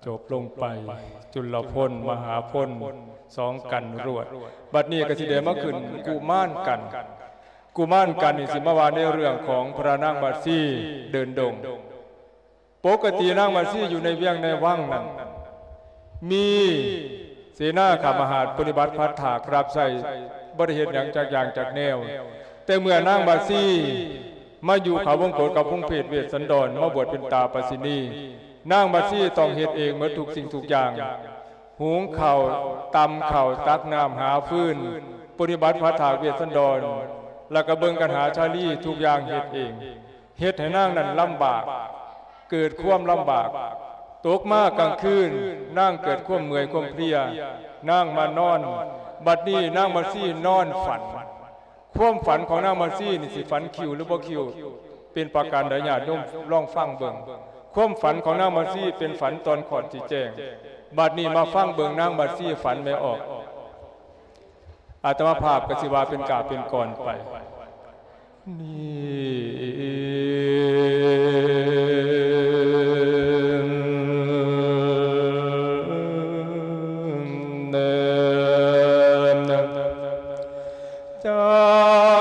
ຈົບລົງໄປ ຈຸລະພົນ ມະຫາພົນ ສອງກັນລວດ. ບັດນີ້ກໍຊິໄດ້ມາຂຶ້ນກຸມານກັນ. ກຸມານກັນນີ້ຊິມາວ່າໃນເລື່ອງຂອງພະນາງມາຊີເດີນດົງ. ປົກກະຕິນາງມາຊີຢູ່ໃນວຽງໃນວັງນັ້ນ ມີເສນາຂ້າມະຫາດປະຕິບັດພັດຖາກຮັບໃຊ້ ບໍ່ໄດ້ເຮັດຫຍັງຈັກຢ່າງຈັກແນວ. ແຕ່ເມື່ອນາງມາຊີມາຢູ່ເຂົ້າວົງກົດກັບວົງເພດເວດສັນດອນ ມາບວດເປັນຕາປາສິນີ, ນາງມາຊີຕ້ອງເຮັດເອງໝົດທຸກສິ່ງທຸກຢ່າງ, ຫຸງເຂົ້າ, ຕຳເຂົ້າ, ຕັກນ້ຳ, ຫາຟືນ, ປະຕິບັດພັດຖາກເວດສັນດອນ, ແລ້ວກໍເບິ່ງກັນຫາຊາລີ, ທຸກຢ່າງເຮັດເອງ. ເຮັດໃຫ້ນາງນັ້ນລຳບາກ, ເກີດຄວາມລຳບາກ. ຕົກມາກາງຄືນ, ນາງເກີດຄວາມເມື່ອຍຄວາມເພຍ, ນາງມານອນ. ບັດນີ້ນາງມາຊີນອນຝັນ. ຄວາມຝັນຂອງນາງມາຊີນີ້ຊິຝັນຄິວຫຼືບໍ່ຄິວ ເປັນປະການໃດ? ຍາດໂຍມລອງຟັງເບິ່ງ. ຄວາມຝັນຂອງນາງມາຊີເປັນຝັນຕອນຂອດຊິແຈ້ງ. ບັດນີ້ມາຟັງເບິ່ງນາງມາຊີຝັນແມ່ອອກ. ອາດຕະມາພາບກໍຊິວ່າເປັນກາບເປັນກອນໄປ. ນີ້ ຈັ່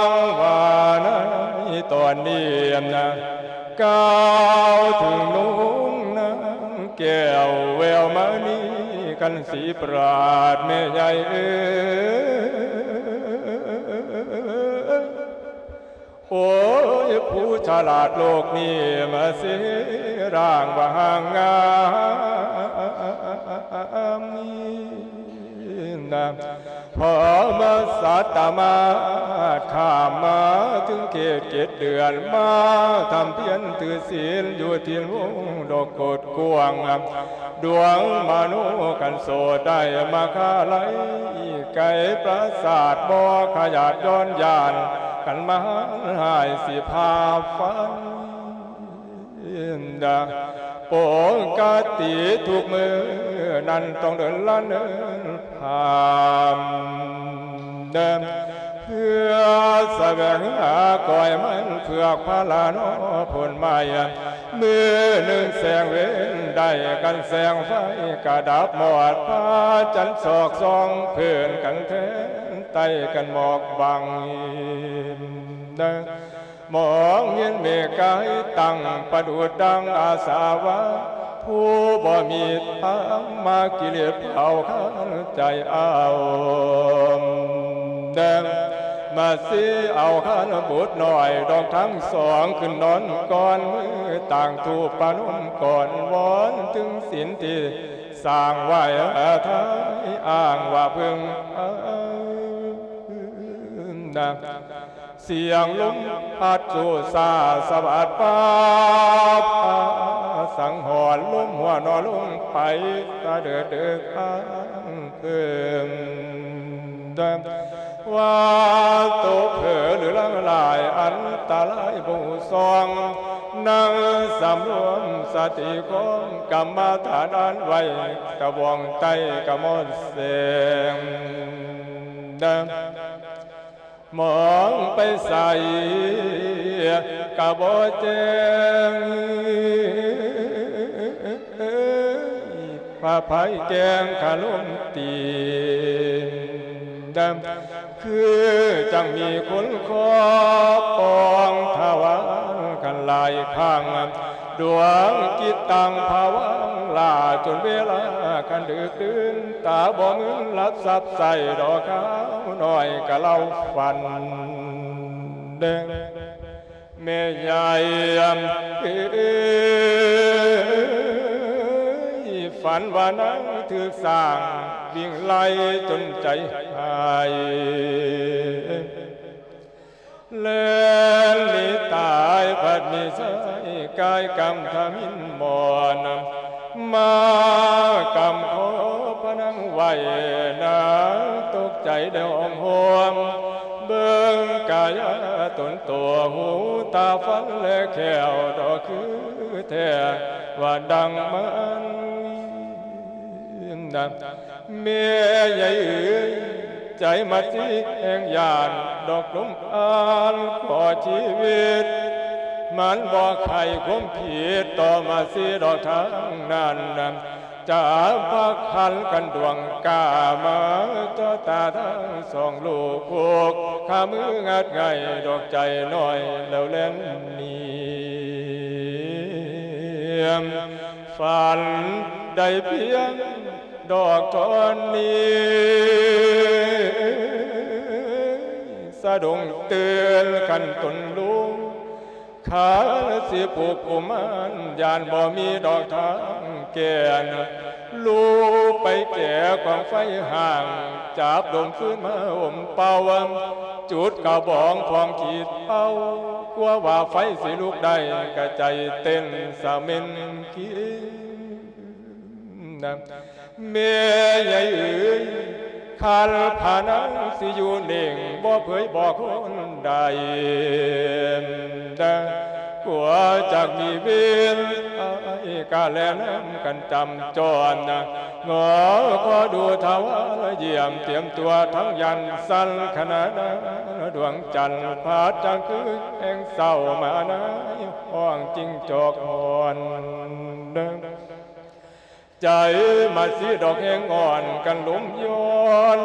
ງວ່າໃນຕອນນີ້ນະ ກ່າວເຖິງນົງນາງແກ້ວແວວມະນີ ຄັນສີປຣາດແມ່ໃຫຍ່ເອີຍ. ໂອ້ຍ ຜູ້ສະຫຼາດໂລກນີ້ມາຊິຮ່າງວ່າຮ່າງງາມນີ້ນະ ພໍມາສັດຕະມາດຂ້າມມາເຖິງເຂດເຈັດເດືອນ ມາທຳພຽນຖືສິນຢູ່ທີ່ວົງດອກກົດກວ້າງ ດວງມະໂນຄັນໂສດໄດ້ມາຄາໄລ ໄກປາສາດບໍ່ຂະຫຍາດຍ້ອນຢ້ານ ຄັນມາຮ້າຍຊິພາໄຟ. ປົກກະຕິທຸກມື້ນັ້ນຕ້ອງເດີນລະເນີນຜ່ານ ເພື່ອສະແຫວງຫາກ້ອຍມັນເຜືອກພາລານໍພົ້ນໄມ້. ມື້ໜຶ່ງແສງເວັນໄດ້ກັນແສງໄຟກະດັບມອດ ພະຈັນສອກສ່ອງເພີ້ນກັນແທນ ໃຕ້ກັນໝອກບັງ. ມອງເຫັນເມກາຍຕັ້ງປະດຸດດັ່ງອາສາວາ ຜູ້ບໍ່ມີທຳມາກິເລດເຜົາຄານໃຈເອົາ ມາຊິເອົາຄານບຸດນ້ອຍດອກທັງສອງ ຂຶ້ນນອນກ່ອນມືຕາງທູບປະນົມກ່ອນ ວອນເຖິງສິນທີ່ສ້າງໄວ້ ທາຍອ້າງວ່າເພິ່ງ ສຽງລົມພັດຊູຊາສະຫວັດປາບ ສັງຫອນລົມຫົວໜໍລົງໄປ ຕາເດີດເດີກອ້າງເພິ່ງ ວ່າໂຕເຜີຫຼືລາງຫຼາຍ ອັນຕະລາຍບໍ່ຮູ້ຊ່ອງ ນັ່ງສຳລວມສະຕິຄອງ ກຳມະຖານອັນໄວ້ ຕະບອງໃຕ້ກະໝອນແສງ ມອງໄປໃສກະບໍ່ແຈ້ງ ພະໄພແກ້ງຄະລົມຕີນ ຄືຈັ່ງມີຄົນຂໍປອງທະຫວານກັນຫຼາຍຄັ້ງ ດວງຈິດຕັ້ງພະວັງຫຼ້າຈົນເວລາຄັນດຶກດື່ນ ຕາບໍ່ມືນຫຼັບສັບໃສດອກ ຄາວນ້ອຍກະເລົ່າຝັນ ແມ່ໃຫຍ່ເອີຍ ຝັນວ່ານາງຖືກຊ້າງວິ່ງໄລ່ຈົນໃຈຫາຍ ແລ່ນໜີຕາຍພັດມີຊາຍ ກາຍກຳທະມິນໝອນ ມາກຳຄໍພະນັງໄວ້ ນາງຕົກໃຈໄດ້ຮ້ອງໂຮມ ເບິ່ງກາຍາຕົນໂຕ ຫູຕາຟັນແລແຂ້ວ ດອກຄືແທ້ວ່າດັ່ງມັນ ແມ່ໃຫຍ່ເອີຍ ໃຈມາຊິແຮງຢ້ານດອກລົມອານ ຂໍຊີວິດ ມັນບໍ່ໃຄ່ຄວາມຜິດຕໍ່ມາຊິດອກທາງນັ້ນ ຈະພາຄັນກັນດວງກ້າມາ ເຈາະຕາທັງສອງລູກ ຜູກຂາມືງັດໄຫງ່ ດອກໃຈນ້ອຍແລ້ວແລ່ນໜີ. ຝັນໄດ້ພຽງດອກທ່ອນນີ້ ສະດຸ້ງຕື່ນຄັນຕົນລຸງ ຄັນຊິປູກກຸມານ ຢ້ານບໍ່ມີດອກທາງແກ່ນ. ລູກໄປແກ່ກອງໄຟຫ້າງ ຈັບດົມຟືນມາອົມເປົ່າ ຈຸດກະບອງພອງຂີດເອົາ ກົວວ່າໄຟຊິລຸກໄດ້ ກະໃຈເຕັ້ນສະເໝັນກິນ. ແມ່ໃຫຍ່ເອີຍ ຄັນພະນາງຊິຢູ່ເໜັງ ບໍ່ເຜີຍບອກຄົນໃດ ກົວຈັກມີເວນ ອ້າຍກະແລນຳກັນຈຳຈອນ ງໍຂໍດູຖະວາຍຢ້ຽມ ຕຽມຕົວທັງຢັນສັນ ຂະນະດວງຈັນ ພັດຈັງຄືແຫ່ງເຊົ້າມານາຍ ຮ້ອງຈິງຈອກຮ້ອນ. ໃຈມາຊີດອກແຮງອ່ອນກັນລົມຍ້ອນ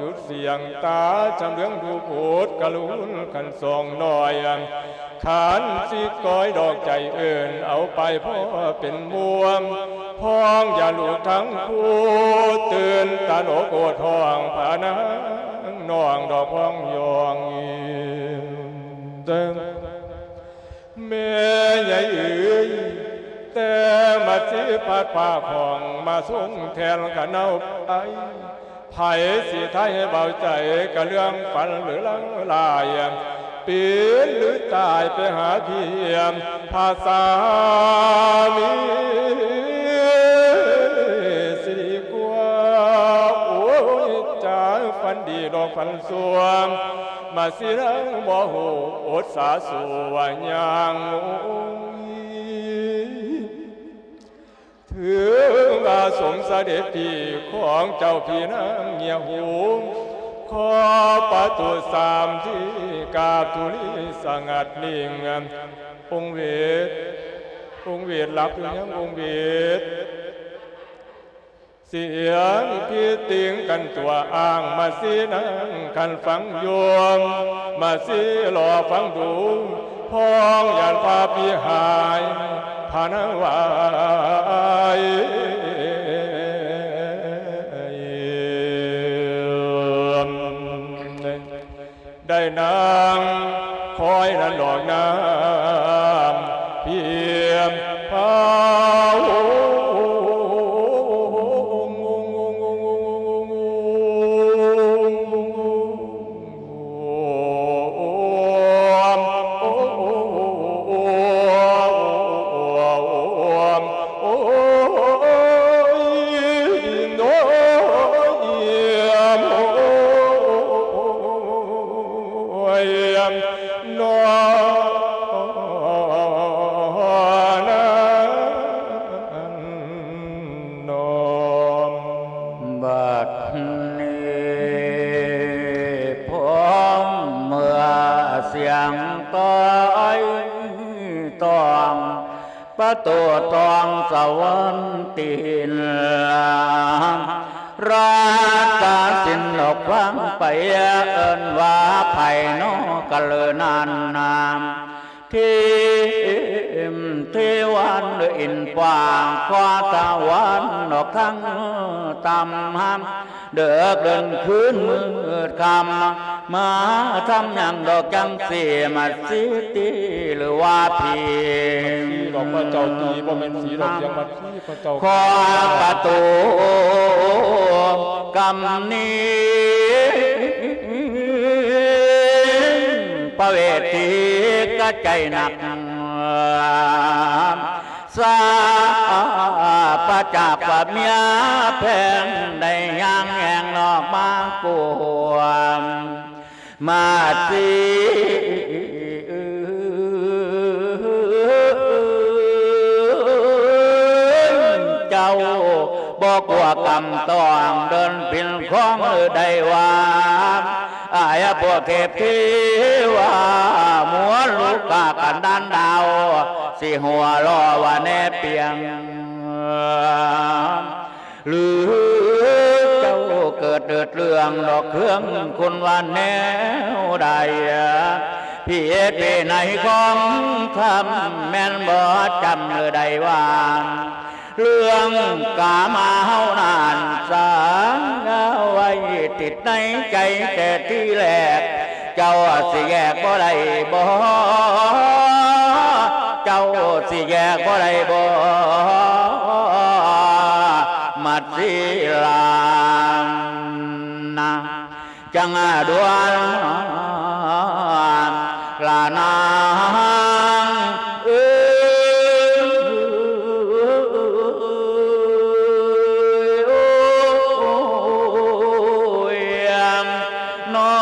ຢຸດສຽງຕາຈຳເລື່ອງດູໂພດກະລຸນຄັນສອງນ້ອຍ ຄັນຊິກ້ອຍດອກໃຈເອີ້ນເອົາໄປພໍເປັນໝູ່ ພ້ອງຢ່າລູກທັງຄູ່ ຕື່ນຕານອກໂອດຮ້ອງ ພານາງນ້ອງດອກຮ້ອງຢອງ. ແມ່ໃຫຍ່ເອີຍ ແຕ່ມາຊິພັດພາຂອງມາຊົງແທນກະເນົາໄປ ໃຜຊິໄຖ່ໃຫ້ເບົາໃຈກະເລື່ອງຝັນຫຼືລາງລາຍ ປິ່ນຫຼືຕາຍໄປຫາພຽງພາສາມີສິກວ່າ ໂອ້ຍ ຈາກຝັນດີດອກຝັນຊົ່ວ ມາຊິນັ່ງບໍ່ຮູ້ອົດສາສູ້ວ່າຍ່າງໂງຍ ຖືວ່າສົມສະເດັດພີ່ຂອງເຈົ້າພີ່ນາງເງຍຫູ ຂໍປະຕູສາມທີ່ກາບທຸລີສະຫງັດນິ່ງ ອົງເວດ ອົງເວດຫຼັບຫຼືຍັງ ອົງເວດ? ສຽງພີຕິງກັນຕົວອ້າງ ມາຊີນັ່ງຄັນຟັງຢູ່ ມາຊີລໍຟັງດູ ພ້ອງຢ້ານພາພີ່ຫາຍ ພານາງວາຍ ໄດ້ນາງຄອຍນັ້ນດອກນ້ຳພຽມພາວ ໂອ້ຍ ໂອ້ຍ ໂອ້ຍ ໂອ້ຍ ນອນນານອມ. ບັດນີ້ພ້ອມເມື່ອສຽງຕ້ອຍຕ້ອງ ປະຕູທອງສະຫວັນຕີນ ລາຊາສິນອອກຟັງໄປ ເອີ້ນວ່າໃຜນໍກະເລີນານນາມ ທີມເທວັນເດີອິນກວ້າງ ຂໍສະຫວັນອອກທັງຕຳ ເດິກເດີນຄືນມືດຄ່ຳ ມາທຳຫຍັງດອກຈັ່ງຊີ້ ມາຊິຕີຫຼືວ່າຜີ ມາຊີ້ດອກ ພະເຈົ້າຕີ ບໍ່ແມ່ນສີດອກ ສຽງມາຊີ້ ພະເຈົ້າ ຂໍປະຕູກຳນີ້ ພະເວດຖີກະໃຈໜັກ ສາປະຈາກວ່າເມຍແພງ ໄດ້ຍ່າງແຫ່ງນອກມາກວມ ມາຊິເຈົ້າ ບໍ່ກົວກຳຕ້ອງ ເດີນປິ່ນຂອງໄດ້ວ່າ ອາຍພວກເທບເທວາ ມົວລູກກາກັນດານດາວ ຊິຫົວລໍ້ວ່າແນບປຽງ ອງດອກເຄື່ອງຄຸນວ່າແນວໃດ ພິເອດວິໄນຂອງທຳແມ່ນບໍ່ຈຳຫຼືໄດ້ວ່າ ເລື່ອງກາມາເຮົານັ້ນ ສ້າງເອົາໄວ້ຕິດໃນໃຈແຕ່ທີແລກ ເຈົ້າຊິແຍກບໍ່ໄດ້ບໍ່? ເຈົ້າຊິແຍກບໍ່ໄດ້ບໍ່? ມັດສີລານະ ຈັ່ງດ່ວນລະນາງເອີຍ ໂອ້ຍ ນ້ອ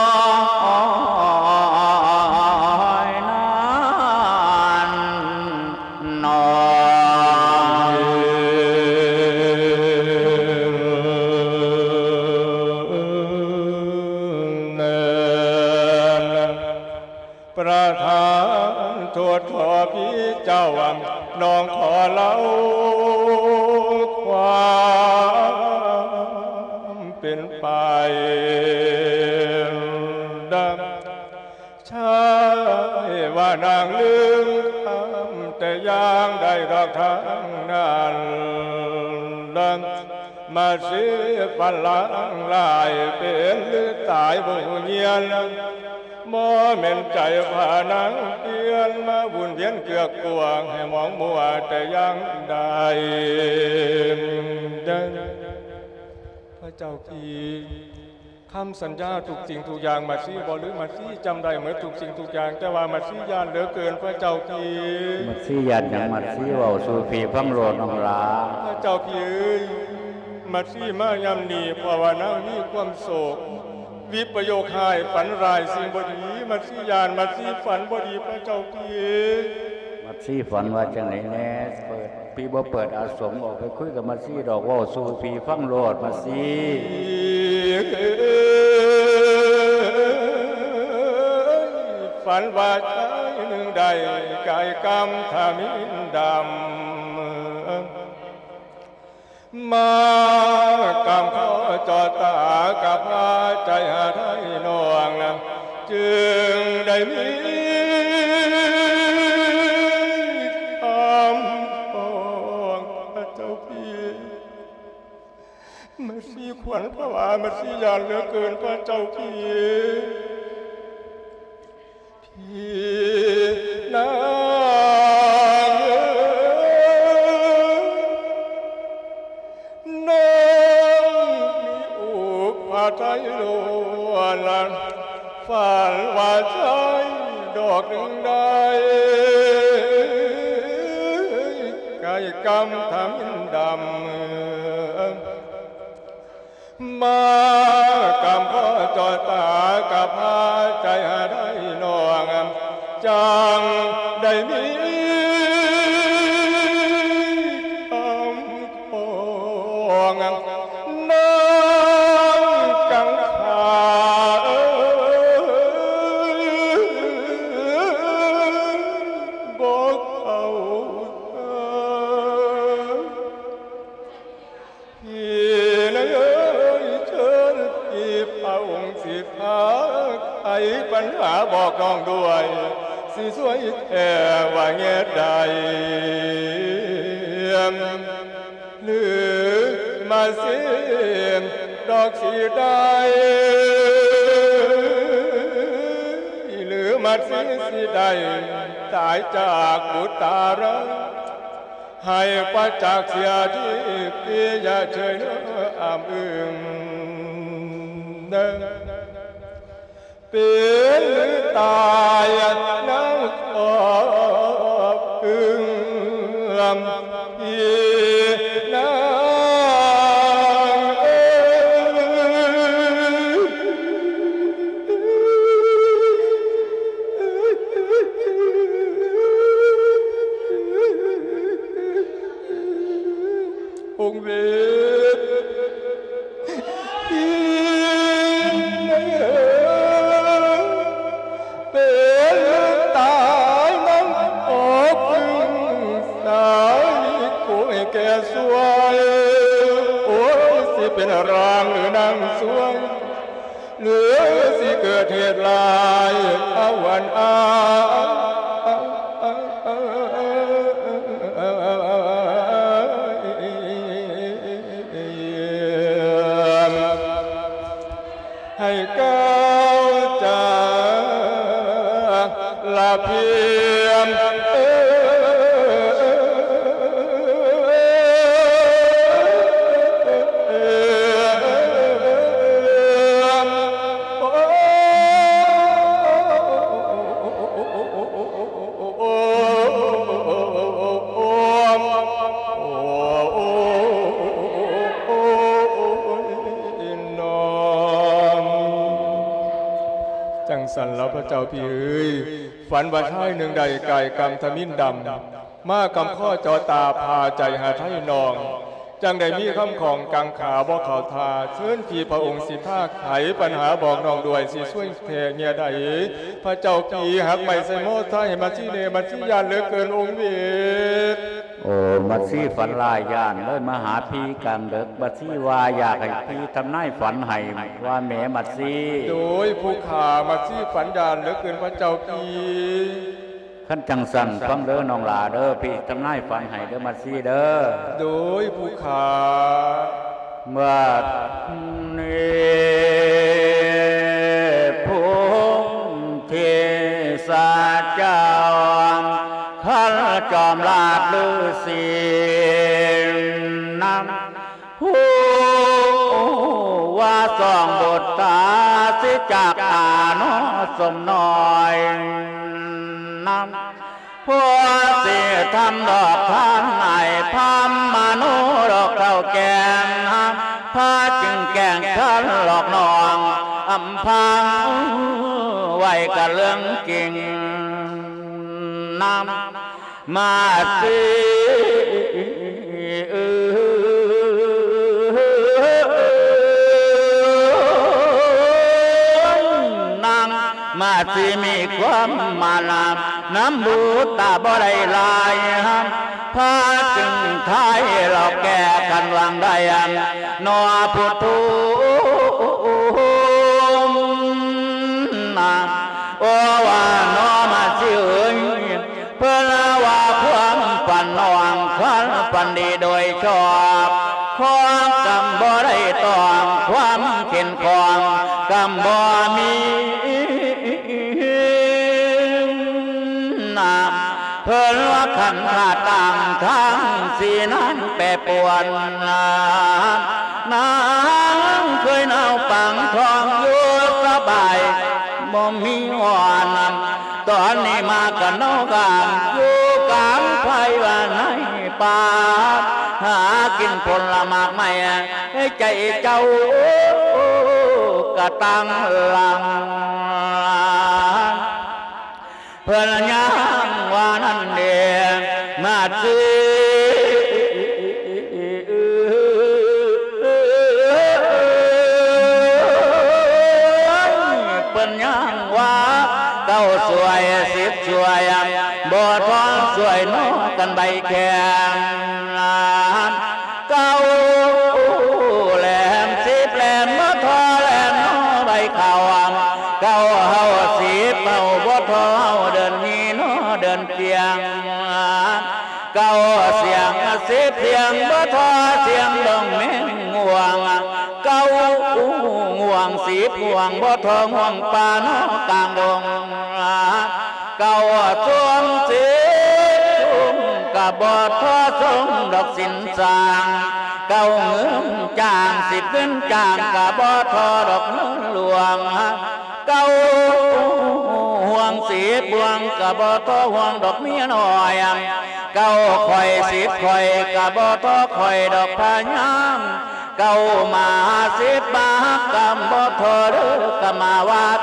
ຍນັ້ນ ນ້ອຍ ປະທານໂທດຂໍພີ່ເຈົ້າ ນ້ອງຂໍເລົ່າຄວາມເປັນໄປ ໃຊ່ວ່ານາງລືມຄຳ ແຕ່ຢ່າງໃດດອກທາງນັ້ນ ມາສີຝັນລາງລາຍ ເປັນຫຼືຕາຍບໍ່ຮູ້ຍຽນ ບໍ່ແມ່ນໃຈພານາງປ່ຽນ ມາວົນວຽນເກືອກກວງ ໃຫ້ມອງມົວແຕ່ຢ່າງໃດ ພະເຈົ້າທີ່ ຄຳສັນຍາທຸກສິ່ງທຸກຢ່າງ ມາຊີບໍ່ລືມ ມາຊີຈຳໄດ້ໝົດທຸກສິ່ງທຸກຢ່າງ ແຕ່ວ່າມາຊີຢ້ານເຫຼືອເກີນພະເຈົ້າພີ່. ມາຊີຢ້ານຫຍັງ? ມາຊີເວົ້າສູ່ພີ່ຟັງໂລດນ້ອງຫຼ້າ. ພະເຈົ້າພີ່ເອີຍ ມາຊີມາຍາມນີ້ ເພາະວ່ານາງມີຄວາມໂສກ ວິປະໂຍກຮ້າຍ ຝັນຮ້າຍສິ່ງບໍ່ດີ ມາຊີຢ້ານ ມາຊີຝັນບໍ່ດີພະເຈົ້າພີ່. ມາຊີຝັນວ່າຈັ່ງໃດແດ່? ເປີດ ພີ່ບໍ່ເປີດອາສົມອອກໄປຄຸຍກັບມາຊີດອກ ເວົ້າສູ່ພີ່ຟັງໂລດມາຊີ. ຝັນວ່າຊາຍໜຶ່ງໄດ້ກາຍກຳທະມິນດຳ ມາກຳຂໍຈໍຕາກະພາໃຈຫາໄທນ້ອງ ຈຶ່ງໄດ້ມີຄຳຟ້ອງພະເຈົ້າພີ່. ມາຊີຂວັນຜະວາ ມາຊີຢ້ານເຫຼືອເກີນພະເຈົ້າພີ່. ພີ່ນາງເອີຍ ນ້ອງມີອຸປາໄທລ້ວນ ຝັນວ່າຊາຍດອກໜຶ່ງໄດ້ກາຍກຳທຳອິນດຳ ມາກຳຂໍຈໍຕາກະພາໃຈຫາໄດ້ນ້ອງ ຈັ່ງໄດ້ມີຄຳຂອງນາງກັງຂາ ບໍ່ເຂົ້າໃຈ. ພີ່ນາງເອີຍ ເຊີນພີ່ພະອົງຊິພາໄຂປັນຫາບອກນ້ອງດ້ວຍ ຊິຊ່ວຍແກ້ວ່າແງ່ໃດ ຫຼືມາຊີດອກຊິໄດ້ ຫຼືມາຊີຊິໄດ້ຕາຍຈາກບຸດຕາລາ ໃຫ້ປະຈັກເສຍທີ່ປິຍະເຊີຍເນີອຳອຶງ ເປັນຫຼືຕາຍນາງຂອບອຶງ ພີ່ນາງເອີຍ. ອົງເວດ ເປັນຕາຍນຳອົງສາຍ ໂກຍແກ່ສວຍ ໂອ້ຍ ຊິເປັນຮ່າງຫຼືນາງສວຍ ຫຼືຊິເກີດເຫດຮ້າຍ ອາວັນອາ ໃຫ້ກ້າວຈາກລະພຽມ ຈັ່ງຊັ້ນລະພະເຈົ້າພີ່ເອີຍ ຝັນວ່າຊາຍໜຶ່ງໄດ້ກາຍກຳທະມິນດຳ ມາກຳຄໍ່ເຈາະຕາພາໃຈຫາໄທນ້ອງ ຈັ່ງໄດ້ມີຄຳຂອງກັງຂາບໍ່ເຂົ້າທ່າ ເຊີນທີ່ພະອົງສິພາໄຂປັນຫາບອກນ້ອງດ້ວຍ ຊິຊ່ວຍແຜ່ເມຍໃດ ພະເຈົ້າພີ່ຫັກໄມ້ໃສ່ມໍຊາຍໃຫ້ມາຊີແດ່ ມາຊີຢ້ານເຫຼືອເກີນອົງເວດ. ໂອ້ ມາຊີຝັນຮ້າຍຢ້ານເລີຍມາຫາພີ່ກາງເດິກ ມາຊີວ່າຢາກໃຫ້ພີ່ທຳນາຍຝັນໃຫ້ວ່າແໝ ມາຊີ. ໂດຍຜູ້ຂ້າ ມາຊີຝັນຢ້ານເຫຼືອເກີນພະເຈົ້າພີ່. ຄັນຈັ່ງຊັ້ນຟັງເດີນ້ອງຫຼ້າເດີ ພີ່ທຳນາຍຝັນໃຫ້ເດີມາຊີເດີ. ໂດຍຜູ້ຂ້າ ບັດນີ້ພົມເທສະເຈົ້າ ຄັນຈອມລາດລືສີນຳ ຮູ້ວ່າສອງບຸດຕາຊິຈາກອາໂນສົມນ້ອຍນຳ ພໍຊິທຳດອກທ່ານອ້າຍພາມມະໂນດອກເຖົ້າແກ່ນ ພາຈຶ່ງແກ່ງຄັນຫຼອກນ້ອງ ອຳພັງໄວ້ກະເລື່ອງຈິງນຳ ມາຊີເອີຍ ນາງມາຊີມີຄວາມມານາ ນຳບຸດຕາບໍ່ໄດ້ຫຼາຍ ພາຈຶ່ງທ້າຍເລົ່າແກ່ກັນວ່າງໃດ ໜໍຜູ້ທຸມ ໂອ ວ່າໜໍມາຊີເອີຍ ເພິ່ນວ່າຄວາມຝັນນ້ອງ ຄວາມຝັນດີໂດຍຊອບ ຄວາມກຳບໍ່ໄດ້ຕ້ອງ ຄວາມເຂັນຂ້ອງກຳບໍ່ມີ ເພິ່ນວ່າຂັນທາດຕ່າງທາງ ສີນາງແປປວນ ນາງເຄີຍນາວປາງທອງຢູ່ສະບາຍ ບໍ່ມີຮ້ອນ ຕອນນີ້ມາກັນເນາະກາງ ຢູ່ກາງໄພວ່າໃນປ່າ ຫາກິນຜົນລະໝາກໄມ້ ໃຈເຈົ້າກະຕັ້ງຫຼັງ ເພິ່ນຍັງວ່ານັ້ນເດ ມາຊີ ເພິ່ນຍັງວ່າເກົ້າສວຍສິບສວຍ ບໍ່ທ້ອງສວຍນອກກັນໃບແຂງ ເກົ້າແຫຼມສິບແຫຼມບໍ່ທໍແຫຼມນອໃບເຂົ້າ ເກົ້າເຮົາສິບເຮົາບໍ່ທໍເຮົາເດີນມີນອເດີນຈຽງ ເກົ້າສຽງສິບສຽງບໍ່ທໍສຽງດອງແມງງ່ວງ ເກົ້າງ່ວງສິບຫ່ວງບໍ່ທໍ່ຫ່ວງປ່ານອກກາງດົງ ເກົ້າຊ່ວງສິບຊຸ່ມກະບໍ່ທໍ່ຊົງດອກສິນສ້າງ ເກົ້າເງິນຈ້າງສິບເງິນຈ້າງກະບໍ່ທໍ່ດອກເງິນຫຼວງ ເກົ້າຫ່ວງສິບຫ່ວງກະບໍ່ທໍ່ຫ່ວງດອກເມຍນ້ອຍ ເກົ້າຂ້ອຍສິບຂ້ອຍກະບໍ່ທໍ່ຂ້ອຍດອກພະຍາມ ເກົ້າມາສິບມາຮັກກຳບໍ່ທໍເດີກຳມາວັດ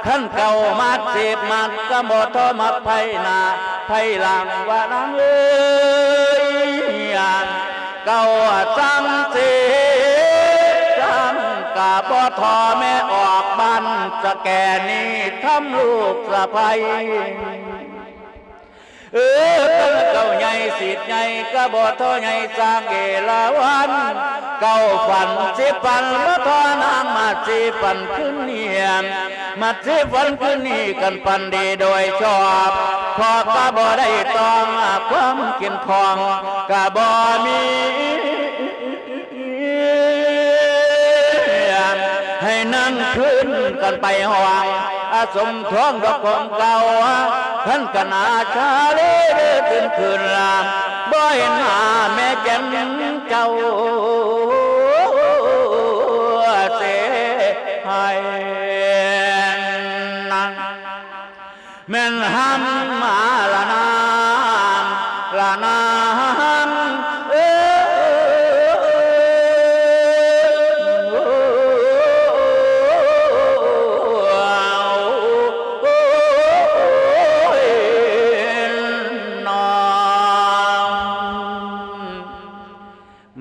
ຄັນເກົ້າມັດສິບມັດກຳບໍ່ທໍມັດໄພໜ້າໄພຫຼັງວ່ານາງເອີຍ ເກົ້າສັງສິບສັງກະບໍ່ທໍແມ່ອອກບ້ານສະແກນີ້ທຳລູກສະໃພ້ ເອີ ເກົ້າໃຫຍ່ສິບໃຫຍ່ກະບໍ່ທໍໃຫຍ່ສ້າງເອລາວັນ ເກົ້າຝັນສິບຝັນ ມາທອນາງມາດສີຝັນຄືນນີ້ ມາດສີຝັນຄືນນີ້ ຄັນຝັນດີໂດຍຊອບ ເພາະກະບໍ່ໄດ້ຕ້ອງ ຄວາມເຂັ້ມຂ້ອງກະບໍ່ມີ ໃຫ້ນັ່ງຄືນກັນໄປຫ້ອງ ອາສົມທອງດອກຂອງເກົ່າ ຄັນກະໜ້າຊາເລເດີຕື່ນຄືນລະ ບໍ່ເຫັນໜ້າແມ່ແກ່ນເຈົ້າເສຍໃຫ້ນາງ ແມ່ນຫ້ຳມາລະນາງ ລະນາງ ເອີ ນ້ອງ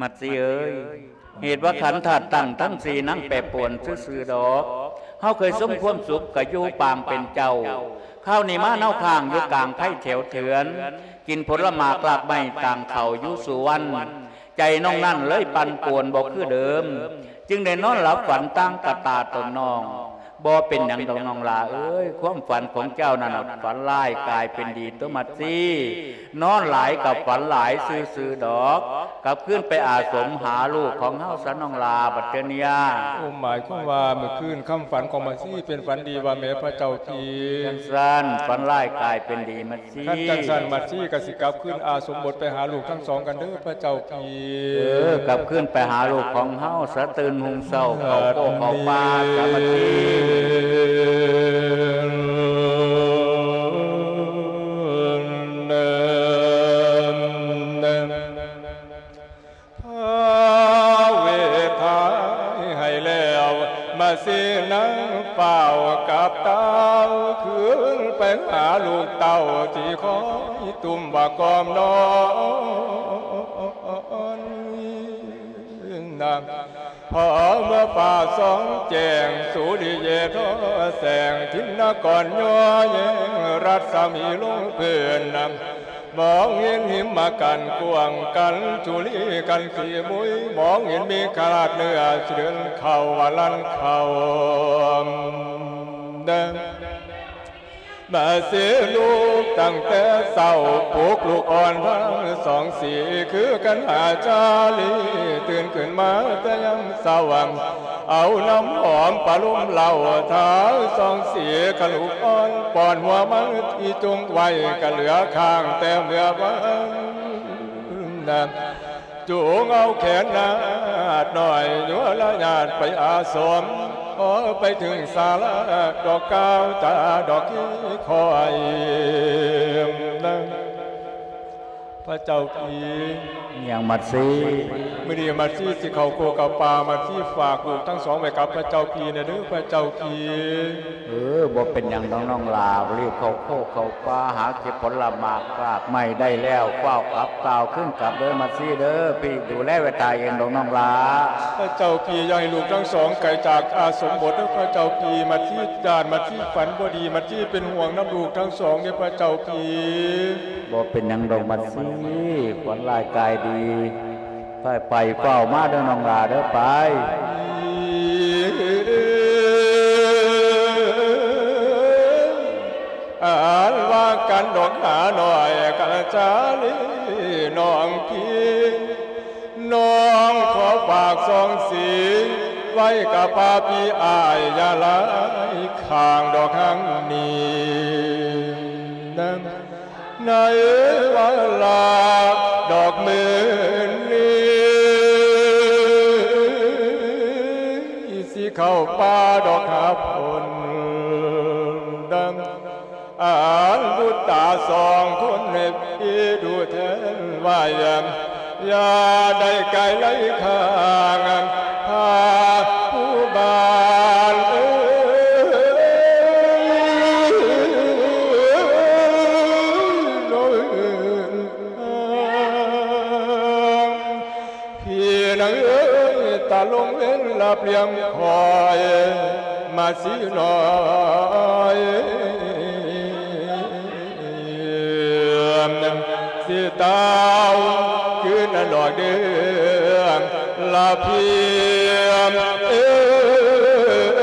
ມັດສີເອີຍ ເຫດວ່າຂັນທາດຕັ້ງທັງສີ່ ນາງແປປວນຊື່ໆດອກ. ເຮົາເຄີຍສົມຄວາມສຸກກະຢູ່ປາງເປັນເຈົ້າ ຄາວນີ້ມາເນົາຄ້າງຢູ່ກາງໄພແຖວເຖືອນ ກິນຜົນລະໝາກລາກໄມ້ຕ່າງເຂົ້າຢູ່ສູ່ວັນ ໃຈນ້ອງນັ້ນເລີຍປັ່ນປ່ວນບໍ່ຄືເດີມ ຈຶ່ງໄດ້ນອນຫຼັບຝັນຕ່າງກະຕາຕົນນ້ອງ. ບໍ່ເປັນຫຍັງດອກນ້ອງຫຼ້າເອີຍ ຄວາມຝັນຂອງເຈົ້ານັ້ນນະ ຝັນຮ້າຍກາຍເປັນດີຕົວະມັດສີ ນອນຫຼາຍກະຝັນຫຼາຍຊື່ໆດອກ ກັບຄືນໄປອາສົມຫາລູກຂອງເຮົາຊະນ້ອງຫຼ້າ ບັດເທື່ອນີ້. ໂອ້ ໝາຍຄວາມວ່າມື້ຄືນຄຳຝັນຂອງມັດສີເປັນຝັນດີວ່າແມ່ພະເຈົ້າພີ່. ຈັ່ງຊັ້ນ ຝັນຮ້າຍກາຍເປັນດີມັດສີ. ຄັນຈັ່ງຊັ້ນ ມັດສີກະຊິກັບຄືນອາສົມບົດໄປຫາລູກທັງສອງກັນເດີພະເຈົ້າພີ່. ເອີ ກັບຄືນໄປຫາລູກຂອງເຮົາຊະ ຕື່ນຮຸ່ງເຊົ້າເຂົ້າໂຄກເຂົ້າປ່າຊະມັດສີ. ພາເວທາໃຫ້ແລ້ວ ມາສີນາງຟ້າວກັບຕ່າວ ຄືນໄປຫາລູກເຕົ້າທີ່ຄອຍຕຸ້ມວ່າກອມນອນ. ພໍເມື່ອຟ້າສ່ອງແຈ້ງ ສຸລິເຢທໍແສງ ທິນນະກອນຍໍແຍງ ລັດສະໝີລົງພື້ນ ມອງເຫັນຫິມມະກັນກວ້າງກັນ ຈຸລີກັນສີມຸຍ ມອງເຫັນເມກະລາດເໜືອ ຊິເດີນເຂົ້າວ່າລັນເຂົ້າ. ມາສີລຸກຕັ້ງແຕ່ເຊົ້າ ປຸກລູກອ່ອນທັງສອງສີ ຄືກັນຫາຈາລີ ຕື່ນຂຶ້ນມາແຕ່ຍາມເຊົ້າ ເອົານ້ຳຫອມປະລົມເລົ້າ ທາສອງສີ ກະລູກອ່ອນ ປ້ອນຫົວມັນທີ່ຈົ່ງໄວ້ ກະເຫຼືອຄ້າງແຕ່ເມື່ອວານ ຈູງເອົາແຂນນາດນ້ອຍ ຍົວລະຍາດໄປອາສົມ ພໍໄປເຖິງສາລາ ດອກກ່າວຈາດອກຄີຄ່ອຍ ພະເຈົ້າພີ່. ຫຍັງມັດສີ? ມື້ນີ້ມັດສີຊິເຂົ້າໂຄກເຂົ້າປ່າ ມັດສີຝາກລູກທັງສອງໄວ້ກັບພະເຈົ້າພີ່ແດ່ເດີພະເຈົ້າພີ່. ເອີ ບໍ່ເປັນຫຍັງດອກນ້ອງຫຼ້າ ຣີບເຂົ້າໂຄກເຂົ້າປ່າ ຫາເກັບຜົນລະໝາກລາກໄມ້ໄດ້ແລ້ວ ຟ້າວກັບ ກ້າວຄືນກັບເດີມັດສີເດີ ພີ່ດູແລໄວ້ຖ້າເອງດອກນ້ອງຫຼ້າ. ພະເຈົ້າພີ່ ຢ່າໃຫ້ລູກທັງສອງໄກຈາກອາສົມບົດເດີພະເຈົ້າພີ່ ມັດສີຢ້ານ ມັດສີຝັນບໍ່ດີ ມັດສີເປັນຫ່ວງນຳລູກທັງສອງເດີພະເຈົ້າພີ່. ບໍ່ເປັນຫຍັງດອກມັດສີ ຂວັນລາຍກາຍດີ. ໄປ ໄປ ຟ້າວມາເດີນ້ອງຫຼ້າເດີ ໄປ. ອັນວ່າກັນດອກໜານ້ອຍກັນຈາລີນ້ອງພີ່ ນ້ອງຂໍຝາກສອງສີ ໄວ້ກັບປ້າພີ່ອ້າຍຢ່າຫຼາຍຂ້າງດອກຫາງນີ້ນະ. ໃນວາລະດອກມື້ນີ້ ຊິເຂົ້າປ່າດອກຫາຜົນດຳ ອັນບຸດຕາສອງຄົນໃຫ້ພີ່ດູແທນໄວ້ ຢ່າໄດ້ໄກໄຫຼຂ້າງ ພາຜູ້ບ້ານເອີຍ ພີ່ນາງເອີຍ ຕາລົງເວັນລະປ່ຽງຄອຍ ມາສີນ້ອຍ ຊິຕາວຄືນນັ້ນດອກເດີ. ລະພຽງເອີຍ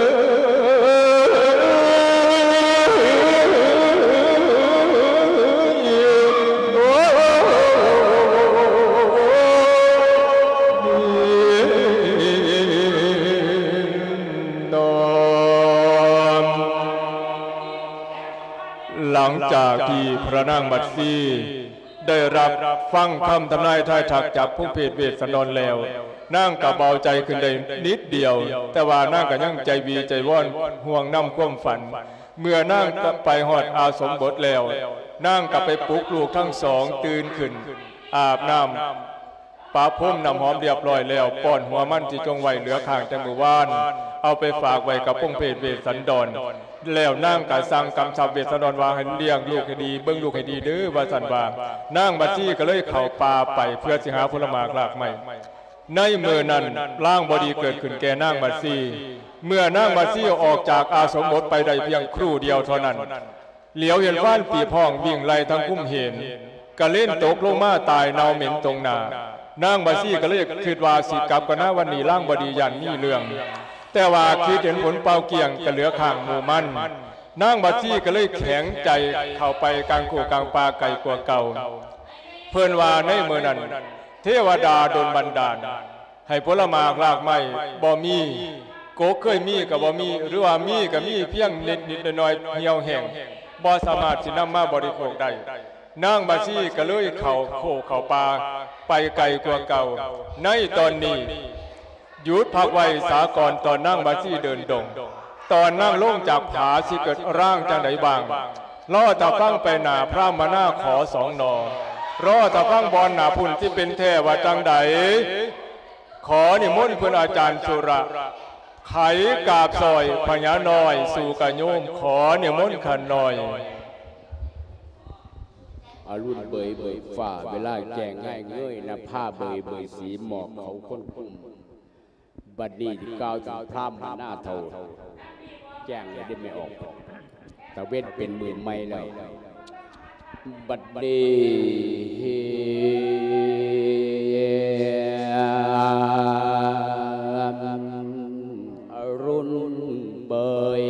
ຫຼັງຈາກທີ່ພະນາງບັດຊີ ໄດ້ຮັບຟັງຄຳທຳນາຍທາຍທັກຈາກພົງເພດເວດສັນດອນແລ້ວ, ນາງກໍເບົາໃຈຂຶ້ນໄດ້ນິດດຽວ, ແຕ່ວ່ານາງກໍຍັງໃຈວີໃຈວອນຫ່ວງນຳຄວາມຝັນ. ເມື່ອນາງໄປຮອດອາສົມບົດແລ້ວ, ນາງກໍໄປປຸກລູກທັງສອງຕື່ນຂຶ້ນ, ອາບນ້ຳ ປະພົມນ້ຳຫອມລຽບຮ້ອຍແລ້ວ, ປ້ອນຫົວມັນທີ່ຈົ່ງໄວ້ເຫຼືອຄ້າງແຕ່ມື້ວານ, ເອົາໄປຝາກໄວ້ກັບພົງເພດເວດສັນດອນ. ແລ້ວນາງກໍສັ່ງກຳຊັບເວດສັນດອນວ່າ ໃຫ້ລ້ຽງລູກໃຫ້ດີ, ເບິ່ງລູກໃຫ້ດີເດີ, ວ່າຊັ້ນວ່າ. ນາງບັດຊີກໍເລີຍເຂົ້າປ່າໄປເພື່ອຊິຫາຜົນລະໝາກລາກໄມ້. ໃນມື້ນັ້ນ ລາງບໍ່ດີເກີດຂຶ້ນແກ່ນາງບັດຊີ. ເມື່ອນາງບັດຊີອອກຈາກອາສົມບົດໄປໄດ້ພຽງຄຣູດຽວເທົ່ານັ້ນ, ຫຼຽວເຫັນຟານປີບຫ້ອງວິ່ງໄລ່ທາງຄຸ້ມເຫນ, ກະເລັນຕົກລົງມາຕາຍເນົ່າເໝັນຕົງໜ້າ. ນາງບາຊີກະເລີຍຄິດວ່າຊິກັບກ່ອນນາ, ວັນນີ້ລາງບໍ່ດີຢ້ານມີເລື່ອງ, ແຕ່ວ່າຄິດເຫັນຜົນເປົ່າກ້ຽງກະເຫຼືອຂ້າງໝູ່ມັນ. ນາງບາຊີກະເລີຍແຂງໃຈເຂົ້າໄປກາງໂຄກາງປ່າໄກກວ່າເກົ່າ. ເພິ່ນວ່າໃນມື້ນັ້ນ ເທວະດາດົນບັນດານ ໃຫ້ຜົນລະໝາກລາກໄມ້ບໍ່ມີ, ກົກເຄີຍມີກໍບໍ່ມີ, ຫຼືວ່າມີກໍມີພຽງນິດໆໜ້ອຍໆ ຫ່ຽວແຫ້ງ, ບໍ່ສາມາດຊິນຳມາບໍລິໂພກໄດ້. ນາງບາຊີກໍເລີຍເຂົ້າໂຄເຂົ້າປ່າໄປໄກກວ່າເກົ່າ. ໃນຕອນນີ້ ຢຸດພັກໄວ້ສາກ່ອນ ຕອນນາງບາຊີເດີນດົງ, ຕອນນາງລົງຈາກຜາຊິເກີດຮ່າງຈັ່ງໃດບ້າງ, ລໍຖ້າຟັງໄປໜ້າພຣາມມະນາຂໍສອງໜໍ່, ລໍຖ້າຟັງບ່ອນໜ້າພຸ້ນຊິເປັນແທ້ວ່າຈັ່ງໃດ. ຂໍນິມົນເພິ່ນອາຈານສຸລະ ໄຂກາບຊອຍພະຍານ້ອຍ ສູ່ກະໂຍມ, ຂໍນິມົນຂ້ານ້ອຍ. ອະລຸນເບີຍເບີຍຟ້າ ເວລາແຈ້ງງ່າຍເງີຍ, ນະພາເບີຍເບີຍສີ ໝອກເຂົາຄົນຄຸມ. ບັດນີ້ກ່າວເຖິງພຣາມມະນາເຖົ້າ ແຈ້ງແລ້ວເດ້ແມ່ອອກ, ຕາເວັນເປັນມື້ໃໝ່ແລ້ວ. ບັດນີ້ອະລຸນເບີຍ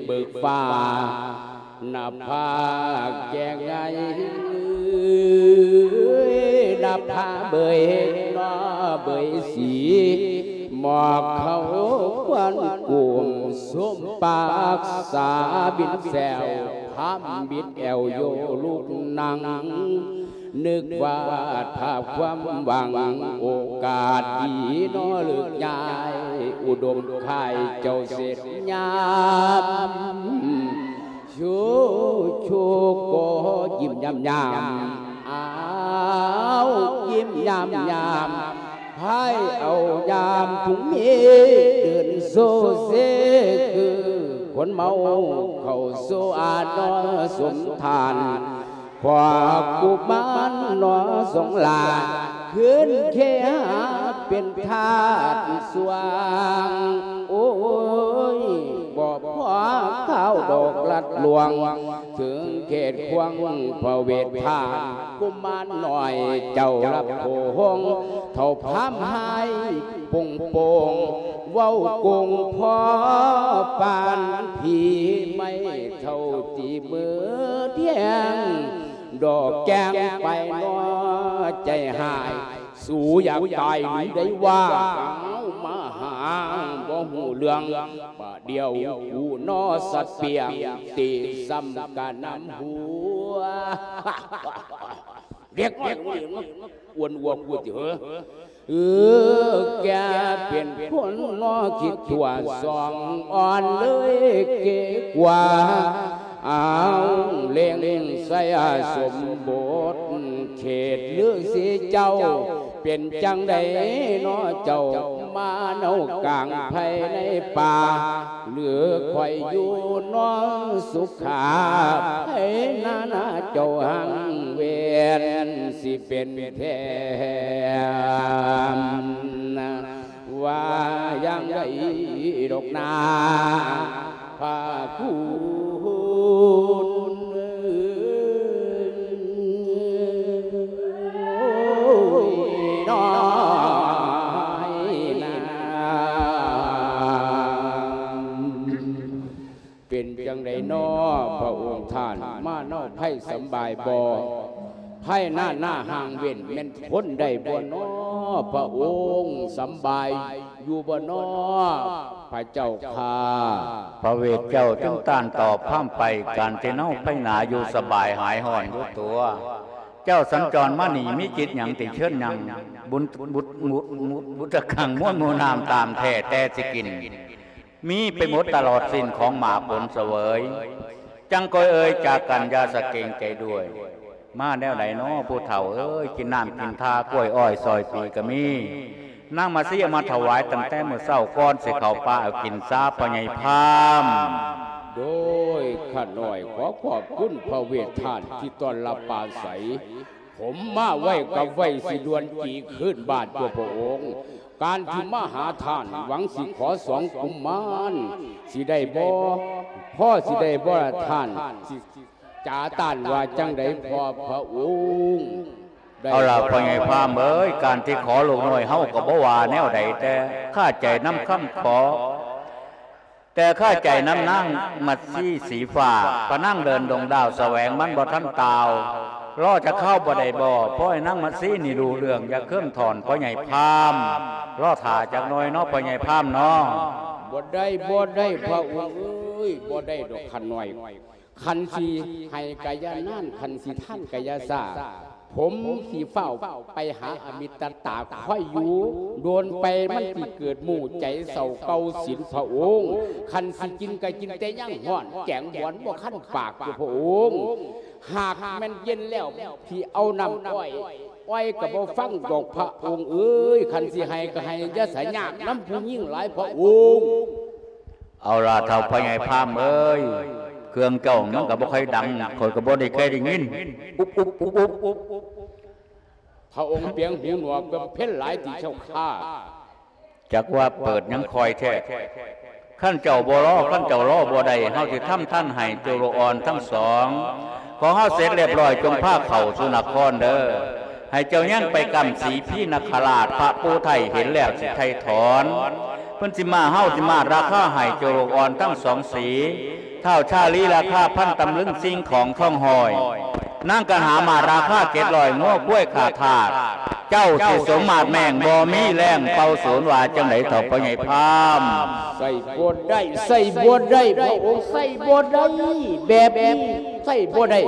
ເບີກຟ້າ, ນະພາແຈ້ງໃຫຍ່, ນະພາເບີຍນໍເບີຍສີ, ໝອກເຂົາຄວັນກຸມ ສົມປາກສາບິນແຊວ, ພາມບິດແອວໂຍລຸກນັ່ງ, ນຶກວາດພາບຄວາມຫວັງ ໂອກາດດີນໍເລີກຍ້າຍ ອຸດົມຄ້າຍເຈົ້າເສັດຍາມ ໂຊໂຊກໍຍິ້ມຍາມຍາມ, ອ້າວ ຍິ້ມຍາມຍາມ, ພາຍເອົາຍາມທຸງເມ ເດີນໂຊເຊ ຄືຄົນເມົາ ເຂົ້າໂຊອານອນສົມທານ. ພວກກຸມານໜໍສອງຫຼ້າ ຄືນເຄຫາເປັນທາດສ່ວງ, ໂອ້ຍ ບໍ່ພໍຂ່າວດອກລັດລວງ ເຖິງເຂດຂວາງພະເວດທາດ. ກຸມານນ້ອຍເຈົ້າລັບໂຂງ ເຖົ້າພາມຫາຍໂປ່ງໆ, ເວົ້າໂກງພໍປານຜີໄມ້ເຖົ້າຕີມືແທງ ດອກແກ້ງໄປນໍໃຈຫາຍ. ສູຢາກຕາຍຫຼືໄດ້ວ່າ ເອົາມາຫາບໍ່ຮູ້ເລື່ອງ, ບາດດຽວກູນໍສັດປ່ຽງ ຕີຊ້ຳກະນຳຫົວ. ເດັກນ້ອຍ ອ້ວນອວບກວ່າຕິເຫີ. ເອີ ແກເປັນຄົນນໍຄິດຕົວສອງອ່ອນເລີຍເກກວ່າ. ອ້າວ ເລັງໄຊອາສົມບົດ ເຂດລືສີເຈົ້າ ເປັນຈັ່ງໃດນໍເຈົ້າ ມາເນົາກາງໄພໃນປ່າ ຫຼືຂ້ອຍຢູ່ນໍສຸຂາໄພນານາເຈົ້າຮັ່ງເວນ ຊິເປັນແທ້ ວ່າຢ່າງໃດດອກນາພາຄູນ ໂອ້ຍ ນ້ອຍ. ສຳບາຍບໍ່? ພາຍໃນໜ້າຫ່າງເວັ້ນແມ່ນທົນໄດ້ບໍ່ນໍ? ພະອົງສຳບາຍຢູ່ບໍ່ນໍ? ພະເຈົ້າຂ້າ. ພະເວດເຈົ້າຈຶ່ງຕ້ານຕອບພາມໄປ, ການທີ່ເຮົາໄພໜາຢູ່ສະບາຍຫາຍຮ້ອນຢູ່ຕົວ. ເຈົ້າສັນຈອນມານີ້ມີກິດຫຍັງຕິເຊີນຍັງ? ບຸນ ບຸດ ບຸດ ບຸດຕະຄັງມວນໝູນ້ຳຕາມແທ້ແຕ່ຊິກິນ ມີໄປໝົດຕະຫຼອດສິ້ນຂອງໝາກຜົນສະເຫວີຍ. ຈັ່ງຄ່ອຍເອີ່ຍຈາກັນຢ່າສະເກງໃຈດ້ວຍ. ມາແນວໃດນໍຜູ້ເຖົ້າເອີຍ? ກິນນ້ຳກິນທາກ້ວຍອ້ອຍຊອຍປີກະມີ. ນາງມາຊີເອົາມາຖວາຍຕັ້ງແຕ່ມື້ເຊົ້າກ່ອນຊິເຂົ້າປ່າເອົາກິນຊາພໍ່ໃຫຍ່ພາມ. ໂດຍຂ້ານ້ອຍຂໍຂອບຄຸນພະເວດທ່ານທີ່ຕ້ອນຮັບປາໄສ. ຜົມມາໄວກັບໄວ ຊິດ່ວນຈີຄືນບ້ານຕົວພະອົງ. ການທີ່ມາຫາທ່ານ ຫວັງຊິຂໍສອງກຸມມານ ຊິໄດ້ບໍ່? ພໍຊິໄດ້ບໍ່ລະທ່ານ? ຊິຈາຕ້ານວ່າຈັ່ງໃດພໍ່ພະອົງ? ເອົາລະພໍ່ໃຫຍ່ພາມເອີຍ, ການທີ່ຂໍລູກນ້ອຍເຮົາກໍບໍ່ວ່າແນວໃດ, ແຕ່ຄາໃຈນຳຄຳຂໍ ແຕ່ຄາໃຈນຳນາງມັດຊີສີຟ້າ, ພະນາງເດີນດົງດາວສະແຫວງມັນບໍ່ທັນຕ່າວ, ລໍຈັກຄາວບໍ່ໄດ້ບໍ່? ພໍໃຫ້ນາງມັດຊີນີ້ຮູ້ເລື່ອງ, ຢ່າເຄື່ອງຖອນພໍ່ໃຫຍ່ພາມ, ລໍຖ້າຈັກໜ່ອຍເນາະພໍ່ໃຫຍ່ພາມເນາະ. ບໍ່ໄດ້, ບໍ່ໄດ້, ພະອົງເອີຍ, ບໍ່ໄດ້ດອກຂ້ານ້ອຍ. ຄັນຊິໃຫ້ກະຢ່ານານ, ຄັນຊິທ່ານກະຢ່າຊ້າ. ຜົມຊິຟ້າວໄປຫາອະມິດຕະຕາຄອຍຢູ່, ໂດນໄປມັນຊິເກີດໝູ່ໃຈເສົ້າເກົ່າສິນພະອົງ. ຄັນຊິກິນກະກິນແຕ່ຍັງຮ້ອນ, ແກງບອນບໍ່ຄັນປາກຢູ່ພະອົງ. ຫາກແມ່ນເຢັນແລ້ວ ຊິເອົານ້ຳອ້ອຍ, ອ້ອຍກະບໍ່ຟັງດອກພະອົງເອີຍ. ຄັນຊິໃຫ້ກະໃຫ້, ຢ່າສະຍາກນຳຜູ້ຍິງຫຼາຍພະອົງ. ເອົາລະເຖົ້າພໍ່ໃຫຍ່ພາມເອີຍ, ເຄື່ອງເຈົ້າມັນກໍບໍ່ຄ່ອຍດັງ, ຂ້ອຍກໍບໍ່ໄດ້ເຄີຍໄດ້ຍິນ. ອຸບ ອຸບ ອຸບ ອຸບ. ພະອົງປຽງຫູໜວກບຳເພັນຫຼາຍຕິເຈົ້າຂ້າ? ຈັກວ່າເປີດຫຍັງຄ່ອຍແທ້. ຄັນເຈົ້າບໍ່ລໍ, ຄັນເຈົ້າລໍບໍ່ໄດ້, ເຮົາຊິທຳທັນໃຫ້ເຈົ້າລູກອ່ອນທັງສອງຂອງເຮົາເສັດລຽບຮ້ອຍ, ຈົ່ງພາເຂົ້າສູ່ນະຄອນເດີ. ໃຫ້ເຈົ້າຍັງໄປກຳສີພີນະຄະລາດ, ພະປູໄທເຫັນແລ້ວຊິໄຖ່ຖອນ. ເພິ່ນຊິມາ, ເຮົາຊິມາລາຄາໃຫ້ເຈົ້າລູກອ່ອນທັງສອງສີ, ທ້າວຊາລີລາຄາພັນຕຳລຶງ, ສິ່ງຂອງທອງຮ້ອຍ, ນາງກັນຫາມາລາຄາເຈັດຮ້ອຍ, ງົວຄວາຍຂ້າທາດ, ເຈົ້າຊິສົມມາດແມ່ງ, ບໍ່ມີແລງເປົ່າສູນ. ວ່າຈັ່ງໃດເຖົ້າພໍ່ໃຫຍ່ພາມ? ໃຊ້ບໍ່ໄດ້, ໃຊ້ບໍ່ໄດ້, ພະອົງໃຊ້ບໍ່ໄດ້, ແບບນີ້ໃຊ້ບໍ່ໄດ້.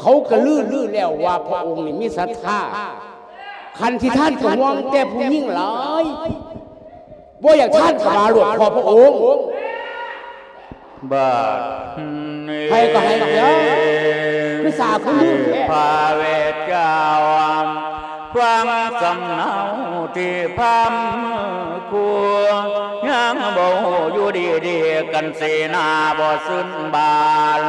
ເຂົາກະລືລືແລ້ວວ່າພະອົງນີ້ມີສັດທາ. ຄັນຊິທ່ານກະຫ່ວງແຕ່ຜູ້ຍິງຫຼາຍ, ບໍ່ຢາກທ່ານກະມາໂລດ ຂໍພະອົງ. ບາດນີ້ໃຫ້ກໍໃຫ້ເດີ ຄືສາຄືລືແທ້. ພະເວດເຈົ້າ ຟັງສຳເນົາທີ່ພຳຄູ, ຍັງບໍ່ຮູ້ຢູ່ດີໆ ກັນເສນາບໍ່ຊື່ນບານ.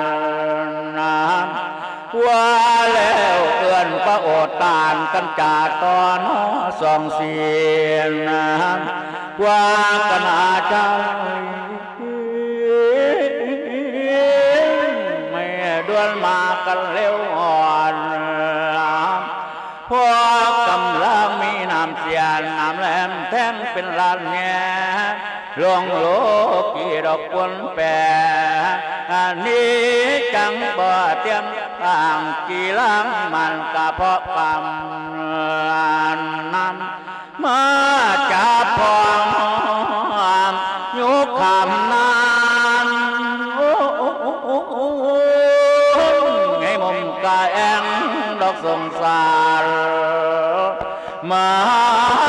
ວ່າແລ້ວເອີ້ນພະໂອດຕານກັນຈາຕໍ່ໜໍ່ສອງສີນ ວ່າກັນອາຈານ ແມ່ດ່ວນມາກັນເລັວອ່ອນ ພໍກຳລັງມີນ້ຳເສຍ ນ້ຳແຫຼມແທງເປັນລານແຍ ຫຼວງໂລກີດອກປົນແປ ອັນນີ້ຈັ່ງບໍ່ຕຽງຕ່າງ ກີລາງມັນກະເພາະກຳນຳ ມາຈັບພ້ອມຍຸກຄຳນັ້ນ ໃນມຸມກະແອ່ງດອກສົງສານ ມະຫ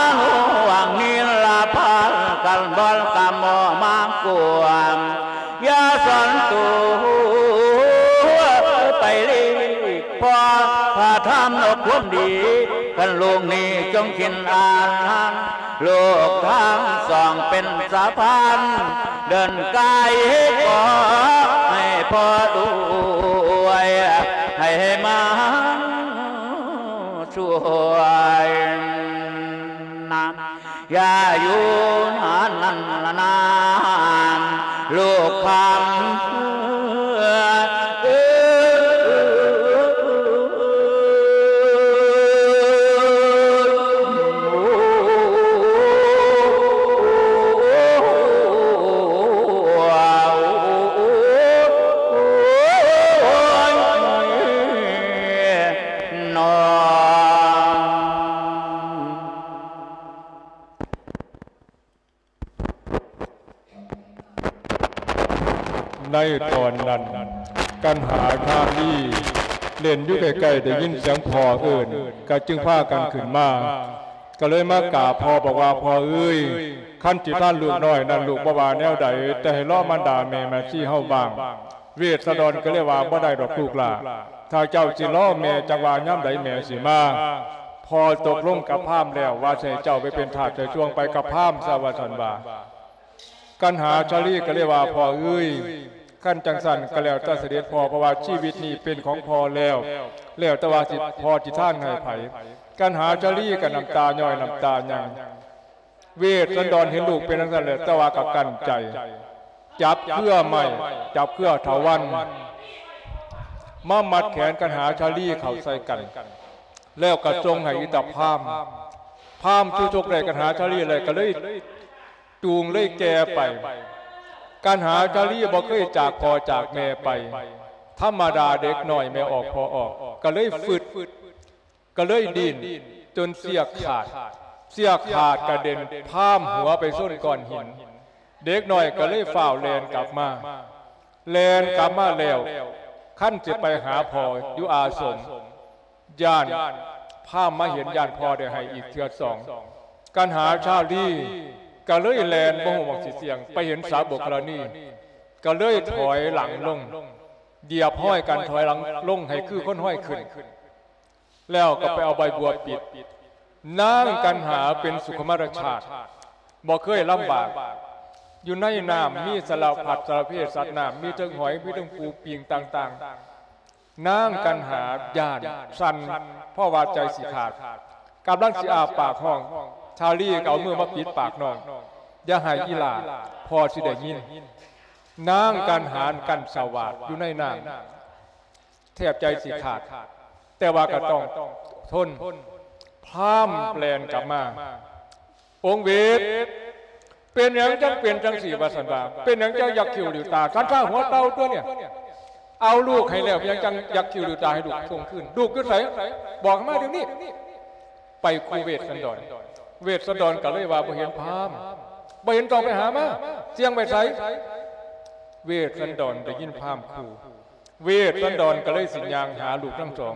ານຸວັງນິລະພັນກັນ ບ່ອນກະໝໍມາກວມ ຢ່າສອນໂຕໄປຫຼີກ ເພາະພະທຳນອກຄວາມດີ ຄັນລູກນີ້ຈົ່ງຄິນອ່ານ ລູກທັງສອງເປັນສະພານ ເດີນກາຍຂໍໃຫ້ພໍ່ດ້ວຍ ໃຫ້ມາຊ່ວຍນຳ ຢ່າຢູ່ນານນານນານ ລູກຄຳເອີຍ. ໃນຕອນນັ້ນ ກັນຫາຊາລີເລ່ນຢູ່ໃກ້ໆ ໄດ້ຍິນສຽງພໍ່ເອີ້ນ ກໍຈຶ່ງພາກັນຂຶ້ນມາ ກໍເລີຍມາກາບພໍ່ ບອກວ່າ ພໍ່ເອີຍ ຄັນຊິທານລູກນ້ອຍນັ້ນ ລູກບໍ່ວ່າແນວໃດ ແຕ່ໃຫ້ລໍມານດາແມ່ມາຊີເຮົາບ້າງ. ເວດສະດອນກໍເລີຍວ່າ ບໍ່ໄດ້ດອກລູກຫຼ້າ ຖ້າເຈົ້າຊິລໍແມ່ຈັກວ່າຍາມໃດແມ່ຊິມາ. ພໍ່ຕົກລົງກັບພາມແລ້ວ ວ່າຊິໃຫ້ເຈົ້າໄປເປັນທາດໃສ່ຊ່ວງໄປກັບພາມຊະ ວ່າຊັ້ນວ່າ. ກັນຫາຊາລີກໍເລີຍວ່າ ພໍ່ເອີຍ ຄັນຈັ່ງຊັ້ນກໍແລ້ວແຕ່ສະເດັດພໍ່ ເພາະວ່າຊີວິດນີ້ເປັນຂອງພໍ່ແລ້ວ ແລ້ວແຕ່ວ່າຊິ ພໍ່ຊິທານໃຫ້ໃຜ. ກັນຫາຊາລີກໍນ້ຳຕາຍ້ອຍນ້ຳຕາຍັງ ເວດສັນດອນເຫັນລູກເປັນຈັ່ງຊັ້ນແຫຼະ ແຕ່ວ່າກໍກັ້ນໃຈ ຈັບເຄືອໄມ້ ຈັບເຄືອຖາວັນ ມາມັດແຂນກັນຫາຊາລີເຂົ້າໃສ່ກັນ ແລ້ວກໍສົ່ງໃຫ້ອີຕາພາມ. ພາມຊູ່ຊົກໄດ້ກັນຫາຊາລີແລ້ວ ກໍເລີຍຈູງເລີຍແກ່ໄປ. ກັນຫາຊາລີບໍ່ເຄີຍຈາກພໍ່ຈາກແມ່ໄປ ທຳມະດາເດັກນ້ອຍແມ່ອອກພໍ່ອອກ ກໍເລີຍຟຶດ ກໍເລີຍດີ້ນຈົນເຊືອກຂາດ ເຊືອກຂາດກະເດັນພາມຫົວໄປຊົນກ້ອນຫີນ. ເດັກນ້ອຍກໍເລີຍຟ້າວແລ່ນກັບມາ ແລ່ນກັບມາແລ້ວ ຄັນຊິໄປຫາພໍ່ຢູ່ອາສົມ ຢ້ານພາມມາເຫັນ ຢ້ານພໍ່ໄດ້ໃຫ້ອີກເທື່ອສອງ. ກັນຫາຊາລີກໍເລີຍແລ່ນບໍ່ຮູ້ໝ່ອງຊິສ່ຽງ ໄປເຫັນສາບົກຄະລະນີ ກໍເລີຍຖອຍຫຼັງລົງ ຢຽບຮອຍກັນ ຖອຍຫຼັງລົງໃຫ້ຄືຄົນຮອຍຂຶ້ນ ແລ້ວກໍໄປເອົາໃບບົວປິດ. ນາງກັນຫາເປັນສຸຂຸມາລະຊາດ ບໍ່ເຄີຍລຳບາກ ຢູ່ໃນນ້ຳມີສາລະພັດສາລະເພສັດນ້ຳ ມີເທິງຫອຍ ມີເທິງປູປິງຕ່າງໆ. ນາງກັນຫາຢ້ານສັ່ນ ເພາະວ່າໃຈຊິຂາດ ກຳລັງຊິອ້າປາກຮ້ອງ ຊາລີກໍເອົາມືມາປິດປາກນ້ອງ ຢ່າໄຫ້ອີ່ຫຼ້າ ພໍ່ຊິໄດ້ຍິນ. ນາງກັນຫາກັ້ນສະຫວາດຢູ່ໃນນ້ຳ ແທບໃຈຊິຂາດ ແຕ່ວ່າກໍຕ້ອງທົນ. ພາມແລ່ນກັບມາ ອົງເວດ ເປັນຫຍັງຈັ່ງເປັນຈັ່ງຊີ້ ວ່າຊັ້ນວ່າ ເປັນຫຍັງຈັ່ງຍັກຄິ້ວລິ້ວຕາ ສັນຊາຫົວເຕົ່າຕົວນີ້ ເອົາລູກໃຫ້ແລ້ວ ຍັງຈັ່ງຍັກຄິ້ວລິ້ວຕາ ໃຫ້ລູກສົ່ງຄືນ ລູກຢູ່ໃສ ບອກໃຫ້ມາດຽວນີ້. ໄປຂູ່ເວດສັນດອນ ເວດສັນດອນກໍເລີຍວ່າ ບໍ່ເຫັນພາມ ບໍ່ເຫັນ ຕ້ອງໄປຫາມາ ສ່ຽງໄວ້ໃສ. ເວດສັນດອນໄດ້ຍິນພາມຂູ່ ເວດສັນດອນກໍເລີຍຊິຍ່າງຫາລູກທັງສອງ.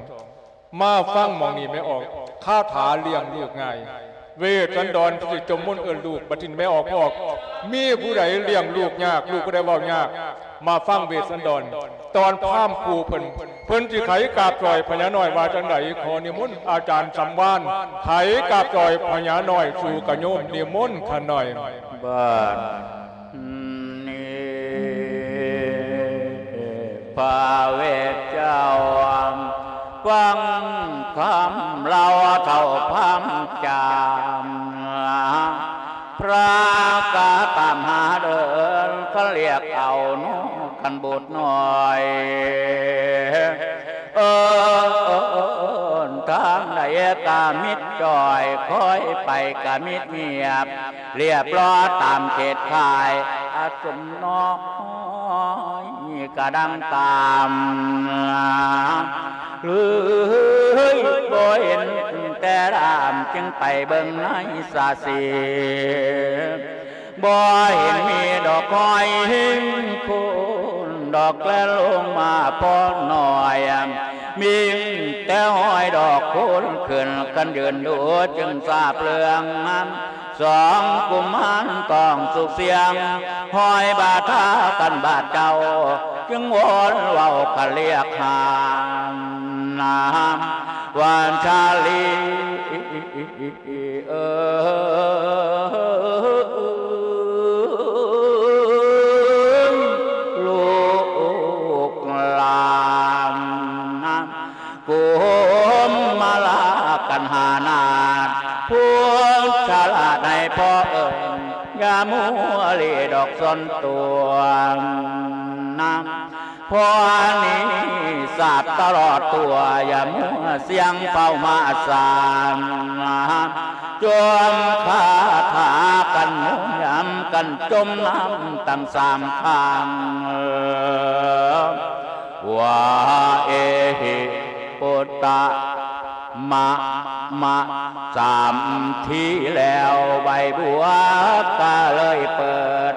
ມາຟັງໝ່ອງນີ້ແມ່ອອກ ຄາຖາລ້ຽງລູກງ່າຍ ເວດສັນດອນຊິຈົ່ມມົນເອີ້ນລູກ. ບັດນີ້ແມ່ອອກ ພໍ່ອອກ ມີຜູ້ໃດລ້ຽງລູກຍາກ ລູກຜູ້ໃດເວົ້າຍາກ ມາຟັງເວດສັນດອນ ຕອນພາມຂູ່ເພິ່ນ ເພິ່ນຊິໄຂກາບຈອຍພະຍານ້ອຍວ່າຈັ່ງໃດ? ຂໍນິມົນອາຈານສຳວານ ໄຂກາບຈອຍພະຍານ້ອຍສູ່ກະໂຍມ ນິມົນຂະໜ້ອຍ. ບັດນີ້ພະເວດເຈົ້າ ຟັງຄຳລາວເຖົ້າພາມຈາມ ພະກະຕາມຫາເດີນ ຄັນລຽກເອົາໜູຄັນບຸດນ້ອຍ ເອີ້ນທາງໃດກະມິດຈ້ອຍ ຄອຍໄປກະມິດງຽບ ລຽບລ້ອຕາມເຂດຂ່າຍ ອາສົມນ້ອຍກະດັງຕາມ ເລີຍບໍ່ເຫັນແຕ່ດາມ ຈຶ່ງໄປເບິ່ງໃນສາສີ ບໍ່ເຫັນມີດອກຄອຍເຫັນໂຄນ ດອກແລລົງມາພໍນ້ອຍ ມີແຕ່ຮອຍດອກໂຄນຂຶ້ນ ຄັນຢືນດູຈຶ່ງຊາບເລື່ອງ ສອງກຸມານຕ້ອງສຸກສຽງ ຮອຍບາດທາກັນບາດເຈົ້າ ຈຶ່ງວອນເວົ້າກະລຽກຫາ ນາມວ່າຊາລີ ເອີຍ ລູກຫຼານ ກຸມມາລາກັນຫານາດ ຜູ້ສາລາໃນພໍ່ເອີ້ນ ຢ່າມົວຫຼີດອກສ່ວນຕົວ ນາມ ພໍ່ນີ້ສາບຕະຫຼອດຕົວ ຢ່າມົວສ່ຽງເຝົ້າມາສານ ຈົ່ມຄາຖາກັນໝູນຢຳກັນ ຈົ່ມນ້ຳຕັ້ງສາມຄັ້ງ ວາເອຫິ ພຸດທະ ມະ ມະ ສາມທີແລ້ວ ໃບບົວກະເລີຍເປີດ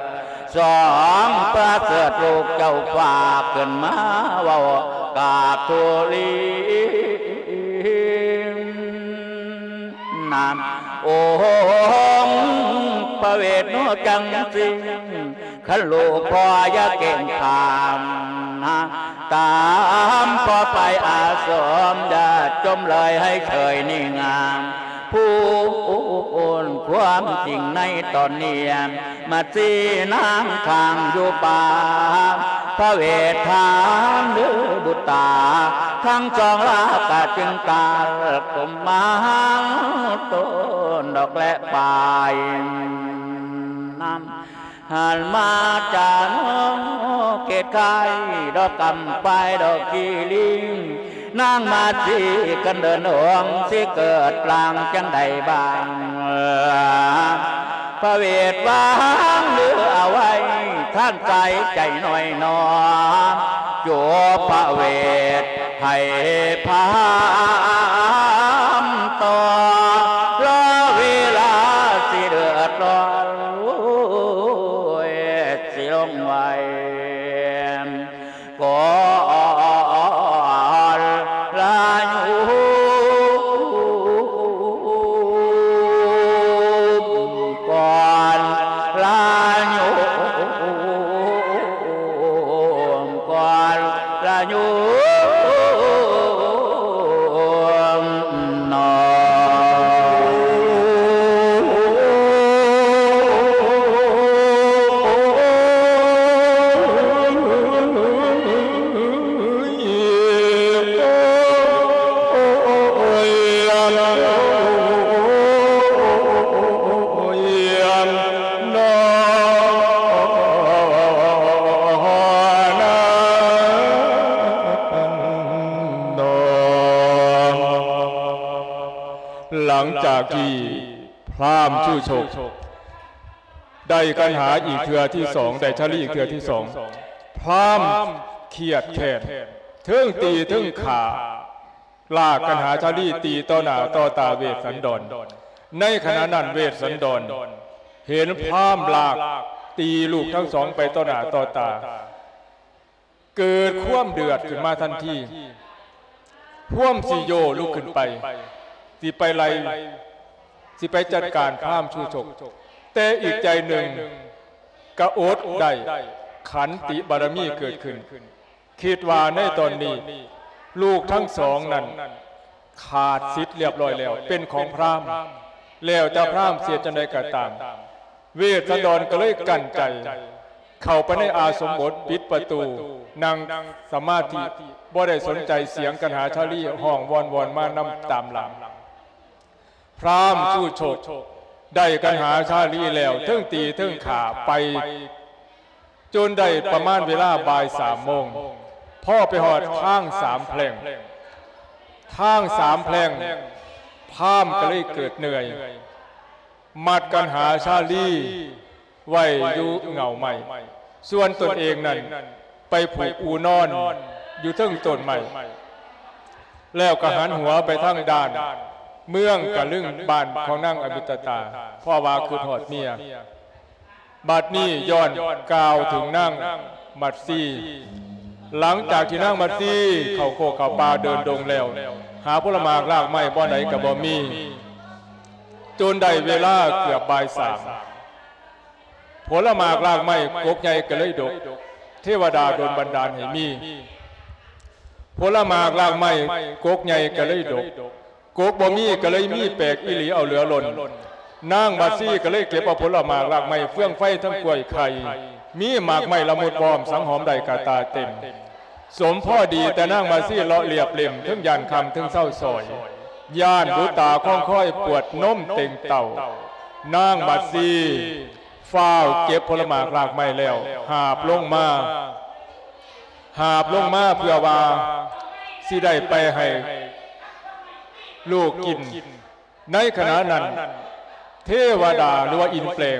ສອງປະເສີດ ລູກເຈົ້າຝາກຂຶ້ນມາເວົ້າກາບທູລີນນາມ ອົງພະເວດໜູຈັ່ງຊີ້ ຄັນລູກພໍ່ຢ່າເກງຂາມນະ ຕາມພໍ່ໄປອາສົມ ຢ່າຈົ່ມເລີຍໃຫ້ເຊີຍນີ້ງາມ ພູນຄວາມຈິງໃນຕອນນີ້ ມາຊີ້ນາງຂ້າງຢູ່ປ່າ ພະເວດຖາມຫຼືບຸດຕາ ທັງສອງລາກະຈຶ່ງຕາດ ກຸມມາໂຕນດອກແລະປາຍ ນຳ ຫັນມາຈາກເຂດໄຄ ດອກກຳປາຍດອກກີລິງ ນາງມາສີກັນເດີນອົງ ຊິເກີດລ່າງຈັ່ງໃດບ້າງ ພະເວດວາງຫຼືເອົາໄວ້ ທ່ານໃສ່ໃຈໜ້ອຍໜໍ ໂຈພະເວດໃຫ້ພາມຕໍ່ ລໍເວລາຊິເດືອດຮ້ອນ ໂອ້ຍ ຊິລົງໄວ້ ກ່ອນລະຍຸມ ກ່ອນລະຍຸມ ກ່ອນລະຍຸມ ເນາະ ຫຼັງຈາກທີ່ ພຣາມຊູໂຊກ ໄດ້ກັນຫາອີກເທື່ອທີສອງ ໄດ້ຊາລີອີກເທື່ອທີສອງ ພຣາມຄຽດແຄ້ນ ເທິງຕີເທິງຂ້າ ລາກກັນຫາຊາລີ ຕີຕໍ່ໜ້າຕໍ່ຕາເວດສັນດອນ. ໃນຂະນະນັ້ນເວດສັນດອນເຫັນພຣາມລາກຕີລູກທັງສອງໄປຕໍ່ໜ້າຕໍ່ຕາ ເກີດຄວາມເດືອດຂຶ້ນມາທັນທີ ພວມຊິໂຍລຸກຂຶ້ນໄປ ຊິໄປໄລ່ ຊິໄປຈັດການພຣາມຊູໂຊກ ແຕ່ອີກໃຈໜຶ່ງກະອົດໄດ້ ຂັນຕິບາລະມີເກີດຂຶ້ນ ຄິດວ່າໃນຕອນນີ້ລູກທັງສອງນັ້ນຂາດສິດລຽບຮ້ອຍແລ້ວ ເປັນຂອງພຣາມ ແລ້ວແຕ່ພຣາມຊິເຮັດຈັ່ງໃດກໍຕາມ ເວດສັນດອນກໍເລີຍກັ້ນໃຈ ເຂົ້າໄປໃນອາສົມບົດ ປິດປະຕູ ນັ່ງສະມາທິ ບໍ່ໄດ້ສົນໃຈສຽງກັນຫາຊາລີຮ້ອງວອນວອນມານຳຕາມຫຼັງ. ພຣາມຊູໂຊກໄດ້ກັນຫາຊາລີແລ້ວ ເທິງຕີເທິງຂ້າໄປ ຈົນໄດ້ປະມານເວລາບ່າຍສາມໂມງ ພໍໄປຮອດທາງສາມແພ່ງ ທາງສາມແພ່ງ ພຣາມກໍເລີຍເກີດເມື່ອຍ ມັດກັນຫາຊາລີໄວ້ຢູ່ເຫງົ້າໄມ້ ສ່ວນຕົນເອງນັ້ນໄປຜູກອູນອນຢູ່ເທິງຕົ້ນໄມ້ ແລ້ວກໍຫັນຫົວໄປທາງດ້ານເມືອງກະລຶງ ບ້ານຂອງນາງອະມິດຕະຕາ ເພາະວ່າຄິດຮອດເມຍ. ບັດນີ້ຍ້ອນກ່າວເຖິງນາງມັດຊີ ຫຼັງຈາກທີ່ນາງມັດຊີເຂົ້າໂຄກເຂົ້າປ່າເດີນດົງແລ້ວ ຫາຜົນລະໝາກລາກໄມ້ບ່ອນໃດກໍບໍ່ມີ ຈົນໄດ້ເວລາເກືອບບ່າຍສາມ ຜົນລະໝາກລາກໄມ້ກົກໃຫຍ່ກໍເລີຍດົກ ເທວະດາດົນບັນດານໃຫ້ມີ ຜົນລະໝາກລາກໄມ້ກົກໃຫຍ່ກໍເລີຍດົກ ກົກບໍ່ມີກໍເລີຍມີແປກອີ່ຫຼີເອົາເຫຼືອລົ້ນ ນາງມາຊີກໍເລີຍເກັບເອົາຜົນລະໝາກລາກໄມ້ເຟືອງໄຟທັງກ້ວຍໄຂ່ ມີໝາກໄມ້ລະມຸດວອມສັງຫອມໄດ້ກະຕາເຕັມ ສົມພໍດີແຕ່ນາງມາຊີເລາະລຽບເລັມ ເທິງຢ້ານຄ່ຳເທິງເຊົາຊອຍ ຢ້ານບຸດຕາຄອງຄອຍປວດນົມເຕັງເຕົ້າ ນາງມາຊີ ຟ້າວເກັບຜົນລະໝາກລາກໄມ້ແລ້ວ ຫາບລົງມາ ຫາບລົງມາເພື່ອວ່າຊິໄດ້ໄປໃຫ້ລູກກິນ. ໃນຂະນະນັ້ນ ເທວະດາ ຫຼືວ່າອິນແປງ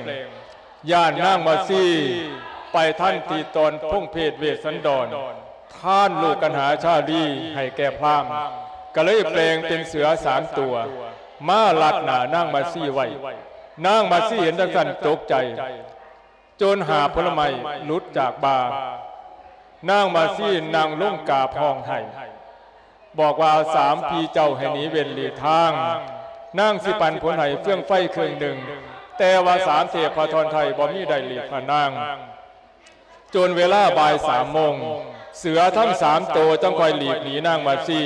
ຢ້ານນາງມາຊີໄປທັນທີ່ຕອນພົງເພດເວດສັນດອນ ທານລູກກັນຫາຊາລີໃຫ້ແກ່ພຣາມ ກໍເລີຍແປງເປັນເສືອສາມຕົວ ມາລັດໜ້ານາງມາຊີໄວ້. ນາງມາຊີເຫັນຈັ່ງຊັ້ນຕົກໃຈ ຈົນຫາບຜົນລະໄມ້ຫຼຸດຈາກບ່າ ນາງມາຊີນາງລົງກາບຮ້ອງໄຫ້ ບອກວ່າ ສາມພີ່ເຈົ້າໃຫ້ໜີເວັ້ນຫຼີກທາງ, ນາງຊິປັນຜົນໃຫ້ເຟືອງໄຟເຄື່ອງໜຶ່ງ, ແຕ່ວ່າສາມເທບພະທອນໄທບໍ່ມີໄດ້ຫຼີກພະນາງ. ຈົນເວລາບ່າຍສາມໂມງ ເສືອທັງສາມໂຕຈັ່ງຄ່ອຍຫຼີກໜີນາງມາຊີ.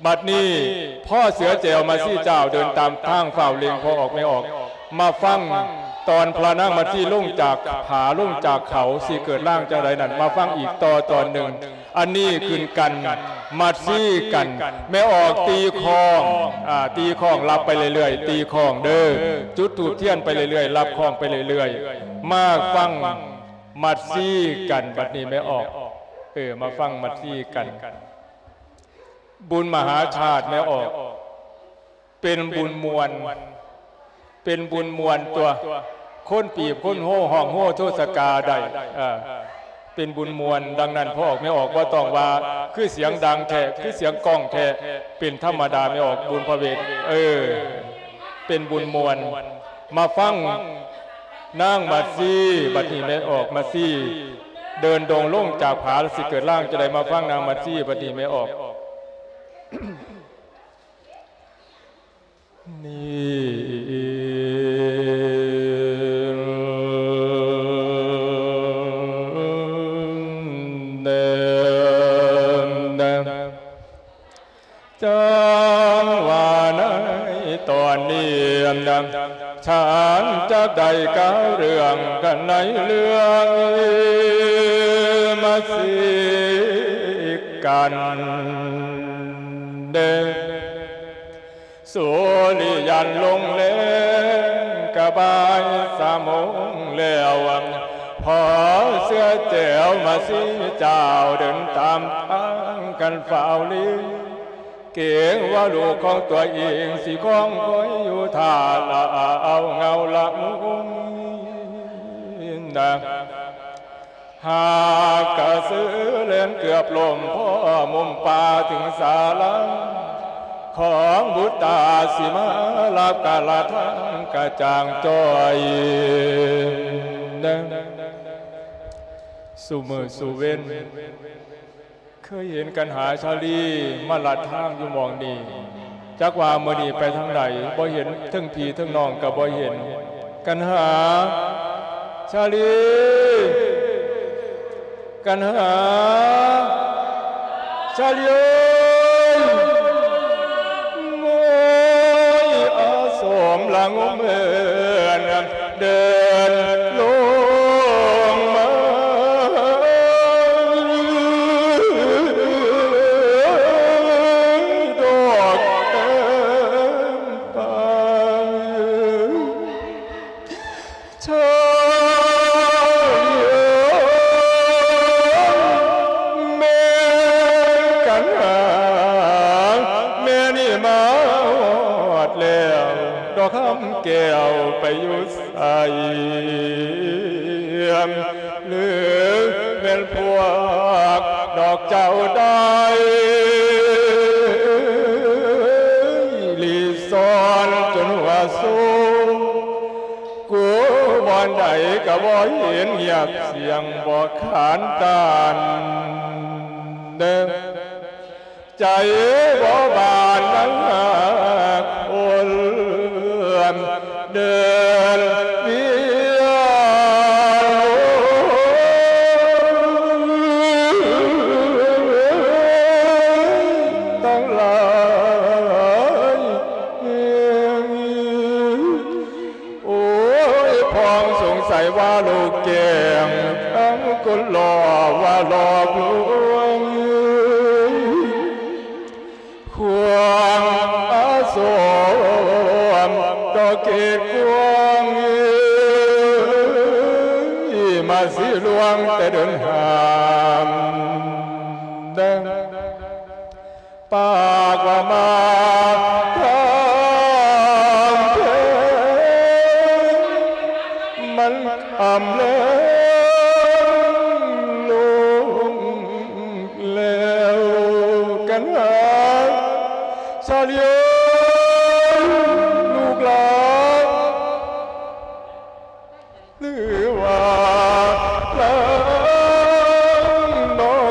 ບັດນີ້ພໍ່ເສືອແຈວມາຊີເຈົ້າເດີນຕາມທາງຟ້າວເລັ່ງພໍ່ອອກແມ່ອອກ ມາຟັງຕອນພະນາງມາຊີລົງຈາກຜາ ລົງຈາກເຂົາ ຊິເກີດຮ່າງຈັ່ງໃດນັ້ນ ມາຟັງອີກຕໍ່ຕອນໜຶ່ງ. ອັນນີ້ຂຶ້ນກັນ ມາຊີກັນ ແມ່ອອກຕີຄ້ອງ ອາ ຕີຄ້ອງ ລັບໄປເລື້ອຍໆ ຕີຄ້ອງເດີ ຈຸດທູບທຽນໄປເລື້ອຍໆ ລັບຄ້ອງໄປເລື້ອຍໆ ມາຟັງ ມັດຊີກັນ ບັດນີ້ແມ່ອອກ ເອີ ມາຟັງມັດຊີກັນ. ບຸນມະຫາຊາດແມ່ອອກ ເປັນບຸນມ່ວນ ເປັນບຸນມ່ວນຕົວະ ຄົນປີບຄົນໂຮ ຮ້ອງໂຮໂທສະກາໄດ້ ເອີ ເປັນບຸນມ່ວນ. ດັ່ງນັ້ນ ພໍ່ອອກແມ່ອອກ ບໍ່ຕ້ອງວ່າຄືສຽງດັງແທ້ ຄືສຽງກ້ອງແທ້ ເປັນທຳມະດາ ແມ່ອອກບຸນພະເວດ ເອີ ເປັນບຸນມ່ວນ. ມາຟັງນາງມາຊີ ບັດນີ້ແມ່ອອກມາຊີ ເດີນດົງລົງຈາກຜາ ຊິເກີດຮ່າງຈະໄດ້ມາຟັງນາງມາຊີ ບັດນີ້ແມ່ອອກ. ນີ້ແດ່ ຈັ່ງວ່າໃນຕອນນີ້ນະ ທ່ານຈະໄດ້ກ່າວເລື່ອງກັນໃນເລື່ອງມາຊີກັນເດ້. ສຸລິຍັນລົງແລງກະບ່າຍສາມໂມງແລ້ວ ພໍ່ເສືອແຈວມາຊີເຈົ້າເດີນຕາມທາງກັນຟ້າວລີ ເກງວ່າລູກຂອງຕົວເອງຊິຄອງຄອຍຢູ່ຖ້າລະເອົາເງົາລະມຸງນະ. ຫາກກະສືແລ່ນເກືອບລົ້ມ ພໍມຸມປ່າເຖິງສາລາ ຂອງບຸດຕາຊິມາ ລັບກາລະທາງກະຈ່າງຈ່ອຍ. ຊຸມື້ຊຸເວັນ ເຄີຍເຫັນກັນຫາຊາລີມາລັດທາງຢູ່ໝ່ອງນີ້ ຈັກວ່າມື້ນີ້ໄປທາງໃດ ບໍ່ເຫັນ ເທິງພີ່ເທິງນ້ອງກະບໍ່ເຫັນ. ກັນຫາ ຊາລີ ກັນຫາ ຊາລີເອີຍ ໂອ້ຍ ອາສົມລະງົມເອີນ ເດີນລົງມາດອກແກ້ມປາຍ ເທີເອີຍ ແມ່ກັນຫາ ແມ່ນີ້ມາຮອດແລ້ວ ດອກຄຳແກ້ວໄປຢູ່ ໄສ ຫຼືແມ່ນພວກດອກເຈົ້າໄດ້ລີ້ຊ່ອນຈົນຫົວຊູ ກູບ່ອນໃດກະບໍ່ເຫັນ ງຽບສຽງບໍ່ຂານຕານເດີ. ໃຈບໍ່ບານນາຄົນເດີນວຽນທັງຫຼາຍ. ໂອ້ຍ ພ້ອງສົງໄສວ່າລູກແກ້ງ ທັງຄົນຫຼໍ່ວ່າຫຼອກລວງ ຄວາມອາສົມດອກເກດກວາງ ມາຊິລວງແຕ່ເດີນຫາມ ປາກວ່າມາທາງເທິງ ມັນຄ່ຳແລ້ງລົງແລ້ວ ກັນຫາຊາລີເອີຍ ລູກຫຼານ ຫຼືວ່ານາງນ້ອ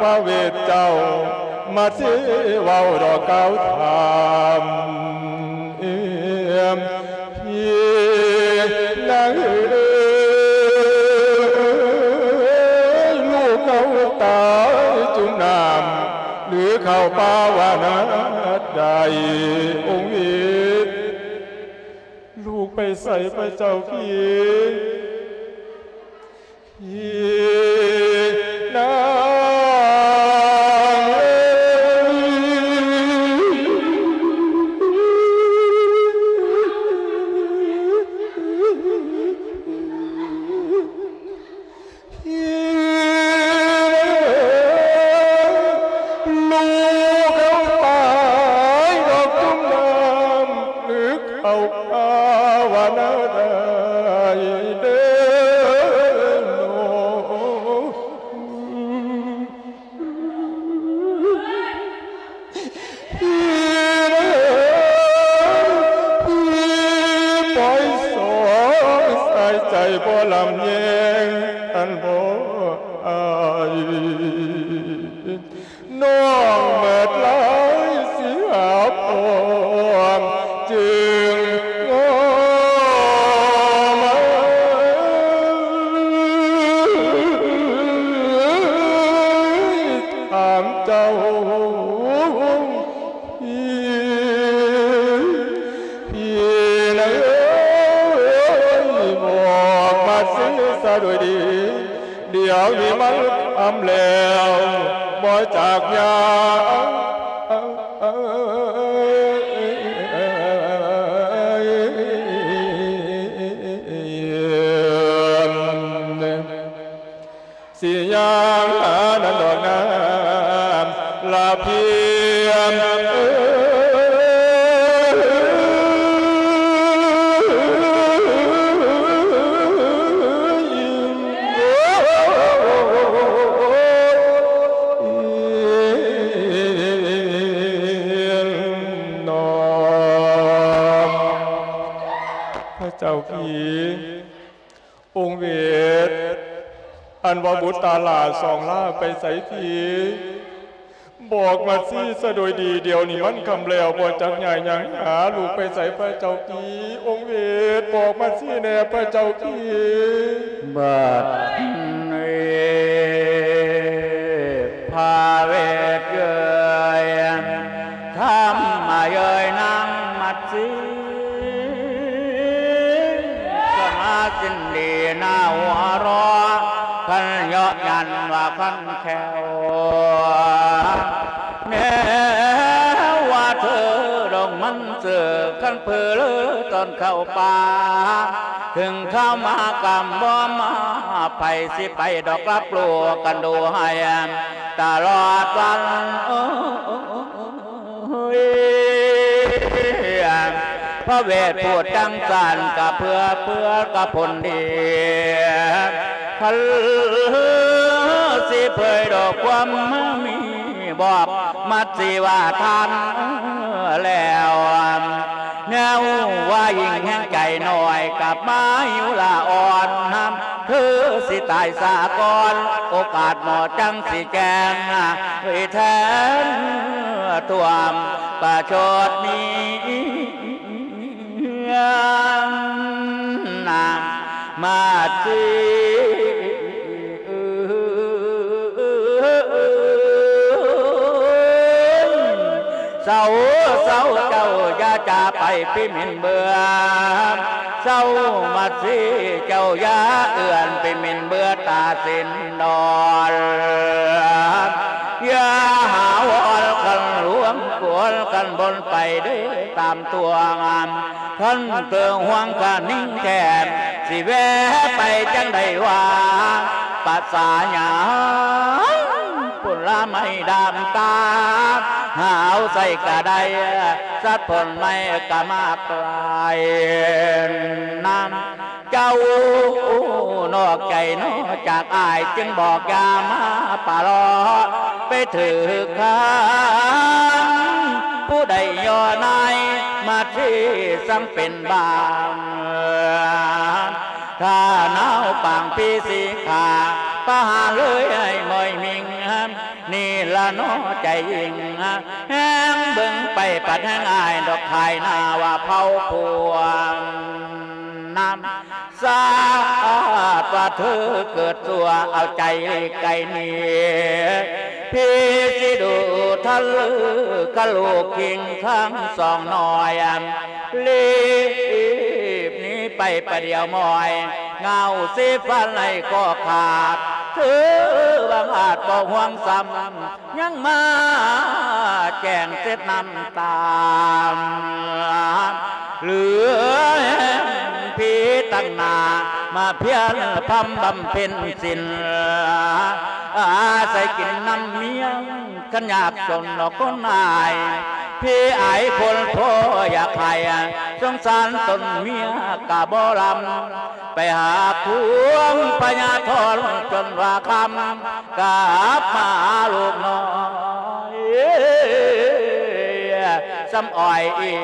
ພະເວດເຈົ້າ ມາຊິເວົ້າດອກກ່າວຖາມ ເອີ ພີ່ນາງເອີຍ ລູກເຂົາຕາຍຈຸ່ມນ້ຳ ຫຼືເຂົາປາວະນາໃດ ອົງເວດ ລູກໄປໃສພະເຈົ້າພີ່? ພີ່ນາງເອີຍ ພີ່ນາງເອີຍ ລູກເຂົາຕາຍດອກຈຸ່ມນ້ຳ ຫຼືເຂົາພາວະນາໄດ້ເດີ ພີ່ເອີຍ ພີ່ປ່ອຍສອງສາຍໃຈບໍ່ລຳແຍງ ອັນບໍ່ອາຍ ນ້ອງເໝິດຫຼາຍຊິຫາພໍ່ ຈຶ່ງງໍມາຖາມເຈົ້າ ພີ່ ພີ່ນາງເອີຍ ບອກມາຊິສະໂດຍດີ ດຽວນີ້ມັນຄ່ຳແລ້ວ ບໍ່ຈັກຍາມ ຊິຍ່າງຫານັ້ນດອກນາ ລະພຽງເອີຍ ນ້ອງ ພະເຈົ້າພີ່ ອົງເວດ ອັນວ່າບຸດຕາຫຼ້າສອງລ້າໄປໃສພີ້? ບອກມາຊີສະໂດຍດີ ດຽວນີ້ມັນຄ່ຳແລ້ວ ບໍ່ຈັກຍ້າຍຫຍັງຫາລູກໄປໃສພະເຈົ້າພີ້? ອົງເວດ ບອກມາຊີແດ່ພະເຈົ້າພີ້. ບັດນີ້ພະເວດເອີຍ ທຳມາເອີຍນາງມາຊີ ສະມາຊິນດີໜ້າຫົວເຣາະ ຄັນເຍາະຢັນວ່າຄັນແຂ້ວ ແນວວ່າເທີດົງມັນເສືອ ຄັນເຜີເລີຕອນເຂົ້າປ່າ ເຖິງເຂົ້າມາກຳບໍ່ມາ ໃຜຊິໄປດອກຮັບຮູ້ກັນດູໃຫ້ຕະຫຼອດວັນ ໂອ້ຍ ພະເວດພູດຈັ່ງຊັ້ນກະເພື່ອ ເພື່ອກະຜົນດີ ຄັນຊິເຜີຍດອກຄວາມມີບອກ ມັດຊິວ່າທ່ານແລ້ວ ແນວວ່າຍິງແຫ່ງໃຈນ້ອຍ ກັບມາຫິວລາອ່ອນ ນຳ ຄືຊິຕາຍສາກ່ອນ ໂອກາດໝໍຈັງຊິແຈ້ງ ເຜີຍແທນ ຖ້ວມປະຊົດນີ້ ນາງມາດຊີ ເຊົາ ເຊົາ ເຈົ້າຢ່າຈາໄປພິມິນເບືອ ເຊົາມາດຊີ ເຈົ້າຢ່າເອື້ອນພິມິນເບືອຕາສິນດອນ ຢ່າຫາວອນຄັນຫຼວງກວນຄັນບົນໄປເດີຕາມຕົວງາມ ຄັນເຕີງຫວງກະນິ່ງແທນ ຊິແວະໄປຈັ່ງໃດວ່າ ປະສາຫຍັງ ຜົນລະໄມ້ດາມຕາ ຫາວໃສ່ກະໄດ້ ສັດຜົນໄມ້ກະມາກຫຼາຍນຳ ເຈົ້ານອກໃຈນອກຈາກອ້າຍ ຈຶ່ງບອກຢ່າມາປະເລາະ ໄປຖືກຄານ ຜູ້ໃດຍໍນາຍມາທີ່ສັງເປັນບາງ ຖ້າໜາວປາງພີສີຂາ ປະຫານເລີຍໃຫ້ໝ້ອຍມິ່ງ ນີ້ລະເນາະໃຈຍິງ ແຮງເບິ່ງໄປປັດແຮງອາຍດອກ ຂາຍໜ້າວ່າເຜົາພວງ ນຳສາດວ່າເທີເກີດຊົ່ວ ເອົາໃຈໄກໜີ ພີ່ຊິດູທັນລື ກະລູກຄິງທັງສອງນ້ອຍ ລີບໜີໄປປະດຽວໝ້ອຍ ເຫງົາສີຟັນໄຫຼກໍຂາດ ເທີບັງອາດບໍ່ຫວງຊ້ຳ ຍັງມາແຈ້ງເສັດນ້ຳຕາ ເຫຼືອແຮງຜີຕັ້ງໜ້າ ມາພຽນພຳບຳເພັນສິນ ອາໄສກິນນຳເມຍ ຄັນຍາກຈົນດອກຄົນອາຍ ພີ່ອາຍຄົນພໍ່ຢາກໃຫ້ ສົງສານຕົນເມຍກະບໍ່ລຳ ໄປຫາຄວາມພະຍາທອນຈົນວ່າຄ່ຳ ກັບມາຫາລູກນ້ອຍ ສຳອ້ອຍອີງ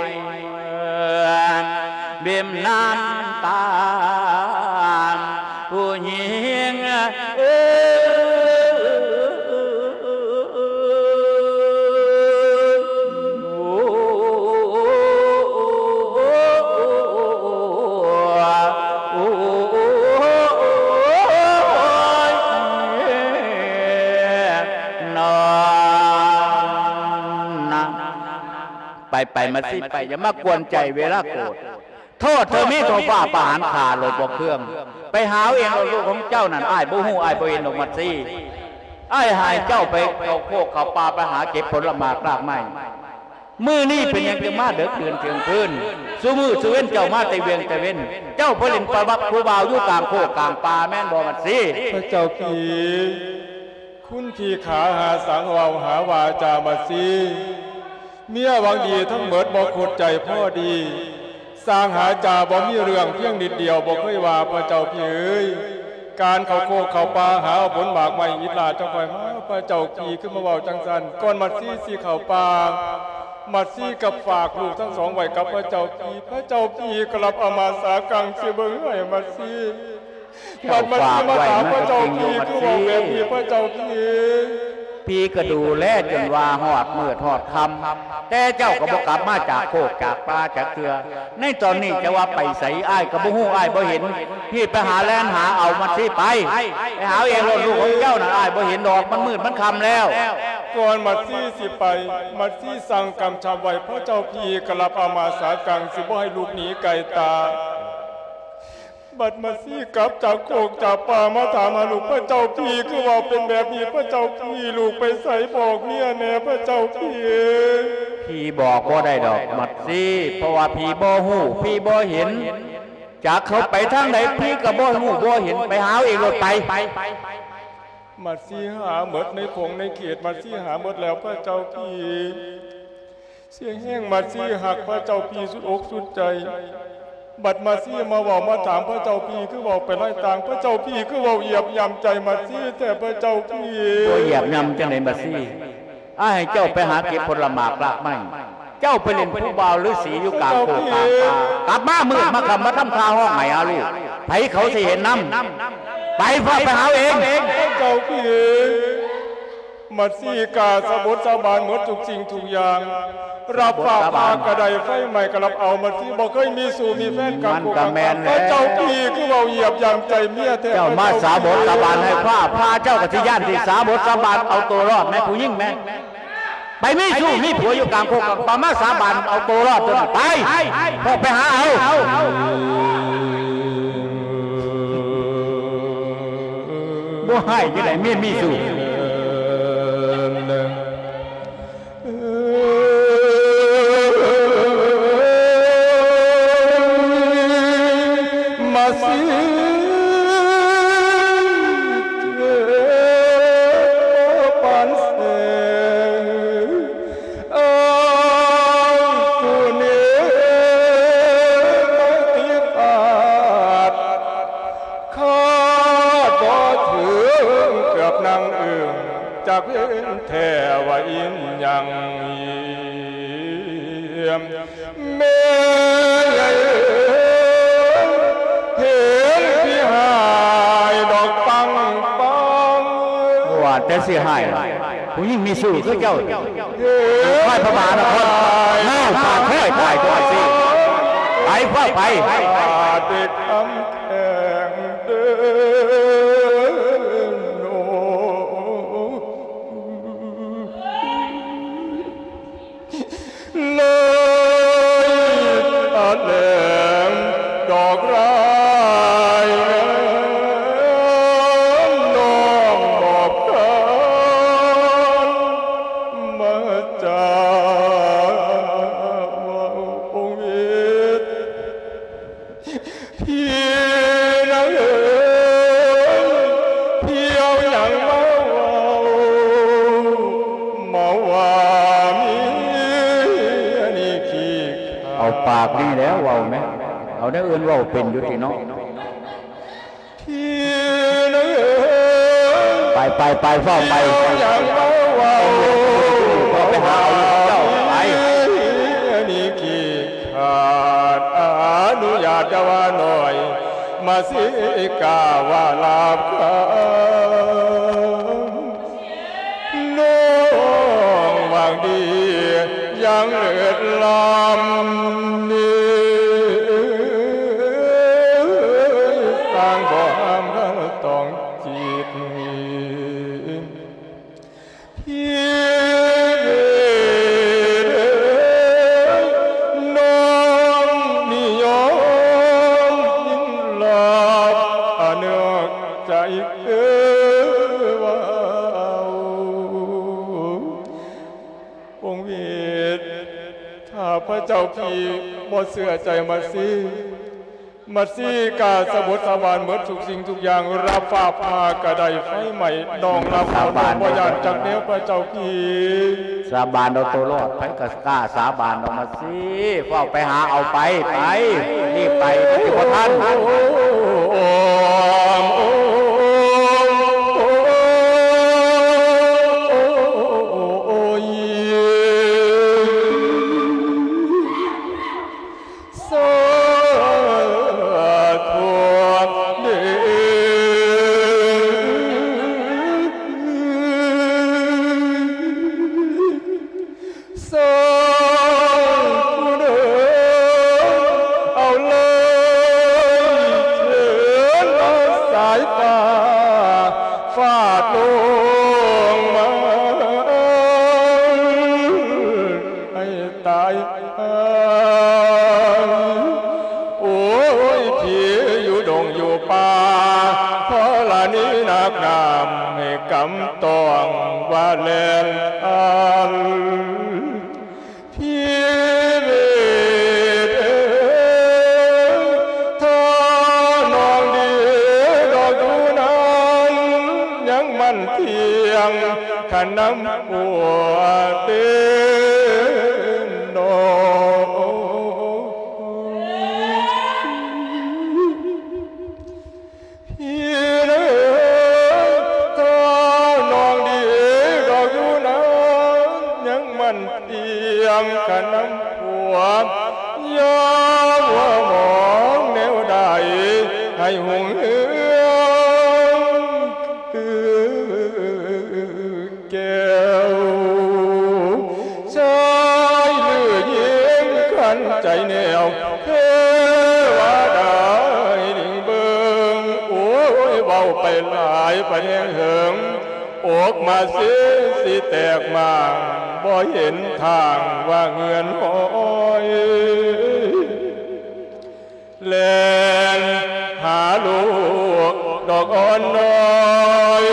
ເບັ້ມນ້ຳຕາ ຜູ້ຍິງເອີຍ. ໄປໆ ມາຊິໄປ ຢ່າມາກວນໃຈເວລາໂກດ ໂທດເທີມີເທົ່າຟ້າປະຫານຂ້າໂລດບໍ່ເຄືອງ ໄປຫາເອົາເອງໂລດ ລູກຂອງເຈົ້ານັ້ນ ອ້າຍບໍ່ຮູ້ ອ້າຍບໍ່ເຫັນດອກມັດຊີ ອ້າຍໃຫ້ເຈົ້າໄປເຂົ້າໂຄກເຂົ້າປ່າ ໄປຫາເກັບຜົນລະໝາກລາກໄມ້ ມື້ນີ້ເປັນຫຍັງຈຶ່ງມາເດິກດື່ນທ່ຽງຄືນ ຊຸມື້ຊຸເວັນເຈົ້າມາແຕ່ວຽງແຕ່ເວັນ ເຈົ້າໄປຫຼິ້ນໄປວັບຜູ້ບ່າວຢູ່ກາງໂຄກກາງປ່າແມ່ນບໍ່ມັດຊີ? ພະເຈົ້າພີ່ ຄຸນຂີ້ຂາຫາສັງເວົ້າຫາວ່າຈາມາຊີ ເມຍຫວັງດີທັງເໝິດບໍ່ຄົດໃຈພໍດີ ສ້າງຫາຈາບໍ່ມີເລື່ອງ ພຽງນິດດຽວບໍ່ເຄີຍວ່າ ພະເຈົ້າພີ່ເອີຍ ການເຂົ້າໂຄກເຂົ້າປ່າຫາເອົາຜົນໝາກໄມ້ອິດລາດ ເຈົ້າຄ່ອຍມາ ພະເຈົ້າພີ່ຄືມາເວົ້າຈັ່ງຊັ້ນ ກ່ອນມາຊີຊິເຂົ້າປ່າ ມາຊີກັບຝາກລູກທັງສອງໄວ້ກັບພະເຈົ້າພີ່ ພະເຈົ້າພີ່ກໍຮັບເອົາມາສາກັງຊິເບິ່ງໃຫ້ມາຊີ ບັດມາຊີມາຖາມພະເຈົ້າພີ່ຄືເວົ້າແບບນີ້ ພະເຈົ້າພີ່ ພີ່ກໍດູແລຈົນວ່າຮອດມືດຮອດຄ່ຳ ແຕ່ເຈົ້າກໍບໍ່ກັບມາຈາກໂຄກຈາກປ່າຈັກເທື່ອ ໃນຕອນນີ້ຈະວ່າໄປໃສ ອ້າຍກໍບໍ່ຮູ້ ອ້າຍບໍ່ເຫັນ ພີ່ໄປຫາແລ່ນຫາເອົາມັດຊີໄປ ໄປຫາເອົາເອງໂລດ ລູກຂອງເຈົ້ານັ້ນ ອ້າຍບໍ່ເຫັນດອກ ມັນມືດມັນຄ່ຳແລ້ວ. ກ່ອນມັດຊີຊິໄປ ມັດຊີສັ່ງກຳຊັບໄວ້ ພະເຈົ້າພີ່ກໍຮັບເອົາມາສາກັງ ຊິບໍ່ໃຫ້ລູກໜີໄກຕາ ບັດມາຊີກັບຈາກໂຄກຈາກປ່າມາຖາມຫາລູກ ພະເຈົ້າພີ່ຄືເວົ້າເປັນແບບນີ້ ພະເຈົ້າພີ່ ລູກໄປໃສບອກເມຍແດ່ ພະເຈົ້າພີ່. ພີ່ບອກບໍ່ໄດ້ດອກມັດຊີ ເພາະວ່າພີ່ບໍ່ຮູ້ ພີ່ບໍ່ເຫັນ ຈັກເຂົາໄປທາງໃດ ພີ່ກໍບໍ່ຮູ້ບໍ່ເຫັນ ໄປຫາເອົາເອງໂລດໄປ. ມັດຊີຫາເໝິດໃນຂົງໃນເຂດ ມັດຊີຫາເໝິດແລ້ວ ພະເຈົ້າພີ່. ເສຍແຮງມັດຊີຮັກພະເຈົ້າພີ່ສຸດອົກສຸດໃຈ ບັດມາຊີມາເວົ້າມາຖາມພະເຈົ້າພີ່ຄືເວົ້າໄປຫຼາຍຕ່າງ ພະເຈົ້າພີ່ຄືເວົ້າຢຽບຢ່ຳໃຈມາຊີແທ້ ພະເຈົ້າພີ່. ບໍ່ຢຽບຢ່ຳຈັ່ງໃດມາຊີ? ອ້າຍໃຫ້ເຈົ້າໄປຫາເກັບຜົນລະໝາກລາກໄມ້ ເຈົ້າໄປຫຼິ້ນຜູ້ບ່າວລືສີຢູ່ກາງໂຄກກາງປ່າ ກັບມາມືດມາຄ່ຳມາທຳທ່າຮ້ອງໄຫ້ຫາລູກ ໃຜເຂົາຊິເຫັນນຳ? ໄປ ພາໄປຫາເອົາເອງ. ພະເຈົ້າພີ່ ມາຊີກ້າສາບົດສາບານໝົດທຸກສິ່ງທຸກຢ່າງ ຮັບຟ້າຜ່າກໍໄດ້ ໄຟໄໝ້ກໍຮັບເອົາ ມາຊີບໍ່ເຄີຍມີຊູ້ມີແຟນກັບ ມັນກໍແມ່ນແຫຼະ ພະເຈົ້າພີ່ຄືເວົ້າຢຽບຢ່ຳໃຈເມຍແທ້ ເຈົ້າມາສາບົດສາບານໃຫ້ຟ້າຜ່າ ເຈົ້າກໍຊິຢ້ານທີ່ສາບົດສາບານເອົາໂຕລອດແມ່ ຜູ້ຍິງແມ່ ໄປມີຊູ້ມີຜົວຢູ່ກາງໂຄກກາງປ່າ ມາສາບານເອົາໂຕລອດຕົວນີ້ ໄປ ພວກໄປຫາເອົາ ບໍ່ໃຫ້ຈັ່ງໃດ ເມຍມີຊູ້. ມາຊີເຈັບປານແສງ ອ້າຍຜູ້ນີ້ໄປຕິດອາດ ຄາດບໍ່ເຖິງເກືອບນາງເອີ່ງ ຈັກເປັນແທ້ວ່າອີ່ຫຍັງ ແມ່ໃຫຍ່ເອີຍ ເຫັນພີ່ຮ້າຍດອກປັງປັງ ວ່າແຕ່ຊິຮ້າຍ ຜູ້ຍິງມີຊູ້ຄືເຈົ້າ ເອີ ຄອຍພະບານະຄອນ ເອີ ປາກຄອຍຕາຍຕົວຊິ ໄປ ຟ້າວໄປ ເປັນຄຳແຂງເດີ ໂນ ເລີຍຕາແຫຼງດອກລາຍ ນ້ອງບອກທ່ານມາຈາເວົ້າອົງເວດ ພີ່ນາງເອີຍ ພີ່ເອົາຫຍັງມາເວົ້າ ມາວ່າມີອັນນີ້ຂີ້ຂາດ ເອົາປາກນີ້ແຫຼະເວົ້າແມະ ເອົາແນວອື່ນເວົ້າເປັນຢູ່ຕິເນາະ ພີ່ນາງເອີຍ ໄປ ໄປ ໄປ ຟ້າວໄປ ຫຍັງມາເວົ້າ ໄປຫາເອົາເຈົ້າ ໄປ ອັນນີ້ຂີ້ຂາດ ອະນຸຍາດຢ່າວ່າໜ້ອຍ ມາຊິກ້າວ່າລາບຄຳ ນ້ອງຫວັງດີຍັງເລີດລ້ຳນີ້ ສ້າງບໍ່ຫ້າມຄັນຕ້ອງຈິດ ພີ່ເວເດີ ນ້ອງນີ້ຍອມຍິນລາບ ອະເໜືອກໃຈເອີເວົ້າ ອົງເວດ ຖ້າພະເຈົ້າພີ່ບໍ່ເຊື່ອໃຈມາຊີ ມາຊີກ້າສາບົດສາບານໝົດທຸກສິ່ງທຸກຢ່າງ ລາບຟ້າຜ່າກະໄດ້ໄຟໄໝ້ ນ້ອງລາບເອົາ ນ້ອງບໍ່ຢ້ານຈັກແນວພະເຈົ້າພີ່ ສາບານເອົາໂຕລອດ ໃຜກະກ້າສາບານດອກມາຊີ ຟ້າວໄປຫາເອົາໄປ ໄປ ຣີບໄປ ໄປບໍ່ທັນ ໂອ້ຍ ສາທຸເດີ ສາທຸເດີ ເອົາເລີຍເທີນເອົາສາຍຟ້າ ຟາດລົງມາ ໃຫ້ຕາຍຫາຍ ໂອ້ຍ ທີ່ຢູ່ດົງຢູ່ປ່າ ທໍລະນີໜັກໜາມ ໃຫ້ກຳຕ້ອງວ່າແລ່ນອັນ ພີ່ເວດເອີຍ ຖ້ານ້ອງດີດອກຢູ່ນັ້ນ ຍັງໝັ້ນທ່ຽງ ຄັນນຳຜົວເຕັນໜໍ ພີ່ເອີຍ ຖ້ານ້ອງດີດອກຢູ່ນັ້ນ ຍັງໝັ້ນທ່ຽງກັນນຳຜົວ ຢ່າມົວມອງແນວໃດ ໃຫ້ຮຸ່ງເຮືອງ ແກ້ວ ຊາຍຫຼືຍິງຂັນໃຈແນວ ເທວະດາໄດ້ດິງເບິ່ງ ໂອ້ຍ ເວົ້າໄປຫຼາຍໄປແຮງເຫິງ ອົກມາຊິຊິແຕກໝ້າງ ບໍ່ເຫັນທາງວ່າເງືອນຫອຍ ແລ່ນຫາລູກດອກອ່ອນນ້ອຍ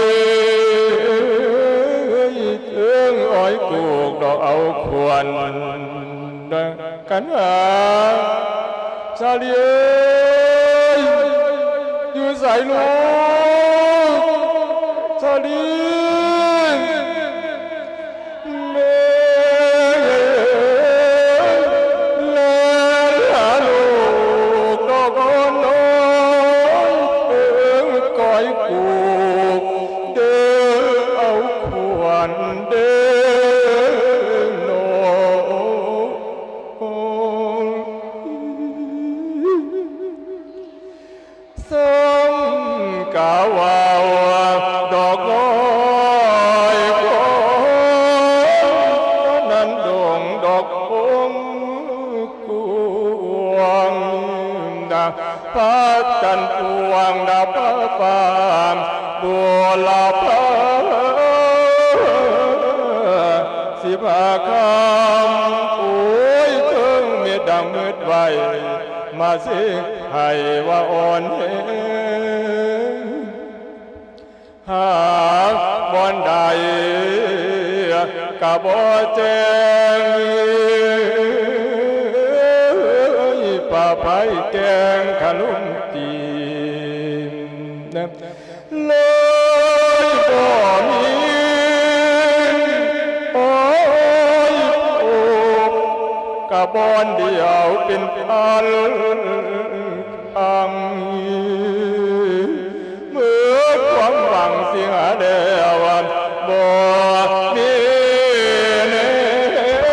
ເທິງອ້ອຍປູກດອກເອົາຂວັນກັນຫາ ສາລີເອີຍ ຢູ່ໃສລູກ ສາລີ ແມ່ເອີຍ ແລ່ນຫາລູກດອກອ່ອນນ້ອຍ ເອີ ກ້ອຍກູກເດີ ເອົາຂວັນເດີນ້ອງ ສ່ຳກະເວົ້າດອກນ້ອຍ ພະຈັນພວງດາວຟ້າຟ້າ ບຸລະພາສິບຫ້າຄ່ຳ ໂອ້ຍ ເທິງເມັດດຳມືດໄວ ມາຊິໃຫ້ວ່າອ່ອນແຮງ ຫາບ່ອນໃດກະບໍ່ແຈ້ງ ປະໄພແກ້ງຄະລຸມຕີນ ເລີຍບໍ່ມີ ໂອ້ຍ ໂອ້ ກະບ່ອນດຽວເປັນພັນ ອັງ ເມື່ອຄວາມຫວັງເສຍແລ້ວ ບໍ່ມີແນວ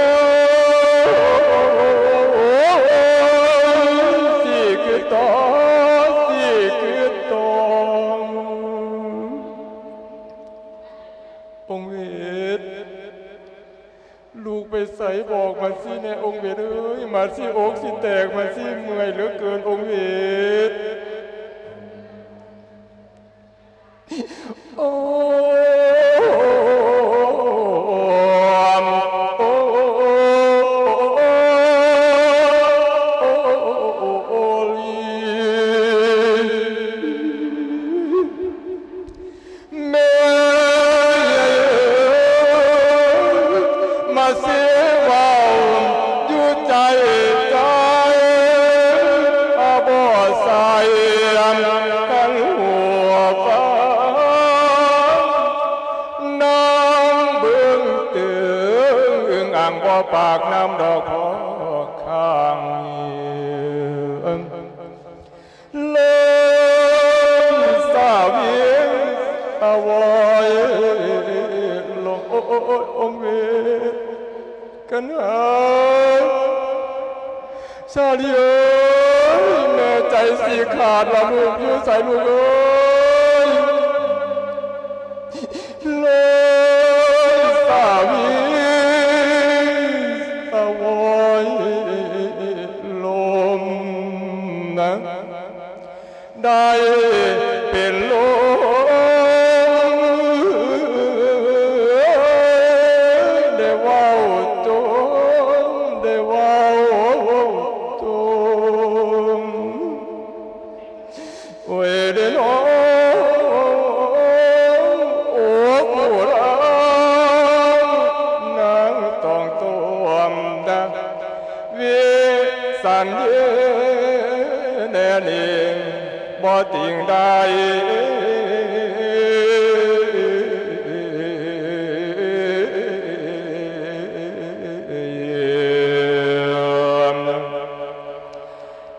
ຊິຄືຕໍ່ ຊິຄືຕໍ່ ອົງເວດ ລູກໄປໃສບອກມາຊິແນ່ ອົງເວດເອີຍ ມາຊິອົກຊິແຕກ ມາຊິເມື່ອຍເຫຼືອເກີນ ອົງເວດ ໂອ້ ໂອ້ ໂອ້ ໂອ້ ໂອ້ ໂອ້ ແມ່ເອີຍ ມາເສຍເວົ້າຢູ່ໃຈໃຈ ອາ ບໍ່ໃສ່ກັນຫົວຟ້າ ນາງເບິ່ງເຕີງອຶ່ງອ່າງ ບໍ່ປາກນ້ຳດອກພໍຂ້າງ ເລີຍສາວຽງສາວອຍ ໂລ ໂອ ໂອ ໂອ ໂອ ເວ ກັນຫາ ສາລີເອີຍ ແມ່ໃຈຊິຂາດລະລູກ ຢູ່ໃສລູກເອີຍ ເລີຍສາວຽງສາວອຍ ລົມນະ ໄດ້ເປັນລົມ ໄດ້ເວົ້າຈົມ ໄດ້ເວົ້າຈົມ ໂອ້ຍເດ້ນ້ອງ ໂອ້ຜູ້ລາວ ນາງຕ້ອງຕົວມດາ ວິສັນເຍແນນີ້ ບໍ່ຕິງໄດ້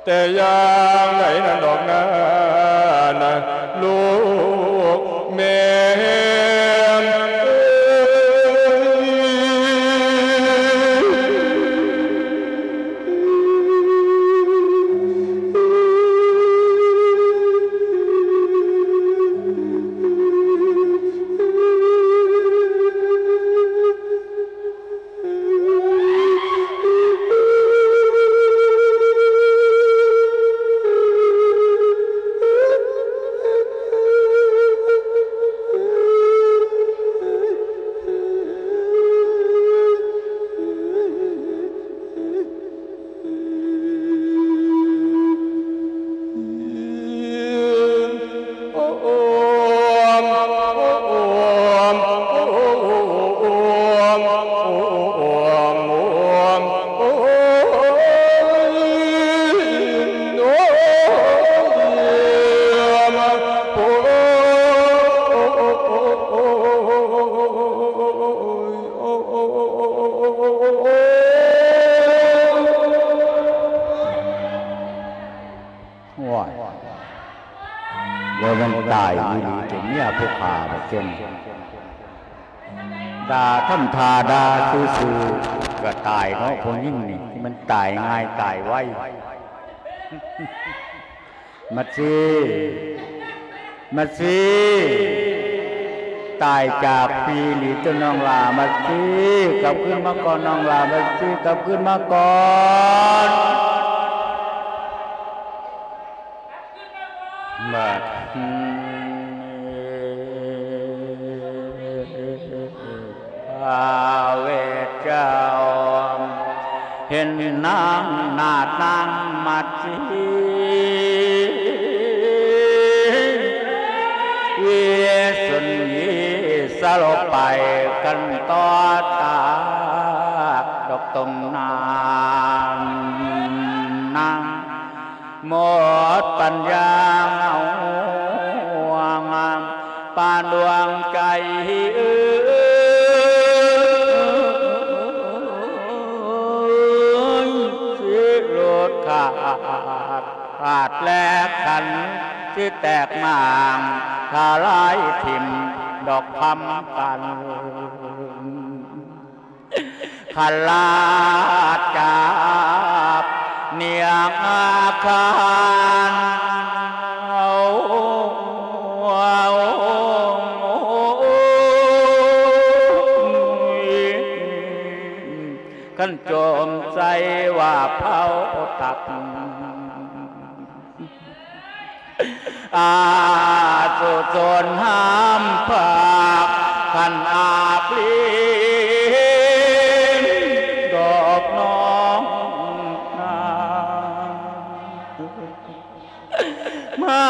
ແຕ່ຢ່າງໃດນັ້ນດອກນາ ນະ ລູກແມ່ເອີຍ ໂອ້ຍ ວ່າມັນຕາຍອີ່ຫຼີ ເປັນເມຍຜູ້ຂ້າບັກເຈັນ ດ່າທຳທ່າດ່າຊື່ໆ ກະຕາຍເນາະ ຜູ້ຍິງນີ້ ມັນຕາຍງ່າຍຕາຍໄວ. ມາຊີ ມາຊີ ຕາຍຈາກພີລີເຈົ້ານ້ອງຫຼ້າ ມາຊີ ກັບຄືນມາກ່ອນນ້ອງຫຼ້າ ມາຊີ ກັບຄືນມາກ່ອນ. ບັດນີ້ພະເວດເຈົ້າ ເຫັນນາງນາດນາງມາດສີ ວິສຸນຢີສະຫຼົບໄປກັນຕໍ່ຕາກດອກຕົງນາງ ນາງໝົດປັນຍາເອົາ ປານດວງໃຈເອີຍ ຊິຫຼຸດຂາດ ຂາດແລກຂັນ ຊິແຕກໝ່າງ ທະລາຍຖິ້ມດອກຄຳກັນ. ຄັນລາດຈັບເນຍອາຄານ ຄັນໂຈມໃສ່ວ່າເຜົາຕັບ ອາສຸຊົນຫ້າມພາກ ຄັນອາບລີນດອກນ້ອງນາງ ມາ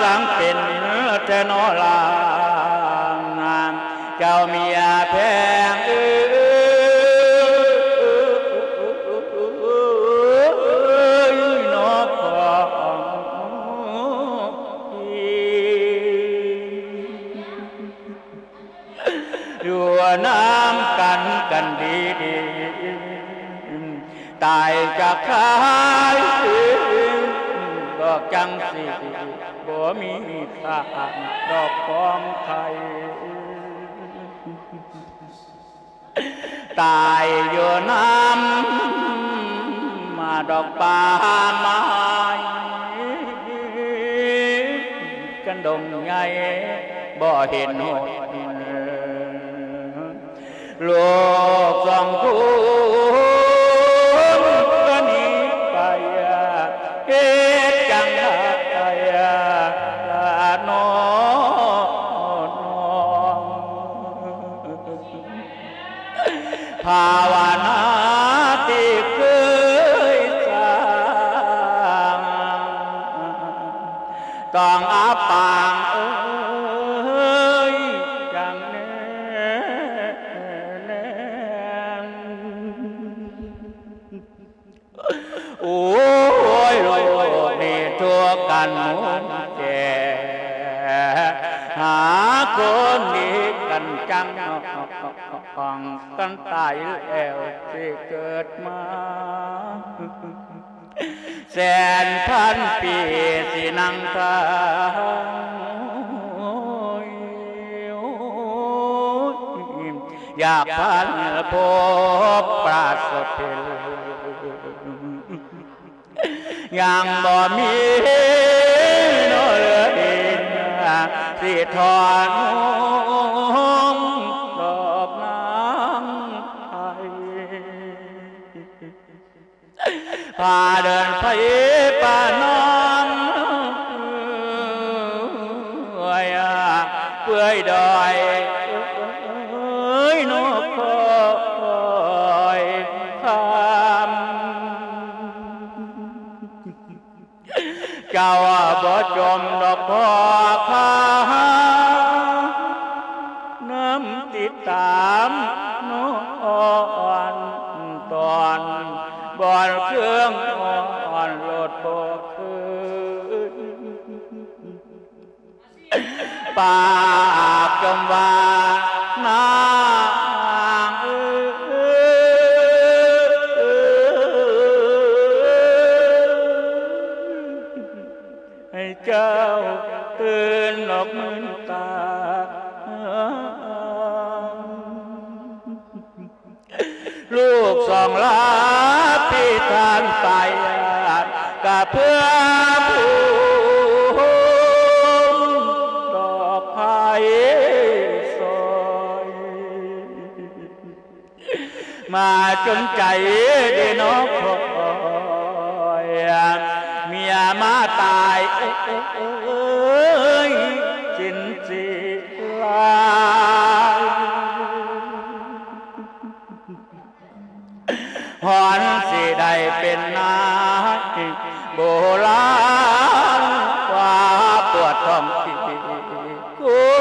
ສັງເປັນແທ້ນໍລາ ເຈົ້າເມຍແພງເອີຍ ນອກຂອງ ຢູ່ນຳກັນກັນດີໆ ຕາຍຈາກຄາຍ ດອກຈັງຊິບໍ່ມີຂ້າ ດອກຂອງໃຜ ຕາຍຢູ່ນຳມາດອກປ່າໄມ້ ກັນດົງໃຫຍ່ບໍ່ເຫັນຫົດ ລູກສອງຄົນກໍໜີໄປ ເຮັດຈັ່ງໃດລະນ້ອງ ພາວະນາທີ່ເຄີຍສ້າງ ຕ້ອງອັບປາງເອີຍ ຈັ່ງແນມ ໂອ້ຍ ໂລກນີ້ທຸກກັນໝູ່ແກ່ ຫາຄົນດີກັນຈັງ ຕ້ອງກັນຕາຍແລ້ວຊິເກີດມາ ແສນພັນປີຊິນັ່ງຖ້າ ຢາກພັນພົບປາສົດເພັນ ຍັງບໍ່ມີເນາະເລີຍ ຊິທອດຫຸ່ມດອກນາງໄທ ພາເດີນໄປປ່ານອນ ເປື່ອຍດອຍນກຄອຍຄຳ ເຈົ້າບໍ່ຈົ່ມດອກພໍ່ຂ້າ ນຳຕິດຕາມນອນຕອນ ບ່ອນເຄື່ອງອ່ອນໂລດບໍ່ຄືນ ປາກຈົ່ມວ່ານາງເອີຍ ໃຫ້ເຈົ້າຕື່ນອອກມືນຕາ ລູກສອງລາພິທານໄປ ກະເພື່ອພູມດອກໄພສອຍ ມາຈົນໃຈເດນອກຄອຍ ຢ່າມາຕາຍເອີຍຊິນຊິລາຍ ຮອນຊິໄດ້ເປັນນາຍໂບລານ ວ່າປວດທ້ອງທີ່ຄົ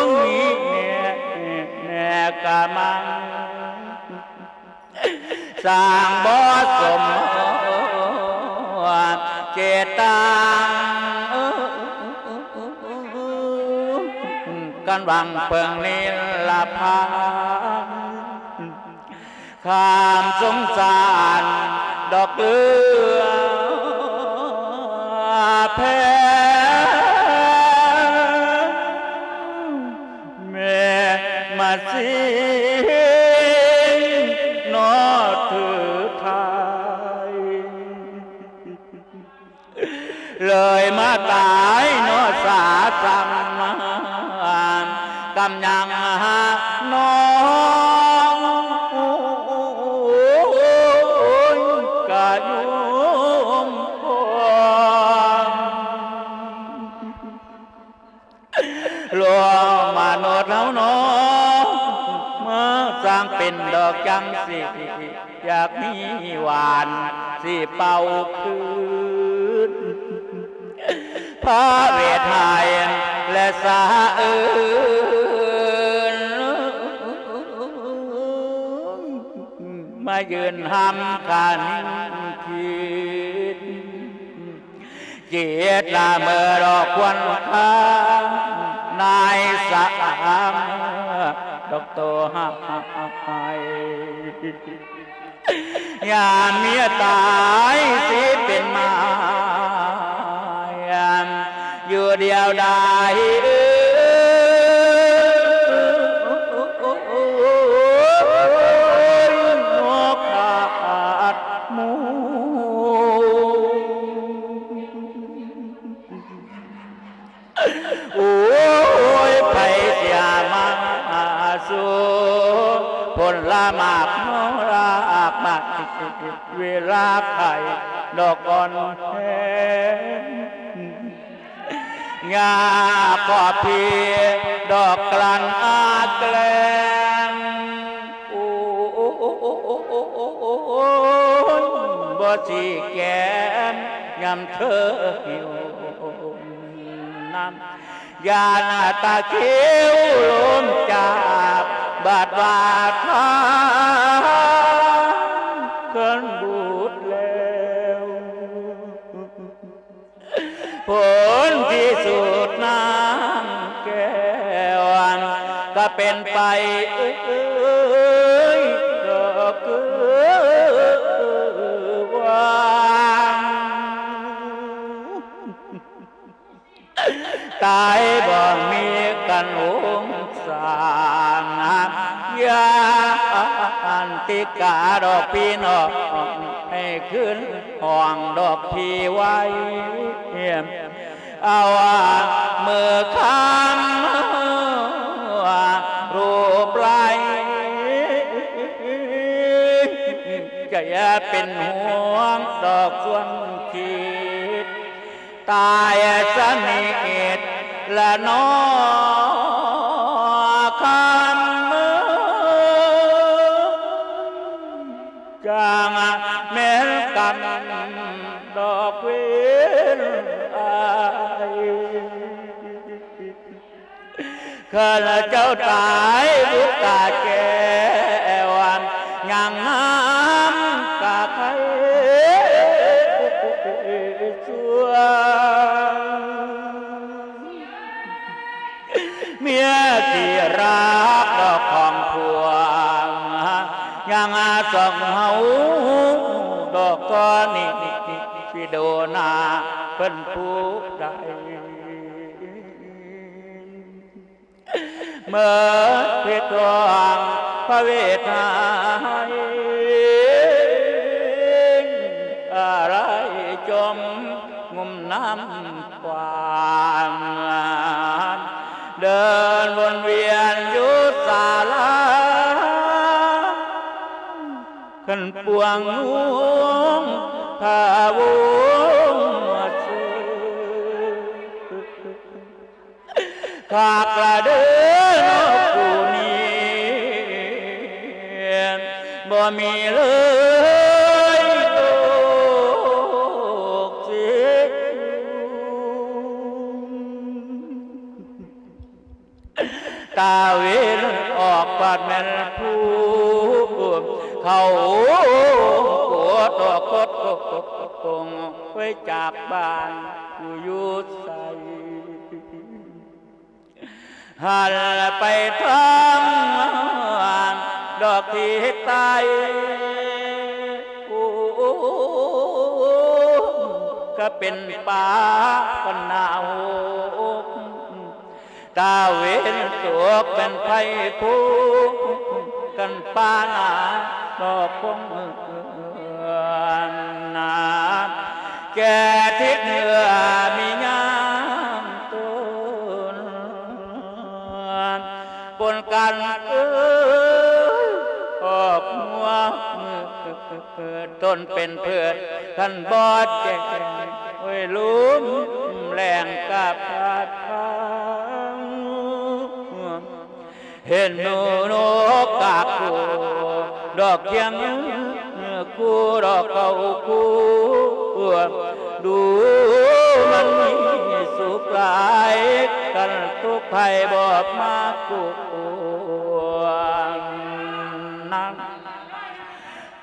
ງມີແນ່ ແນ່ກະມັງ ສ້າງບໍ່ສົມເຈດຕັງ ກັນຫວັງເພິ່ງນິລະພານ ຄວາມສົງສານດອກເຫຼືອແພງ ແມ່ມາຊິງເນາະຖືໄທ ເລີຍມາຕາຍເນາະສາສັງ ກຳຍັງຫານ້ອງ ກະຍອມພ້ອມ ໂລກມະນຸດເຮົາເນາະ ມາສ້າງເປັນດອກຈັງຊີ້ ຢາກມີຫວານຊິເປົ່າຄືນ ພະເວດໄທ ແລະ ສາອື່ນ ມາຢືນຫ້ຳການຄິດ ຈິດລະເມີດອກຄວັນຄາ ນາຍສາງ ດອກໂຕຫາຍ ຍາມເມຍຕາຍຊິເປັນມາຍ ຢູ່ດຽວດາຍ ໂອ້ຍ ນອກຂາດໝູ່ ໂອ້ຍ ໃຜຊິມາສູ່ ຜົນລະໝາກເມົາລາກໄມ້ ເວລາໄຂ້ດອກອ່ອນແຮງ ຍາຂອບພີດອກກລັນອາແກລ້ງ ໂອ້ ບໍ່ຊິແກນຍາມເທີຫິວ ນ້ຳ ຢ້ານຕາຄິວລົມຈາກ ບາດວ່າທາງເຄີນບູດແລ້ວ ຜົນທີ່ສຸດນ້ຳແກ້ວ ກະເປັນໄປເອີຍ ດອກເກີຍວ່າ ຕາຍບໍ່ມີກັນອົງສານ ຢ້ານຕິກາດອກພີ່ນ້ອງ ໃຫ້ຄືນຫ້ອງດອກພີ່ໄວ້ ເອົາມືຄ້ຳຮູບໄລ້ ຈະຢ່າເປັນຫ່ວງດອກຊວນຄິດ ຕາຍສະໜິດລະໜໍ ຄຳ ຈັ່ງແມ່ນກຳດອກເວນອາຍ ຂ້າພະເຈົ້າຕາຍບຸດຕາແກ້ວ ຍັງນ້ຳກະໄຄສວງ ເມຍທີ່ຮັກດອກຂອງພວງ ຍັງສອງເຮົາດອກຕອນນີ້ ຊິໂດນາເພິ່ນຜູ້ໃດ ເມີດເພດທອງພະເວດໄທ ອາໄລຈົມງຸ່ມນ້ຳຂວາງ ເດີນວົນວຽນຢູ່ສາລາ ຂັນປວງງຸ່ມພະວົງມາເຊີ ຄັກລະເດີເນາະຄູ່ນີ້ ບໍ່ມີເລີຍໂລກຊິ ຕາເວັນອອກບາດແມ່ນຜູ້ ເຂົ້າໂກດອອກກົດກົງ ໄປຈາກບ້ານ ຢູ່ຢູ່ໃສ ຫັນໄປທາງດອກທິດໃຕ້ ໂອ້ ກະເປັນປ່າກັນໜາວ ຕາເວັນຕົກເປັນໄຟພູ ກັນປ່າໜາດອກຄົງ ນາ ແກ່ທິດເໜືອມີຍາມຕົ້ນ ປົນກັນເອີຍອອກຫົວ ຕົ້ນເປັນພືດ ຄັນບໍ່ແຈ້ງ ໂອ້ຍ ລົມແລ້ງກະພັດພາ ເຫັນໜູນົກກາກໂກ ດອກຄຽງຄູ່ດອກເກົາຄູ່ ດູມັນມີສຸກຫຼາຍ ຄັນທຸກໄພບໍ່ມາກວນ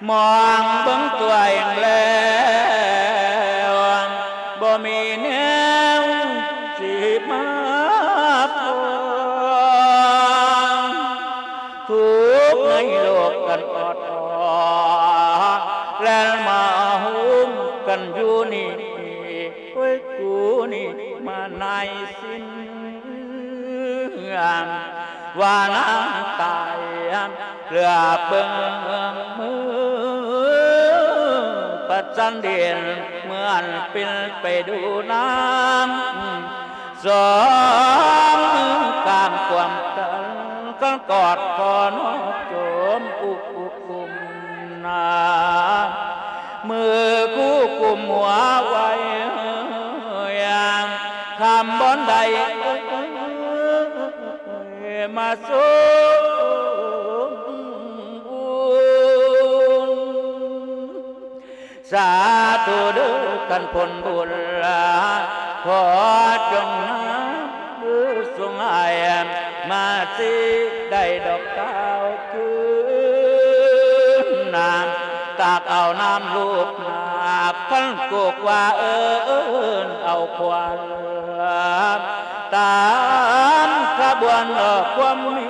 ມອງເບິ່ງຕົວເອງແລ້ວ ບໍ່ມີແນວຊິມາປອງ ທຸກໃນໂລກກັນອອດອອ ແລ່ນມາໂຮມກັນຢູ່ນີ້ ໂອ້ຍ ກູນີ້ມານາຍຊິນ ວ່ານາງຕາຍ ເຫຼືອເບິ່ງມືປະຈັນດິນ ເມື່ອນປິ່ນໄປດູນາງ ສອງມືກາງກວມກັນ ກັນກອດຂໍນອບໂຈມອຸ ອຸ ອຸ້ມນາ ມືຄູ່ກຸມຫົວໄວ້ ຂ້າມບ່ອນໃດ ມາຊົມອຸ່ນ ສາທຸເດີ ຄັນຜົນບຸນ ຂໍຈົ່ງນຳ ສົ່ງໃຫ້ມາຊິໄດ້ດອກກ່າວຄືນ ຕາກເອົານ້ຳລູກໜາກ ຄັນໂກກວ່າເອີ້ນເອົາຄວັນ ຕາມຂະບວນດອກຄວາມມີ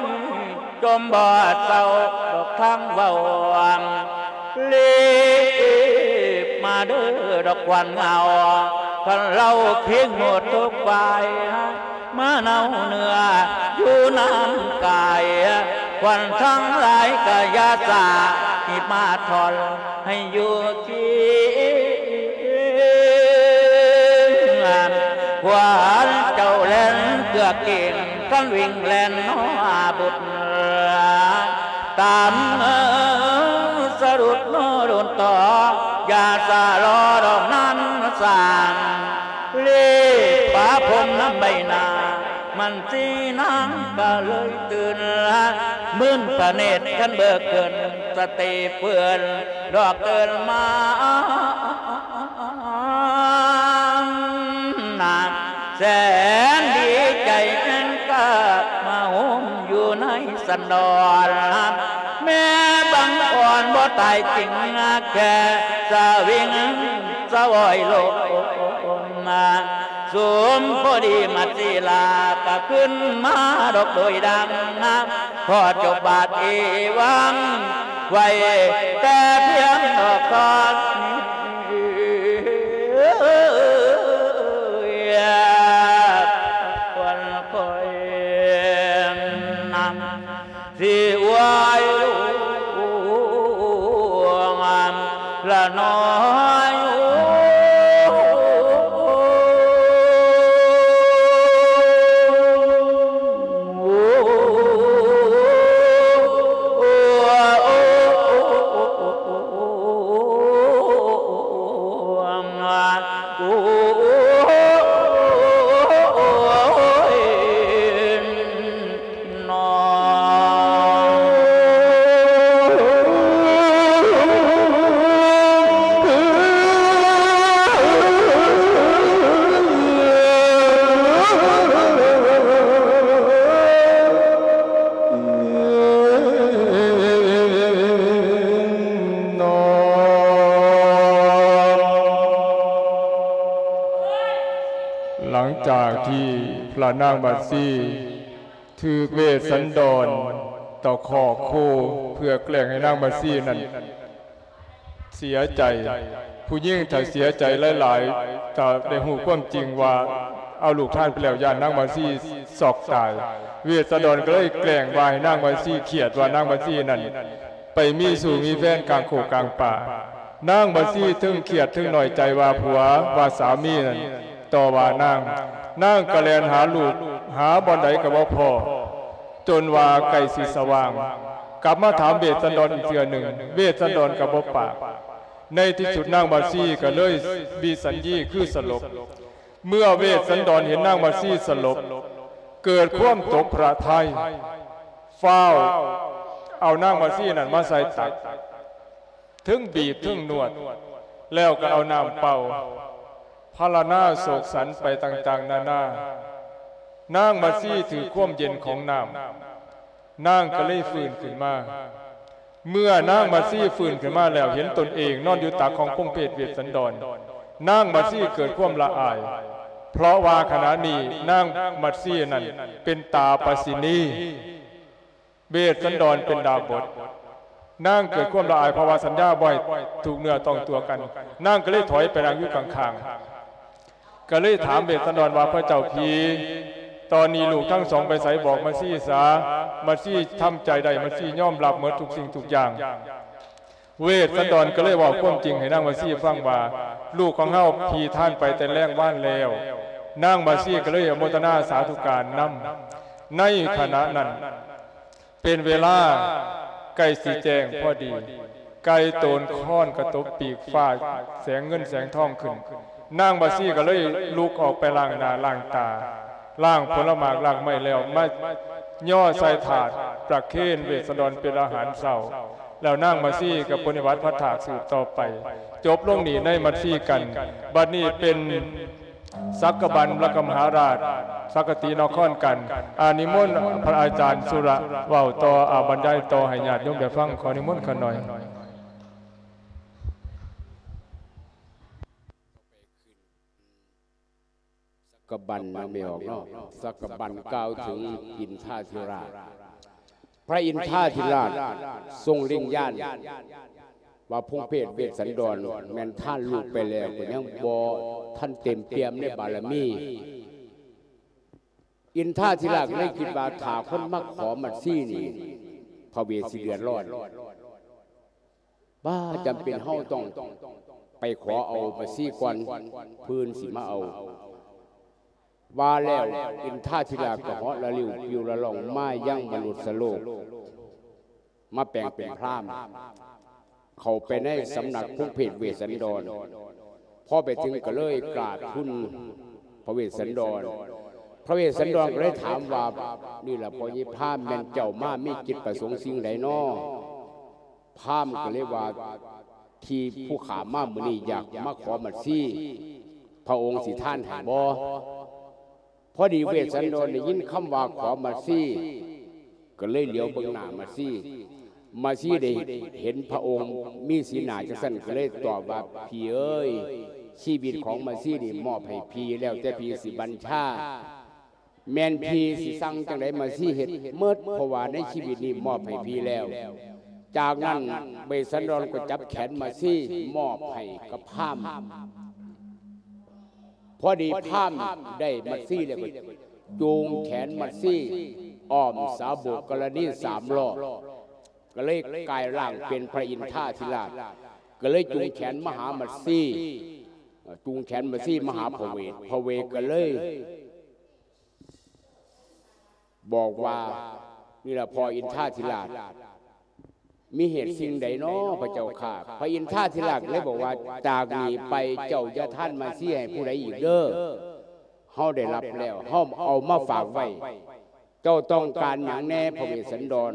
ຈົ່ມບໍ່ເຊົາດອກທາງເວົ້າ ລີບມາເດີດອກຂວັນເງົາ ຄັນເລົ່າຄຽງໝົດທຸກຝ່າຍ ມາເນົາເນື້ອຢູ່ນຳກາຍ ຂວັນທັງຫຼາຍກະຢ່າສາ ຮີບມາຖອນໃຫ້ຢູ່ຄຽງ ຂວັນເຈົ້າແລ່ນເກືອກເກັ່ງ ຄັນວິ່ງແລ່ນໜໍບຸດ ຕາມສະດຸດໂນດົນຕໍ່ ຢ່າສະລໍດອກນານສານ ລີບປະພົມນຳໃບໜ້າ ມັນສີນາງກະເລີຍຕື່ນ ມື່ນພະເນດຄັນເບີກຂຶ້ນ ສະຕິເພື່ອນດອກເກີນມາ ນາງແສນດີໃຈແອ່ງກະມາໂຮມຢູ່ໃນ ສັນດອນ ແມ່ບັງອ່ອນບໍ່ຕາຍຈິງ ແຄ່ສະວິງສະວອຍໂລມ ສົມພໍດີມາສີລາກະຂຶ້ນມາດອກໂດຍດັງ ຂໍຈົບບາດເອວັງໄວ້ແຕ່ພຽງດອກກ່ອນນີ້ ຄວນຄອຍນຳ ຊິອວຍລວງລະນ້ອຍ ຫຼັງຈາກທີ່ພະນາງບັດຊີຖືກເວດສັນດອນຕະຄອກຄູ່ ເພື່ອແກລ້ງໃຫ້ນາງບັດຊີນັ້ນເສຍໃຈ, ຜູ້ຍິງຖ້າເສຍໃຈຫຼາຍໆ ຖ້າໄດ້ຮູ້ຄວາມຈິງວ່າເອົາລູກທານໄປແລ້ວ ຢ້ານນາງບັດຊີຊັອກຕາຍ. ເວດສັນດອນກໍເລີຍແກລ້ງວ່າໃຫ້ນາງບັດຊີຄຽດວ່ານາງບັດຊີນັ້ນໄປມີຊູ້ມີແຟນກາງໂຄກກາງປ່າ. ນາງບັດຊີເຖິງຄຽດເຖິງນ້ອຍໃຈວ່າຜົວ ວ່າສາມີນັ້ນຕໍ່ວ່ານາງ. ນາງກໍແລ່ນຫາລູກ ຫາບ່ອນໃດກໍບໍ່ພໍ້ ຈົນວ່າໃກ້ຊິສະຫວ່າງ ກັບມາຖາມເວດສັນດອນອີກເທື່ອໜຶ່ງ ເວດສັນດອນກໍບໍ່ປາກ. ໃນທີ່ສຸດນາງບັດຊີກໍເລີຍວິສັນຍີຄືສະຫຼົບ. ເມື່ອເວດສັນດອນເຫັນນາງບັດຊີສະຫຼົບ ເກີດຄວາມຕົກພະໄທ ຟ້າວເອົານາງບັດຊີນັ້ນມາໃສ່ຕັກ ເຖິງບີບເຖິງນວດ ແລ້ວກໍເອົານ້ຳເປົ່າ ພາລະນາໂສກສັນໄປຕ່າງໆນານາ. ນາງບັດຊີຖືກຄວາມເຢັນຂອງນ້ຳ ນາງກໍເລີຍຟື້ນຂຶ້ນມາ. ເມື່ອນາງບັດຊີຟື້ນຂຶ້ນມາແລ້ວ ເຫັນຕົນເອງນອນຢູ່ຕັກຂອງພົງເພດເວດສັນດອນ ນາງບັດຊີເກີດຄວາມລະອາຍ ເພາະວ່າຂະນະນີ້ນາງບັດຊີນັ້ນເປັນຕາປາສິນີ. ເວດສັນດອນເປັນດາບົດ. ນາງເກີດຄວາມລະອາຍ ເພາະວ່າສັນຍາບໍ່ໃຫ້ຖືກເນື້ອຕ້ອງຕົວກັນ. ນາງກໍເລີຍຖອຍໄປນັ່ງຢູ່ຂ້າງໆ ກໍເລີຍຖາມເວດສັນດອນວ່າ ພະເຈົ້າຜີ ຕອນນີ້ລູກທັງສອງໄປໃສ? ບອກມາຊີຊະ. ມາຊີທຳໃຈໄດ້ ມາຊີຍອມຮັບໝົດທຸກສິ່ງທຸກຢ່າງ. ເວດສັນດອນກໍເລີຍເວົ້າຄວາມຈິງໃຫ້ນາງມາຊີຟັງວ່າ ລູກຂອງເຮົາຜີທ່ານໄປແຕ່ແລງວານແລ້ວ. ນາງມາຊີກໍເລີຍອະໂມທະນາສາທຸການນຳ. ໃນຂະນະນັ້ນ ເປັນເວລາໃກ້ຊິແຈ້ງພໍດີ ໄກ່ໂຕນຄອນກະຕົບປີກຟ້າ ແສງເງິນແສງທອງຂຶ້ນ. ນາງມາຊີກໍເລີຍລຸກອອກໄປລ້າງໜ້າລ້າງຕາ ລ້າງຜົນລະໝາກລາກໄມ້ແລ້ວ ມາຍໍໃສ່ຖາດປະເຄນເວດສັນດອນເປັນອາຫານເຊົ້າ. ແລ້ວນາງມາຊີກໍປະນິບັດພັດຖາກສືບຕໍ່ໄປ. ຈົບລົງນີ້ໃນມັດຊີກັນ. ບັດນີ້ເປັນ ສັກກະບັນລະກະມະຫາລາດ ສັກກະຕິນະຄອນກັນ. ອາ ນິມົນພະອາຈານສຸລະເວົ້າຕໍ່ ອາ ບັນຍາຍຕໍ່ໃຫ້ຍາດໂຍມໄດ້ຟັງ. ຂໍນິມົນຂ້ານ້ອຍ. ສັກກະບັນນະ ແມ່ອອກເນາະ. ສັກກະບັນກ່າວເຖິງອິນທາທິລາດ. ພະອິນທາທິລາດຊົງເລັງຍານວ່າ ພົງເພດເວດສັນດອນແມ່ນທານລູກໄປແລ້ວ ກໍຍັງບໍ່ທັນເຕັມປ່ຽມໃນບາລະມີ. ອິນທາທິລາດເລີຍຄິດວ່າ ຖ້າຄົນມາຂໍມັດຊີນີ້ ພະເວດຊິເດືອດຮ້ອນ. ບໍ່ຈຳເປັນເຮົາຕ້ອງໄປຂໍເອົາມາຊີກ່ອນ ເພິ່ນຊິມາເອົາ. ວ່າແລ້ວ ອິນທາທິລາດກໍເຫາະລະລິວປິວລະລ່ອງມາຍັງມະນຸດສະໂລກ ມາແປງເປັນພຣາມ ເຂົ້າໄປໃນສຳນັກພົງເພດເວດສັນດອນ. ພໍໄປເຖິງກໍເລີຍກາບທູນພະເວດສັນດອນ. ພະເວດສັນດອນກໍເລີຍຖາມວ່າ ນີ້ລະ ພໍ່ໃຫຍ່ພາມ ແມ່ນເຈົ້າມາມີຈິດປະສົງສິ່ງໃດນໍ? ພາມກໍເລີຍວ່າ ທີ່ຜູ້ຂ້າມາມື້ນີ້ຢາກມາຂໍມັດຊີ ພະອົງຊິທານໃຫ້ບໍ່? ພໍດີເວດສັນດອນໄດ້ຍິນຄຳວ່າຂໍມັດຊີ ກໍເລີຍຫຼຽວເບິ່ງໜ້າມັດຊີ. ມັດຊີໄດ້ເຫັນພະອົງມີສີໜ້າຈັ່ງຊັ້ນ ກໍເລີຍຕອບວ່າ ພີ່ເອີຍ ຊີວິດຂອງມັດຊີນີ້ມອບໃຫ້ພີ່ ແລ້ວແຕ່ພີ່ຊິບັນຊາ. ແມ່ນພີ່ຊິສັ່ງຈັ່ງໃດ ມາຊີເຮັດໝົດ ເພາະວ່າໃນຊີວິດນີ້ມອບໃຫ້ພີ່ແລ້ວ. ຈາກນັ້ນເວດສັນດອນກໍຈັບແຂນມາຊີມອບໃຫ້ກັບພາມ. ພໍດີພາມໄດ້ມາຊີແລ້ວກໍຈູງແຂນມາຊີອ້ອມສາບົກກະລະນີສາມລອບ ກໍເລີຍກາຍຮ່າງເປັນພະອິນທາທິລາດ ກໍເລີຍຈູງແຂນມາຫາມາຊີ ຈູງແຂນມາຊີມາຫາພະເວດ. ພະເວດກໍເລີຍ ບອກວ່າ ນີ້ລະ ພໍ່ອິນທາທິລາດ ມີເຫດສິ່ງໃດນໍພະເຈົ້າຂ້າ? ພະອິນທາທິລາດເລີຍບອກວ່າ ຈາກນີ້ໄປເຈົ້າຢ່າທານມາຊີໃຫ້ຜູ້ໃດອີກເດີ ເຮົາໄດ້ຮັບແລ້ວ ເຮົາເອົາມາຝາກໄວ້. ເຈົ້າຕ້ອງການຫຍັງແດ່ ພະເວດສັນດອນ?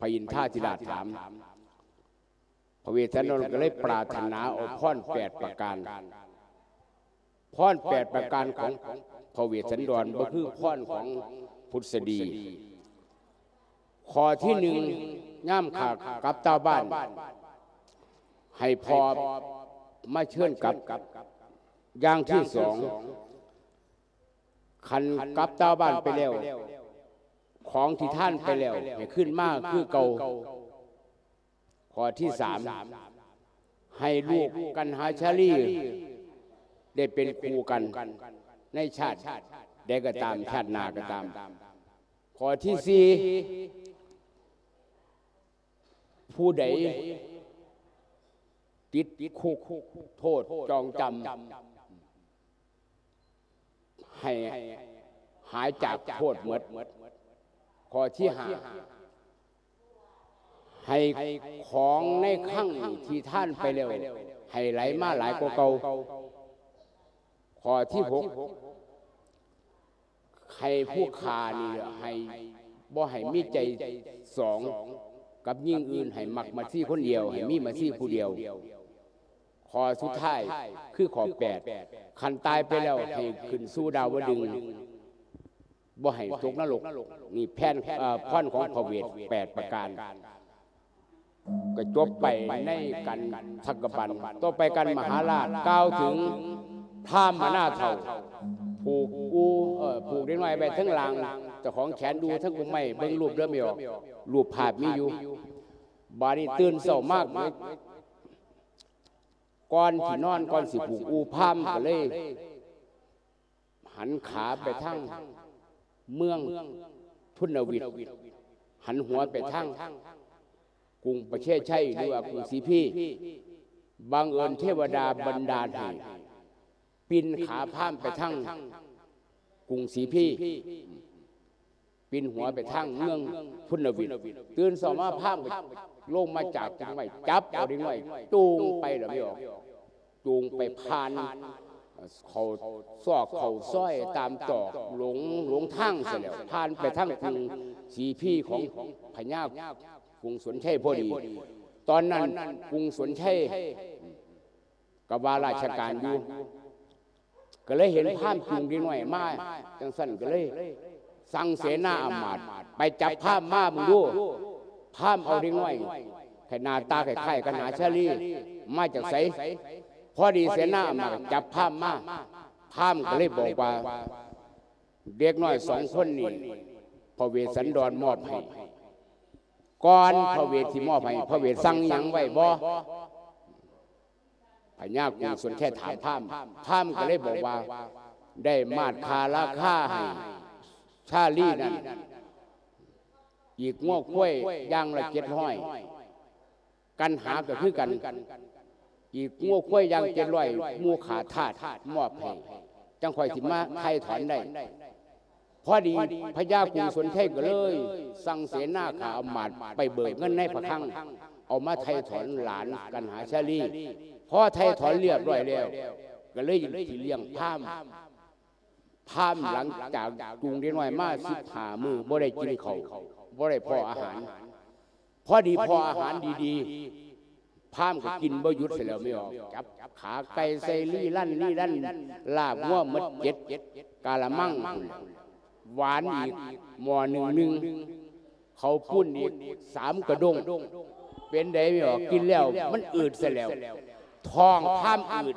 ພະອິນທາທິລາດຖາມ. ພະເວດສັນດອນກໍເລີຍປາດຖະໜາເອົາພອນແປດປະການ. ພອນແປດປະການຂອງພະເວດສັນດອນບໍ່ຄືພອນຂອງພຸດສະດີ. ຂໍ້ທີໜຶ່ງ ຍາມຂ້າກັບຕາບ້ານ ໃຫ້ພໍ່ມາເຊີນກັບ. ຢ່າງທີສອງ ຄັນກັບຕາບ້ານໄປແລ້ວ ຂອງທີ່ທານໄປແລ້ວໃຫ້ຄືນມາຄືເກົ່າ. ຂໍ້ທີສາມ ໃຫ້ລູກກັນຫາຊາລີໄດ້ເປັນຄູ່ກັນໃນຊາດໃດກໍຕາມ ຊາດໜ້າກໍຕາມ. ຂໍ້ທີສີ່ ຜູ້ໃດຕິດຄຸກໂທດຈອງຈຳ ໃຫ້ຫາຍຈາກໂທດໝົດ. ຂໍ້ທີຫ້າ ໃຫ້ຂອງໃນຄັງທີ່ທານໄປແລ້ວ ໃຫ້ໄຫຼມາຫຼາຍກວ່າເກົ່າ. ຂໍ້ທີຫົກ ໃຫ້ຜູ້ຂ້ານີ້ ໃຫ້ ບໍ່ໃຫ້ມີໃຈສອງກັບຍິງອື່ນ ໃຫ້ມັກມາຊີຄົນດຽວ ໃຫ້ມີມາຊີຜູ້ດຽວ. ຂໍ້ສຸດທ້າຍຄືຂໍ້ແປດ ຄັນຕາຍໄປແລ້ວໃຫ້ຂຶ້ນສູ່ດາວະດຶງ ບໍ່ໃຫ້ຕົກນະລົກ. ນີ້ແຜນ ເອີ ພອນຂອງພະເວດແປດປະການ ກໍຈົບໄປໃນກັນທັກກະບັນ. ຕໍ່ໄປກັນມະຫາລາດກ່າວເຖິງພາມມະນາເຖົ້າ ຜູກອູ່ ເອີ ຜູກເດັກນ້ອຍໄວ້ເທິງລ່າງ ເຈົ້າຂອງແຂນຢູ່ເທິງກົກໄມ້. ເບິ່ງຮູບເດີແມ່ອອກ ຮູບພາບມີຢູ່. ບາດນີ້ຕື່ນເຊົ້າມາ ກ່ອນຊິນອນ ກ່ອນຊິຜູກອູ່ ພາມກໍເລີຍ ຫັນຂາໄປທາງເມືອງທຸນນະວິດ ຫັນຫົວໄປທາງກຸງປະເທດໄຊ ຫຼືວ່າກຸງສີພີ. ບັງເອີນເທວະດາບັນດານໃຫ້ປິ່ນຂາພາມໄປທາງກຸງສີພີ ປິ່ນຫົວໄປທາງເມືອງພຸນນະວິດ. ຕື່ນເຊົ້າມາພາມກໍລົງມາຈາກຕົ້ນໄມ້ ຈັບເອົາເດັກນ້ອຍຈູງໄປແລ້ວແມ່ອອກ ຈູງໄປຜ່ານເຂົ້າຊອກເຂົ້າຊອຍຕາມຕອກຫຼົງ ຫຼົງທາງຊະແລ້ວ ຜ່ານໄປທາງກຸງສີພີຂອງພະຍາກຸງສົນໄຊພໍດີ. ຕອນນັ້ນກຸງສົນໄຊກໍວ່າລາຊະການຢູ່ ກໍເລີຍເຫັນພາມຈູງເດັກນ້ອຍມາຈັ່ງຊັ້ນ ກໍເລີຍສັ່ງເສນາອາມາດໄປຈັບພາມມາເບິ່ງດູ ພາມເອົາເດັກນ້ອຍ ໃຫ້ໜ້າຕາຄ້າຍໆກັນຫາຊາລີ ມາຈາກໃສ? ພໍດີເສນາອາມາດຈັບພາມມາ ພາມກໍເລີຍບອກວ່າ ເດັກນ້ອຍສອງຄົນນີ້ ພະເວດສັນດອນມອບໃຫ້. ກ່ອນພະເວດຊິມອບໃຫ້ ພະເວດສັ່ງຫຍັງໄວ້ບໍ່? ພະຍາກຸງສົນໄຊຖາມພາມ ພາມກໍເລີຍບອກວ່າ ໄດ້ມາດຄ່າລາຄາໃຫ້ຊາລີນັ້ນ ອີກງົວຄວາຍຢ່າງລະເຈັດຮ້ອຍ ກັນຫາກໍຄືກັນ ອີກງົວຄວາຍຢ່າງເຈັດຮ້ອຍ ມູຂ້າທາດມອບໃຫ້ ຈັ່ງຂ້ອຍຊິມາໄຖ່ຖອນໄດ້. ພໍດີພະຍາກຸງສົນໄຊກໍເລີຍສັ່ງເສນາຂ້າອາມາດໄປເບີກເງິນໃນພະຄັງ ເອົາມາໄຖ່ຖອນຫຼານກັນຫາຊາລີ. ພໍໄຖ່ຖອນລຽບຮ້ອຍແລ້ວ ກໍເລີຍຊິລ້ຽງພາມ. ພາມຫຼັງຈາກຈູງເດັກນ້ອຍມາສິບຫ້າມື້ ບໍ່ໄດ້ກິນເຂົ້າ ບໍ່ໄດ້ພໍ້ອາຫານ ພໍດີພໍ້ອາຫານດີໆ ພາມກໍກິນບໍ່ຢຸດຊະແລ້ວ ແມ່ອອກ ຈັບຂາໄກ່ໃສ່ລີລັນລີລັນ ລາບງົວໝົດເຈັດກະລະມັງ ຫວານອີກໝໍ້ໜຶ່ງໜຶ່ງ ເຂົ້າປຸ້ນອີກສາມກະດົງ. ເປັນໃດ ແມ່ອອກ ກິນແລ້ວມັນອືດຊະແລ້ວ ທ້ອງພາມອືດ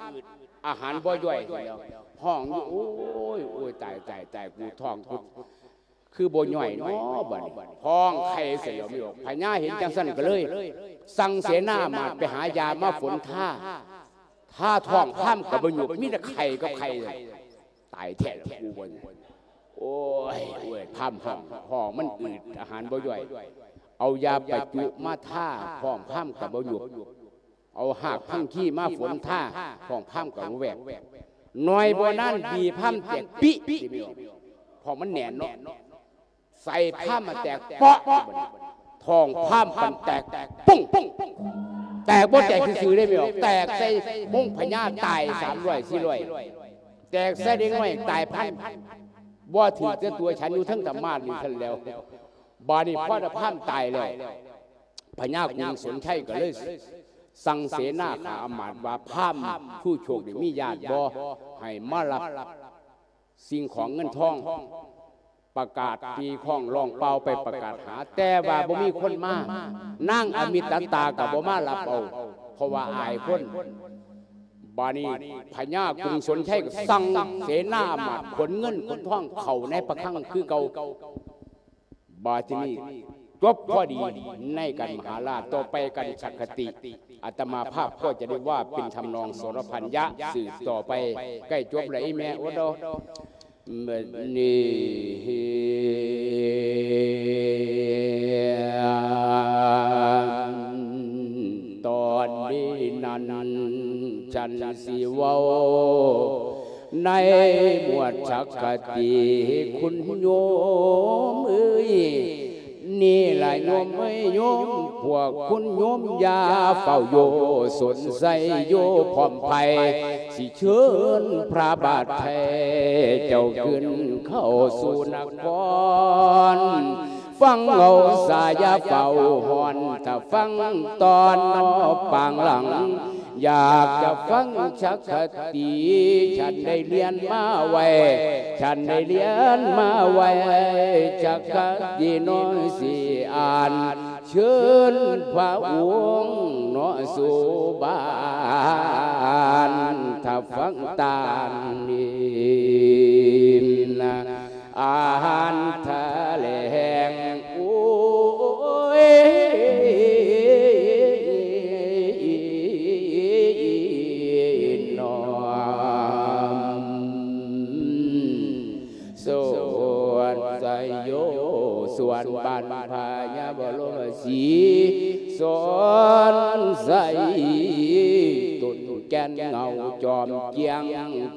ອາຫານບໍ່ຍ່ອຍຊະແລ້ວ ຮ້ອງຢູ່ ໂອ້ຍ ໂອ້ຍ ຕາຍ ຕາຍ ຕາຍ ກູທ້ອງກູ ຄືບໍ່ຍ່ອຍເນາະ ບາດນີ້ຮ້ອງໄຫ້ໃສ່ແລ້ວ ມີອອກ ພະຍາເຫັນຈັ່ງຊັ້ນກໍເລີຍສັ່ງເສນາອາມາດໄປຫາຢາມາຝົນທາ ທາທ້ອງພາມກໍບໍ່ຫຍຸບ ມີແຕ່ໄຂ້ກັບໄຂ້. ຕາຍແທ້ລະກູ ບໍ່ນີ້ ໂອ້ຍ ໂອ້ຍ ພາມຮ້ອງ ທ້ອງມັນອືດ ອາຫານບໍ່ຍ່ອຍ ເອົາຢາປະຈຸມາທາ ທ້ອງພາມກໍບໍ່ຫຍຸບ ເອົາຮາກພັງຄີມາຝົນທາ ທ້ອງພາມກໍບໍ່ແວບ. ໜ້ອຍບໍ່ນານ ບີພາມແຕກປິ ເພາະມັນແໜ້ນເນາະ ໃສ່ພາມມາແຕກເປາະ ທ້ອງພາມມັນແຕກປຸ້ງ ແຕກບໍ່ແຕກຊື່ໆເດ້ ແມ່ນບໍ່ ແຕກໃສ່ມົງພະຍາ ຕາຍສາມຮ້ອຍສີ່ຮ້ອຍ ແຕກໃສ່ເດັກນ້ອຍຕາຍພັນ ບໍ່ຖືກແຕ່ຕົວ ສັນຢູ່ເທິງທຳມາດນີ້ຊັ້ນແລ້ວ. ບາດນີ້ພໍຕາພາມຕາຍແລ້ວ ພະຍາກຸງສົນໄຊກໍເລີຍສັ່ງເສນາຂ້າອາມາດວ່າ ພາມຊູໂຊກນີ້ມີຍາດບໍ່ ໃຫ້ມາຮັບສິ່ງຂອງເງິນທອງ ປະກາດຕີຄ້ອງຮ້ອງເປົ່າໄປປະກາດຫາ ແຕ່ວ່າບໍ່ມີຄົນມາ ນາງອະມິຕະຕາກໍບໍ່ມາຮັບເອົາ ເພາະວ່າອາຍຄົນ. ບາດນີ້ພະຍາກຸງສົນໄຊກໍສັ່ງເສນາອາມາດຂົນເງິນຂົນທອງເຂົ້າໃນພະຄັງຄືເກົ່າ. ບາດທີນີ້ຈົບພໍດີໃນການມະຫາລາດ, ຕໍ່ໄປການສັກຄະຕິ ອາດຕະມາພາບກໍຈະໄດ້ວ່າເປັນທຳນອງສອນລະພັນຍະ ສືບຕໍ່ໄປ. ໃກ້ຈົບແລ້ວອີ່ແມ່ ໂອດ ເອີ ບາດນີ້ ຕອນນີ້ນັ້ນ ສັນຊິເວົ້າໃນໝວດສັກຄະຕິ ຄຸນໂຍມເອີຍ. ນີ້ລະໂຍມເອີຍ ໂຍມພວກຄຸນໂຍມຢ່າເຝົ້າໂຢສົນໃສໂຢພ້ອມໄພ ຊິເຊີນພະບາດໄທເຈົ້າຂຶ້ນເຂົ້າສູ່ນະຄອນ. ຟັງເອົາສາຢ່າເຝົ້າຮ້ອນ ຖ້າຟັງຕອນນອກປາງຫຼັງ ຢາກຈະຟັງສັກຄະຕິ ສັນໄດ້ລຽນມາໄວ້ ສັນໄດ້ລຽນມາໄວ້ ສັກຄະຕິນ້ອຍຊິອ່ານ ເຊີນພະອົງເນາະສູ່ບ້ານ ຖ້າຟັງຕາມນີ້ນະ ອາຫານທະແຫຼງ ໂອ້ຍ ນ້ອມ ສວນໄຊໂຍ ສວນບ້ານພະຍາບໍລົມະສີ ສອນໄຊ ຕົ້ນແກ່ນເງົາຈອມຈຽງ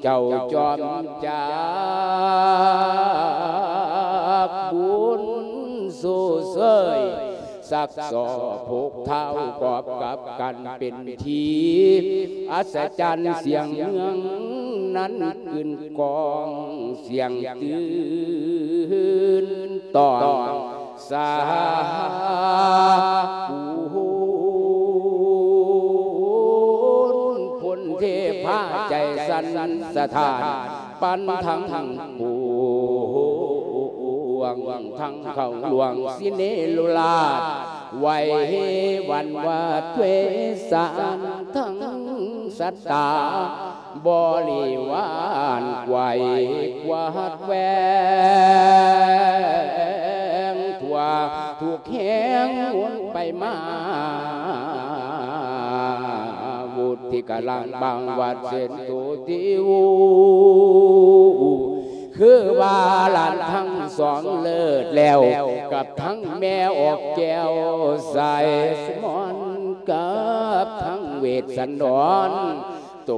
ເຈົ້າຈອມຈາກ ບຸນຊູເຊີຍ ສັກສໍ້ຜູກທ້າວກອບກັບກັນເປັນທີ່ ອັດສະຈັນສຽງເມືອງນັ້ນກຶນກອງ ສຽງຕື່ນຕ້ອງສາຄູນ ພົນເທພາໃຈສັ່ນສະທ້ານ ປັນທັງປວງ ທັງເຂົ້າຫຼວງສິເນລຸລາດ ໄຫວຫວັ່ນຫວາດເວສານ ທັງສັດຕາບໍລິວານ ໄຫວກວາດແຫວງ ທົ່ວທຸກແຫ່ງໝູນໄປມາ ວຸດ ທີ່ກະລັງບາງວັດເຊັ່ນໂຕຕິວ ຄືວ່າຫຼານທັງສອງເລີດແລ້ວ ກັບທັງແມ່ອອກແກ້ວ ສາຍສະໝອນ ກັບທັງເວດສັນດອນ ໂຕ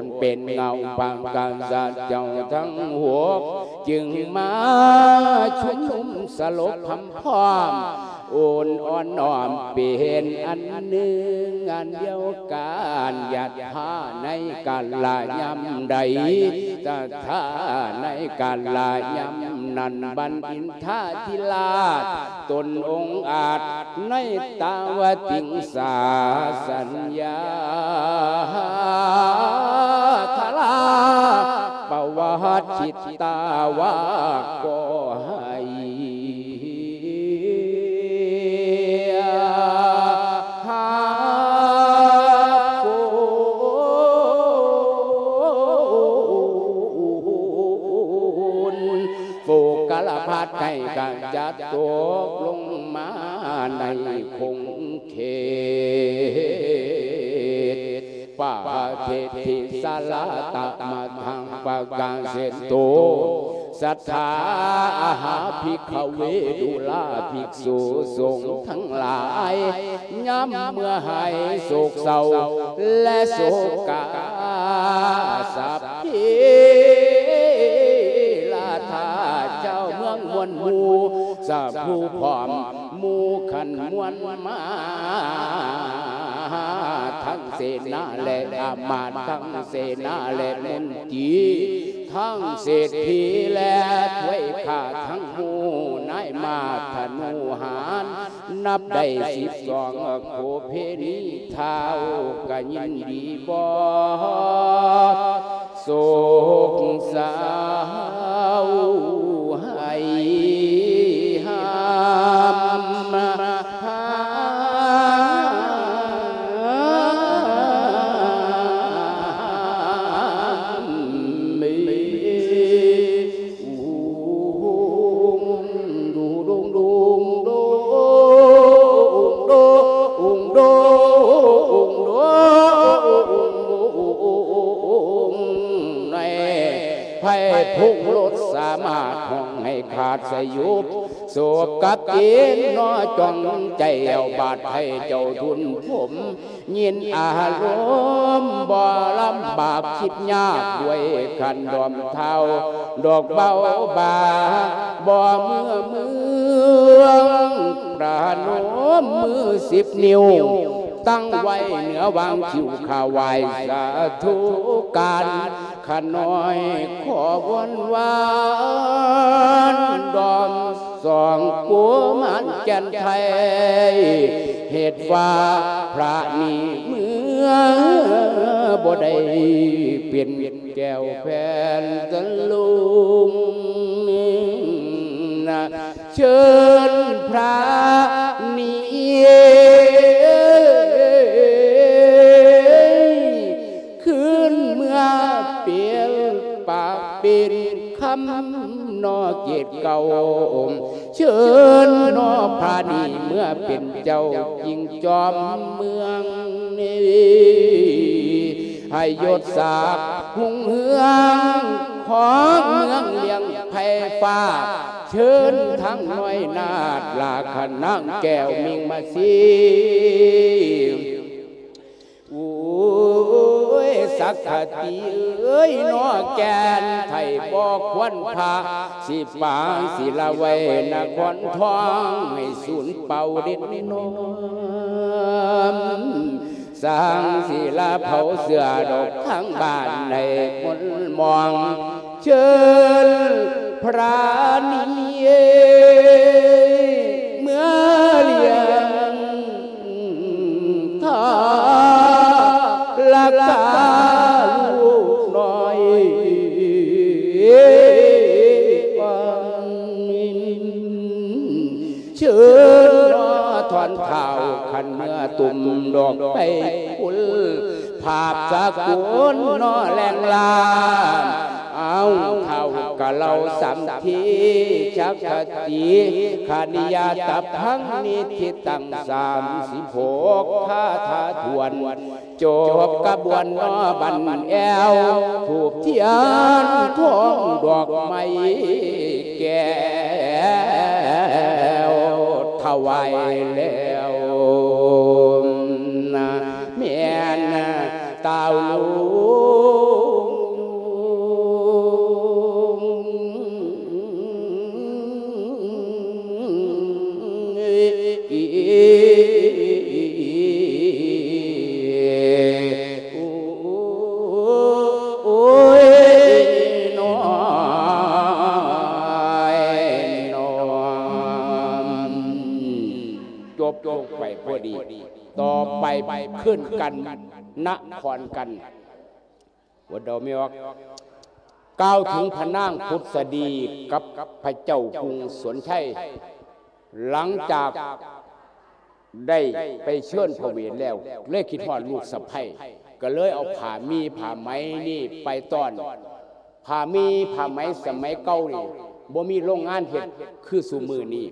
ນເປັນເງົາປາງການສັດເຈົ້າທັງຫົກ ຈຶ່ງມາຊຸມນຸມສະຫຼົບຄຳພ້ອມ ໂອນອ່ອນນ້ອມເປັນອັນໜຶ່ງອັນດຽວກັນ ຍັດຖາໃນກາລະຍາມໃດ ຕະຖາໃນກາລະຍາມນັ້ນ ບັນອິນທາທິລາດ ຕົນອົງອາດໃນຕາວະຕິງສາ ສັນຍາທາລາ ປະວັດຈິດຕາວາ ກໍໃຫ້ຮັບຄຸນ ໂຟກາລະພັດໃຫ້ກະຈັດຕົກລົງມາໃນຂົງເຂດ ປະເທດທີ່ສາລະຕະມະທັງປະກາເຊໂຕ ສັດທາອະຫາພິກຂະເວ ດູລາພິກສຸສົງທັງຫຼາຍ ຍາມເມື່ອຫາຍໂສກເສົ້າ ແລະໂສກາ ສັບພີລາທາ ເຈົ້າເມືອງມ່ວນໝູ່ ສະຜູ້ພ້ອມໝູ່ຂັນມ່ວນມາ ທັງເສນາແລະອາມາດ ທັງເສນາແລະມົນຕີ ທັງເສດຖີແລະທວຍຂ້າ ທັງໝູ່ນາຍມາທະນູຫານ ນັບໄດ້ສິບສອງ ໂຄເພນີທ້າວກະຍິນດີບອກ ໂສກເສົ້າໃຫ້ຫ້າມ ໄພພົງລົດສາມາດຮ້ອງໃຫ້ຂາດສະຫຍຸບ ໂສກກະເກນນໍຈ່ອງໃຈແອວບາດໄພເຈົ້າທຸນພົມ ຍິນອາລົມບໍ່ລຳບາກຄິດຍາກ ດ້ວຍຂັນດອມເທົ້າດອກເບົາບາ ບໍ່ເມື່ອເມືອງ ປະນົມມືສິບນິ້ວ ຕັ້ງໄວ້ເໜືອຫວ່າງຄິ້ວ ຂ້າໄຫວ້ສາທຸການ ຂ້ານ້ອຍຂໍວອນວານ ດອມສອງກຸມານແກ່ນໄທ ເຫດວ່າພະນີ້ເມືອບໍ່ໄດ້ເປັນແກ້ວແຜ່ນຕະລຸງ ເຊີນພະນີ້ ຄືນເມືອເປັນປາກເປັນຄຳນໍເກດເກົ່າ ເຊີນນໍພະນີ້ເມືອເປັນເຈົ້າຈິງຈອມເມືອງນີ້ ໃຫ້ຍົດສັກຮຸ່ງເຮືອງຂອງເມືອງລ້ຽງໄພຟ້າ ເຊີນທັງນ້ອຍນາດລາຂະນາງແກ້ວມິງມາຊີ ໂອ້ຍ ສັກຂະຕີເອີຍ ນໍແກ່ນໄທບໍ່ຄວນພະ ຊິປາງສິລະໄວ້ນະຄອນທອງ ໃຫ້ສູນເປົ່າເດັດນອມ ສ້າງສິລະເຜົາເສື້ອດອກທາງບ້ານໃຫ້ມົນມອງ ເຊີນພະນີ້ເມືອລ້ຽງທາລະກາລູກນ້ອຍ ເຊີນນອຖອນເທົ້າ ຂັນເມືອຕຸ່ມດອກໄປຄຸນ ພາບສາກົນນອແລງລາ ເອົາເຂົ້າກະເລົ່າສຳພີ ຈັກຄະຕິຄະນິຍາຕະພັງນິທິຕັງ ສາມສິບຫົກຄາຖາຖ້ວນ ຈົບກະບວນນອບັນແອວ ທູບທຽນທອງດອກໄມ້ແກ້ວ ຖວາຍແລ້ວນະ ແມ່ນຕາວລຸງ ໂອ້ຍນ້ອຍນ້ອຍ ຈົບລົງໄປພໍດີ. ຕໍ່ໄປຂຶ້ນກັນນະຄອນກັນ ບໍ່ເດົາແມ່ອອກ ກ່າວເຖິງພະນາງພຸດສະດີກັບພະເຈົ້າກຸງສົນໄຊ ຫຼັງຈາກໄດ້ໄປເຊີນພະເວນແລ້ວ ເລີຍຄິດຮອດລູກສະໃພ້ ກໍເລີຍເອົາຜ້າໝີ້ຜ້າໄໝນີ້ໄປຕ້ອນ. ຜ້າໝີ້ຜ້າໄໝສະໄໝເກົ່ານີ້ ບໍ່ມີໂລງງານເຮັດຄືຊຸມື້ນີ້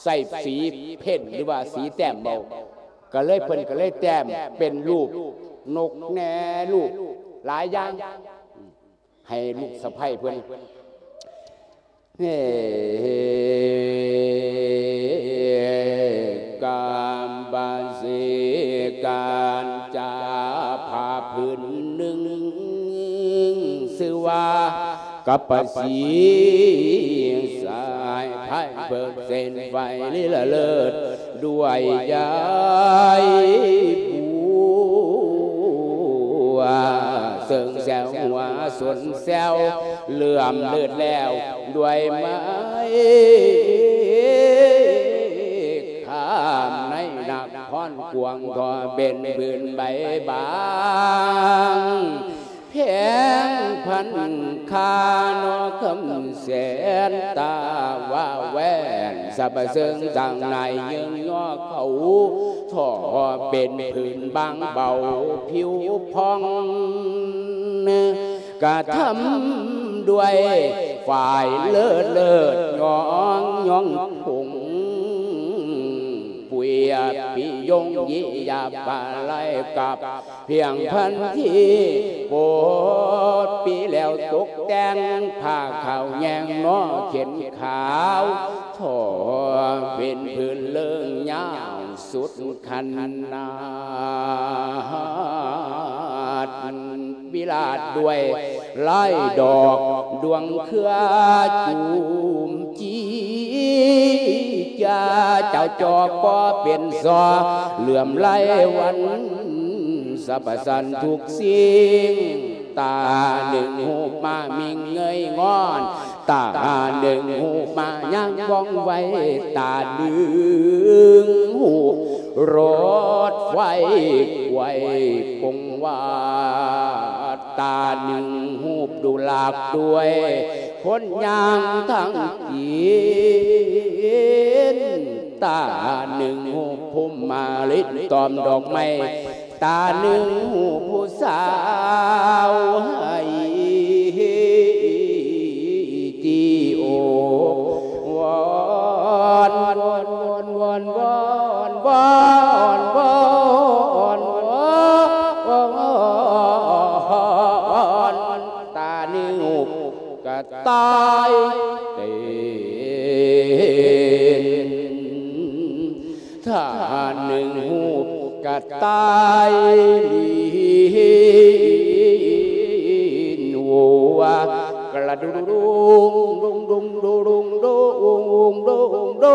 ໃຊ້ສີເພັນ ຫຼືວ່າສີແຕ້ມເອົາ ກໍເລີຍ ເພິ່ນກໍເລີຍແຕ້ມເປັນຮູບນົກແນ່ ຮູບຫຼາຍຢ່າງ ໃຫ້ລູກສະໃພ້ເພິ່ນ ເອ ກາມບາສີການຈາຜ້າຜືນໜຶ່ງ ຊື່ວ່າ ກັບປະສີ ສາຍພາຍເພິ່ງເສັ້ນໄຫວລິລະເລີດ ດ້ວຍຢາຍບົວ ເຊິ່ງແຊວຫົວສົນແຊວ ເຫຼື້ອມເລີດແລ້ວ ດ້ວຍໄມ້ຄາມໃນນະຄອນກວາງ ທໍ່ເປັນພື້ນໃບບາງ ແພງພັນຄ່ານອກຄຳແສນ ຕາວ່າແວ່ນ ສະບະເຊີງຈາງນາຍເຍີ້ງຍໍເຂົາ ທໍ່ເປັນພື້ນບາງເບົາຜິວຜ່ອງ ກະທຳດ້ວຍຝ້າຍເລີດເລີດ ຍ້ອງຍ້ອງຜົງ ປຽບປິຍົງຍິຍາບາໄລກັບພຽງພັນທີ ໂປດປີແລ້ວຕົກແຕ່ງຜ້າຂາວແຍງນອເຂັນຂາວ ທໍ່ເປັນຜືນເລີງຍາວສຸດຂະໜາດ ວິລາດດ້ວຍລາຍດອກດວງເຄືອຈູມຈີ ຈາເຈົ້າຈອກກໍເປັນສໍ ເຫຼື້ອມໄຫຼວັນສະພະສັນທຸກສິ່ງ ຕາໜຶ່ງຮູບມາມີເງີຍງອນ ຕາໜຶ່ງຮູບມາຍ່າງວ່ອງໄວ ຕາໜຶ່ງຮູບລົດໄຟໄກວກົງວາ ຕາໜຶ່ງຮູບດູລາກດ້ວຍຄົນຍ່າງທາງຈີນ ຕາໜຶ່ງຮູບພູມມາລິນຕອມດອກໄມ້ ຕາໜຶ່ງຮູບຜູ້ສາວໃຫ້ຕີໂອວອນ ຕາໜຶ່ງຮູບກະຕ່າຍເຕັ້ນ ທ່ານໜຶ່ງຮູບກະຕ່າຍລີນ ໂອ ກະລະດຸດຸງ ດຸງ ດຸງ ດຸ ດຸງ ດຸ ອຸງ ອຸງ ດຸ ອຸງ ດຸ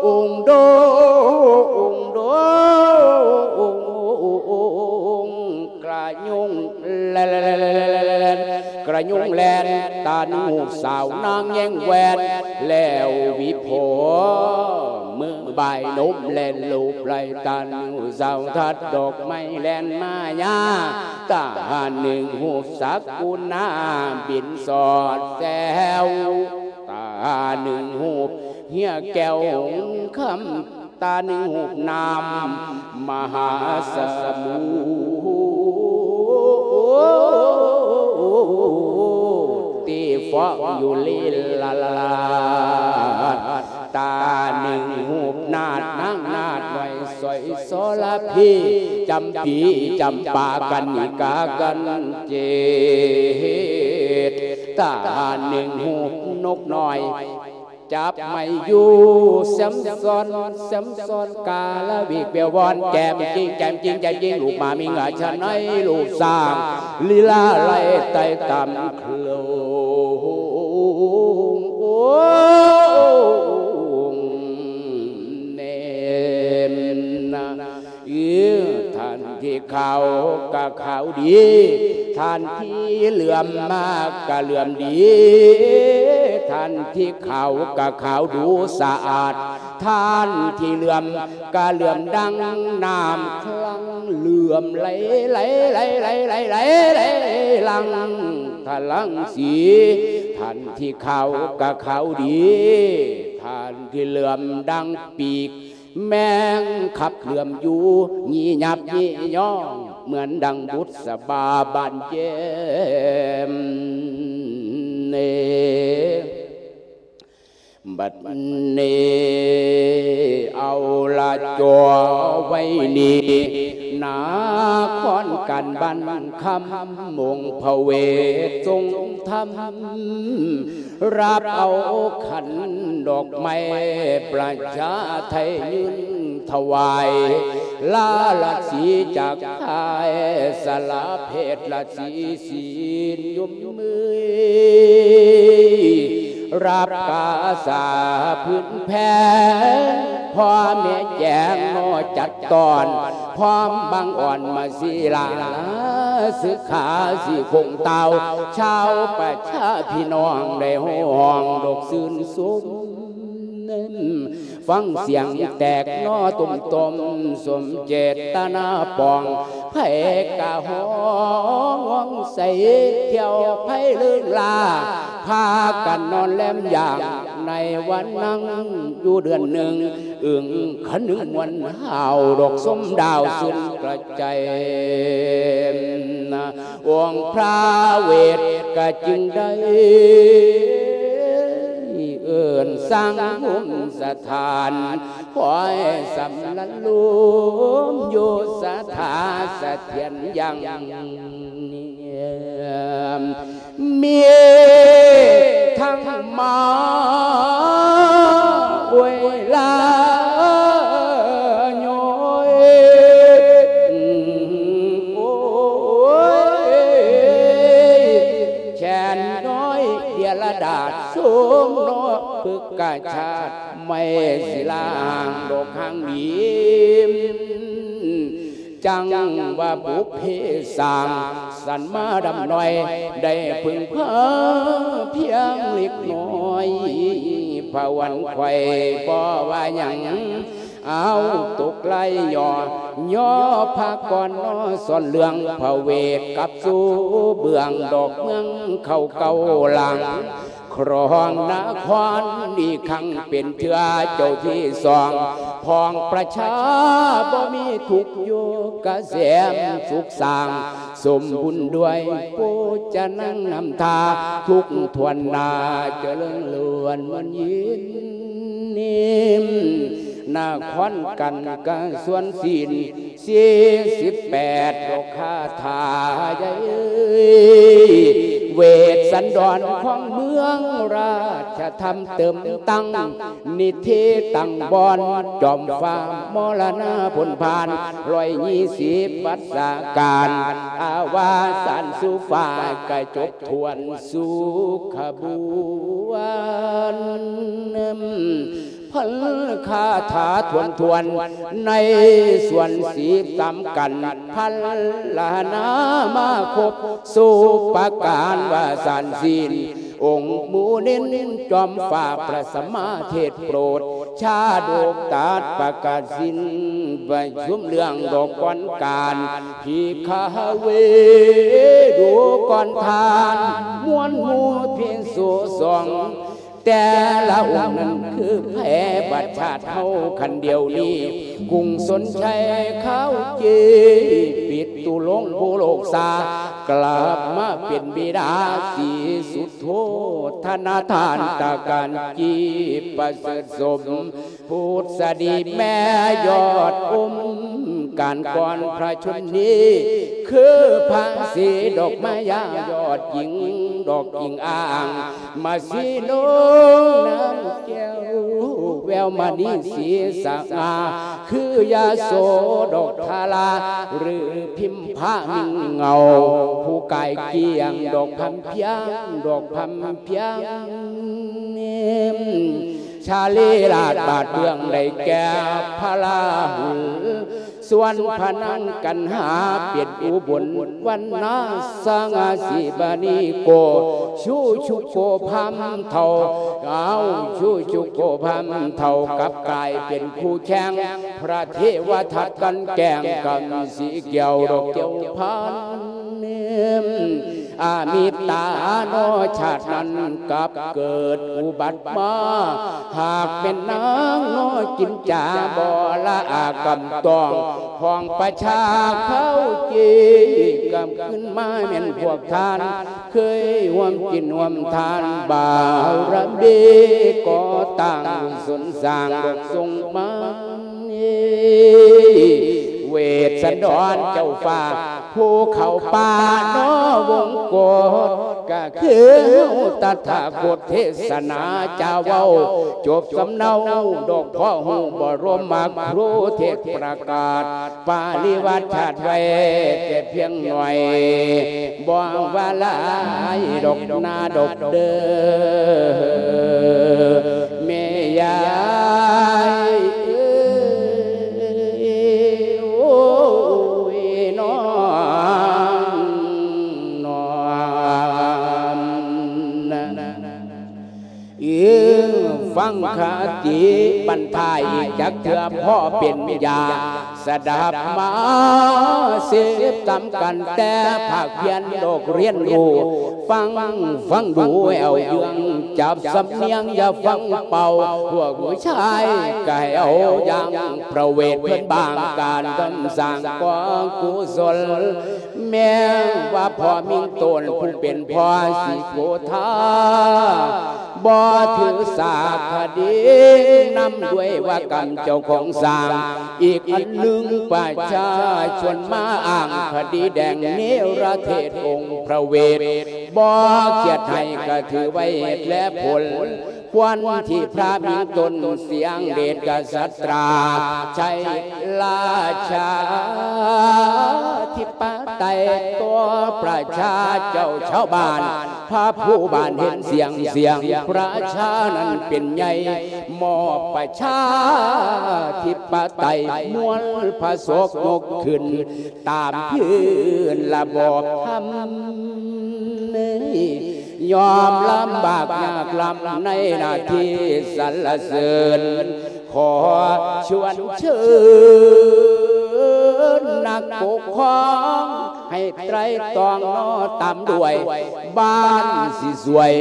ອຸງ ດຸ ອຸງ ອຸງ ກະຍຸງແລ່ນ ກະຍຸງແລ່ນ ຕາໜູສາວນາງແຍ່ງແວ່ນ ແລ້ວວິໂພ ມືບາຍນົມແລ່ນລູບໄຫຼ ຕາໜູສາວທັດດອກໄມ້ແລ່ນມາຍາ ຕາໜຶ່ງຮູບສັກກຸນາບິນສອດແຊວ ຕາໜຶ່ງຮູບເຮຍແກ້ວຫົງຄຳ ຕາໜຶ່ງຮູບນ້ຳມະຫາສະໝຸດ ທີ່ຟອງຢູ່ລີລາລາດ ຕາໜຶ່ງຮູບນາດນາງນາດໜ້ອຍ ສອຍ ສລະພີ ຈຳປີ ຈຳປາ ກະນິກາ ກັນເຈດ ຕາໜຶ່ງຮູບນົກນ້ອຍ ຈັບໄມ້ຢູ່ ແຊມຊອນ ແຊມຊອນ ກາລະວິກ ແປວອນ ແຈມຈິງ ແຈມຈິງ ແຈມຈິງ ລູກໝາມິງ ອາຊະໄນ ລູກຊ້າງ ລີລາໄລ່ໄຕ່ຕາມໂຄງ ໂອງ ເນມນະ ເອີ ທ່ານທີ່ຂາວກະຂາວດີ ທ່ານທີ່ເຫຼື້ອມມາກະເຫຼື້ອມດີ ທ່ານທີ່ຂາວກະຂາວດູສະອາດ ທ່ານທີ່ເຫຼື້ອມກະເຫຼື້ອມດັ່ງນ້ຳຄລັງ ເຫຼື້ອມໄຫຼ ໄຫຼ ໄຫຼ ໄຫຼ ໄຫຼ ໄຫຼ ໄຫຼຫຼັ່ງທະລັງສີ ທ່ານທີ່ຂາວກະຂາວດີ ທ່ານທີ່ເຫຼື້ອມດັ່ງປີກ ແມງຂັບເຫຼື້ອມຢູ່ ຍິບຍັບຍິບຍ່ອງ ເໝືອນດັ່ງບຸດສະບາບານແຍມເນ ບັດນີ້ເອົາລະ ຈ່ອໄວ້ນີ້ ນະຄອນການບ້ານຄຳ ອົງພະເວດຊົງທຳ ຮັບເອົາຂັນດອກໄມ້ ປະຊາໄທຍື່ນຖວາຍ ລາລະສີຈາກພາຍ ສາລະເພດລະສີສີນຍົມມື ຮັບກາສາພື້ນແຜ່ ພໍ່ແມ່ແຈງງໍຈັດຕອນ ພ້ອມບັງອ່ອນມາສີລາ ສຶກຂາສີຄົງຕາວ ຊາວປະຊາພີ່ນ້ອງໄດ້ຮ້ອງດົກຊື່ນຊົມ ຟັງສຽງແຕກໜໍ້ຕຸ້ມໆ ສົມເຈດຕະນາປອງ ໃຜກະຮ້ອງໃສ່ ທ່ຽວໄພເລີງລາ ພາກັນນອນແລມຢາງ ໃນວັນນັ່ງຢູ່ເດືອນໜຶ່ງ ອຶ້ງຄະນຶງມ່ວນຫ້າວ ດອກຊົມດາວຊື່ນກະໃຈ ອົງພະເວດກະຈຶ່ງໄດ້ເອີ້ນສ້າງພູມສະຖານ ປ່ອຍສຳລັນລົມຢູ່ສະຖາສະຖຽນຍັງ ມີທັງມາອວຍລາຍ້ອຍ ໂອ້ຍ ແຂນນ້ອຍເດຍລະດາດ ສົມເນາະ ປຶກກະຊາດ ໄມ້ສິລາຫາງດອກຫາງດີ ຈັ່ງວ່າບຸບເພສ້າງສັນມາດຳໜ້ອຍ ໄດ້ເພິ່ງພາພຽງເລັກນ້ອຍ ພະວັນໄຂວ້ບໍ່ວ່າຫຍັງ ເອົາຕົກໄລ່ຍໍ ຍໍພາກ່ອນນໍ ສອນເລື່ອງພະເວດກັບສູ່ເບື້ອງດອກເມືອງເຂົ້າເກົ້າຫຼັງ ຄອງນະຄອນອີກຄັ້ງເປັນເທື່ອເຈົ້າທີສອງ ພອງປະຊາບໍ່ມີທຸກຢູ່ກະແສມສຸກສ້າງ ສົມບູນດ້ວຍໂພຈະນັງນຳທາ ທຸກຖ້ວນໜ້າຈະເລີນລ້ວນມ່ວນຍິນ ນະຄອນກັນກະຊວນສິນ ສີ່ສິບແປດ ດອກຄາຖາໃຫຍ່ ເວດສັນດອນຂອງເມືອງລາຊະທຳເຕີມຕັ້ງ ນິເທດຕັ້ງບ່ອນ ຈອມຟ້າມໍລະນາພົ້ນຜ່ານ ຮ້ອຍຍີ່ສິບວັດສະການ ອາວາສານສູ່ຟ້າກະຈົບຖ້ວນສຸຂະບວນ ພັນຄາຖາຖ້ວນໆ ໃນສ່ວນສິບສາມກັນ ພັນລະນາມາຄົບ ສຸປະການວ່າສານສິນ ອົງໝູເນັ້ນຈອມຟ້າພະສະມາເທດໂປດ ຊາດົກຕັດປະກາດສິນ ປະຊຸມເລື່ອງດອກກ່ອນການ ພິກຂະເວ ດູກ່ອນທ່ານ ມວນໝູ່ພິກສຸສອງ ແຕ່ລະອົງນັ້ນຄືໃຜ ບັດຊາດເຮົາຄັນດຽວນີ້ ກຸງຊົນໄຊຂາວຈີ ປິຕຸລົງຜູ້ໂລກສາ ກລັບມາເປັນບິດາສີສຸດໂທ ທະນະທານຕະການຈີ ປະເສີດສົມ ພຸດສະດີແມ່ຍອດອົມ ການກ່ອນພະຊົນນີ້ ຄືພະສີດອກມາຍາຍອດຍິງ ດອກອີງອ້າງ ມາສີນົງນາງແກ້ວ ແວວມະນີສີສະຫງ່າ ຄືຍາໂສດອກທາລາ ຫຼືພິມພະມິ່ງເງົາ ຜູ້ກາຍກ້ຽງ ດອກພຳພຽງ ດອກພຳພຽງ ຊາລີລາດບາດເບື້ອງໄດ້ແກ່ພະລາຫຸນ ສ່ວນພະນາງກັນຫາເປັນອຸບົນວັນນາ ສັງກະສີບານີໂກ ຊູຊຸໂກພາມເຖົ້າ ເອົາຊູຊຸໂກພາມເຖົ້າ ກັບກາຍເປັນຄູ່ແຂ່ງ ພະເທວະທັດກັນແກ່ງກັນ ສີແກ້ວດອກແກ້ວພັນ ອາມິດຕານໍ ຊາດນັ້ນກັບເກີດອຸບັດມາ ຫາກແມ່ນນາງນໍ ກິນຈາບໍ່ລະອາກຳຕ້ອງ ຂອງປະຊາເຂົາຈີ ກັບຄືນມາແມ່ນພວກທ່ານ ເຄີຍຮ່ວມກິນຮ່ວມທານ ບາລະມີກໍ່ຕັ້ງບຸນສົນສ້າງ ດອກສົງມາ ເວດສັນດອນເຈົ້າຟ້າ ພູເຂົາປ່ານໍວົງກົດ ກະຄືເຮົາຕະຖາຄົດເທສະໜາຈາເວົ້າ ຈົບສຳເນົາດອກພໍຮູ້ບໍລົມມັກ ຄູເທດປະກາດປະລິວັດຊາດໄວ້ແຕ່ພຽງໜ້ອຍ ບໍ່ວ່າຫຼາຍດອກນາດອກເດີ ແມ່ຍາຍເອີຍ ໂອ້ຍ ນ້ອງ ນ້ອງ ເອີ ຟັງຄະຕິບັນທາອີກຈັກເທື່ອ ພໍເປັນຍາ ສະດັບມາເສບຕາມກັນແຕ່ພາກພຽນດອກຮຽນຮູ້ ຟັງ ຟັງດູແອວເຍືອງ ຈັບສຳນຽງຢ່າຟັງເປົ່າ ພວກຜູ້ຊາຍກະໃຫ້ເອົາຢ່າງ ປະເວດເພິ່ນບາງການທຳສ້າງກອງກຸສົນ ແມ່ນວ່າພໍ່ມິງໂຕນຜູ້ເປັນພໍ່ສີໂກທາ ບໍ່ຖືສາຄະດີນຳດ້ວຍວ່າກຳເຈົ້າຂອງສ້າງ. ອີກອັນໜຶ່ງປະຊາຊົນມາອ້າງຄະດີແດງເນລະເທດອົງພະເວດ ບໍ່ຄຽດໃຫ້ກະຖືໄວ້ເຫດແລະຜົນ ຄວນທີ່ພະມິງຕົນສຽງເດດກະສັດຕາ ໃຊ້ລາຊາທິປະໄຕຕໍ່ປະຊາເຈົ້າຊາວບ້ານ ພະຜູ້ບ້ານເຫັນສຽງ ສຽງປະຊານັ້ນເປັນໃຫຍ່ ມອບປະຊາທິປະໄຕ ມວນພະສົກຍົກຂຶ້ນ ຕາມພື້ນລະບອບທຳ ຍອມລຳບາກຍາກລຳໃນໜ້າທີ່ສັນລະເສີນ ຂໍຊວນເຊີນນັກປົກຄອງ ໃຫ້ໄຕຣຕອງເນາະຕາມດ້ວຍ ບ້ານຊິສວຍ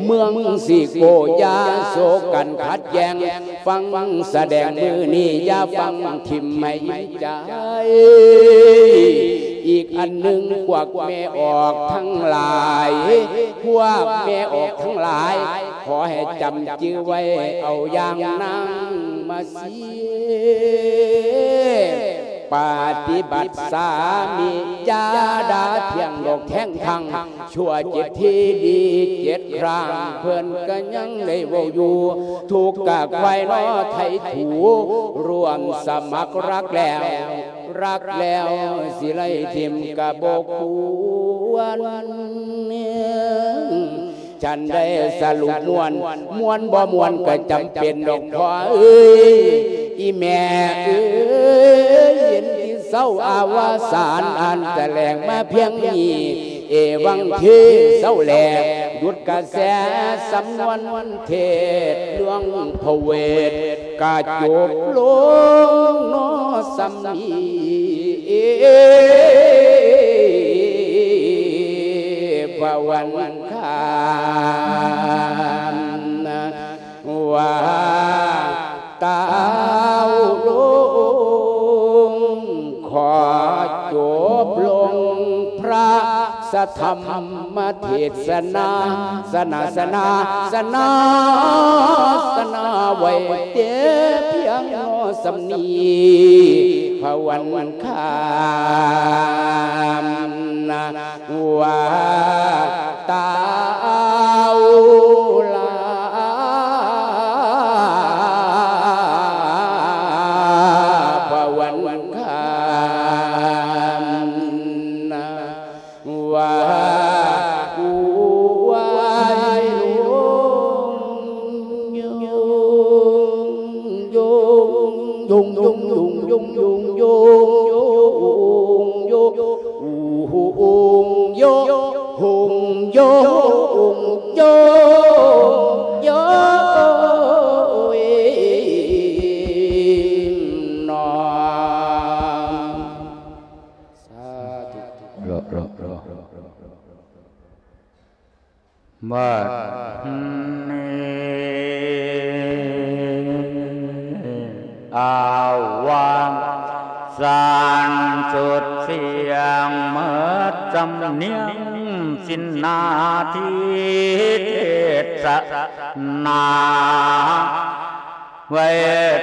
ເມືອງຊິໂກ ຢ່າໂສກັນຂັດແຍ່ງ ຟັງສະແດງມື້ນີ້ ຢ່າຟັງຖິ້ມໃຫ້ໃຈ. ອີກອັນໜຶ່ງ ພວກແມ່ອອກທັງຫຼາຍ ພວກແມ່ອອກທັງຫຼາຍ ຂໍໃຫ້ຈຳຈື່ໄວ້ ເອົາຢ່າງນາງມາ ເສຍປະຕິບັດສາມີ ຢ່າດ່າຖຽງດອກແທງທັງ ຊົ່ວເຈັດທີດີເຈັດຄັ້ງ ເພິ່ນກະຍັງໄດ້ເວົ້າຢູ່ ທຸກກະຄວາຍເນາະໄຖຖູ ຮ່ວມສະໝັກຮັກແລ້ວ ຮັກແລ້ວຊິໄລ່ຖິ້ມກະບໍ່ຄວນ. ຈັ່ງໃດສະຫຼຸບມ່ວນ ມ່ວນບໍ່ມ່ວນກະຈຳເປັນດອກພໍ່ເອີຍ ອີແມ່ເອີຍ ເຫັນທີ່ເຊົາອາວະສານ ອ່ານຕະແຫຼງມາພຽງນີ້ ເອວັງເທ ເຊົາແລ ຢຸດກະແສສຳນວນເທດເລື່ອງພະເວດ ກະຈົບລົງເນາະສ່ຳນີ້ ພະວັນຄາມ ວ່າຕາວລົງ ຂໍຈົບລົງພະສະທຳມະເທດສະນາ ສະນາ ສະນາ ສະນາ ສະນາ ໄວ້ແຕ່ພຽງພໍສ່ຳນີ້ ພະວັນຄາມ ວ່າຕາວລາ ພະວັນຄາມ ວ່າ ສາທຸ ບັດນີ້ ອາວະສານສຸດສຽງໝົດສຳນຽງສິ້ນໜ້າທີ່ເທດສະໜາ ໄວ້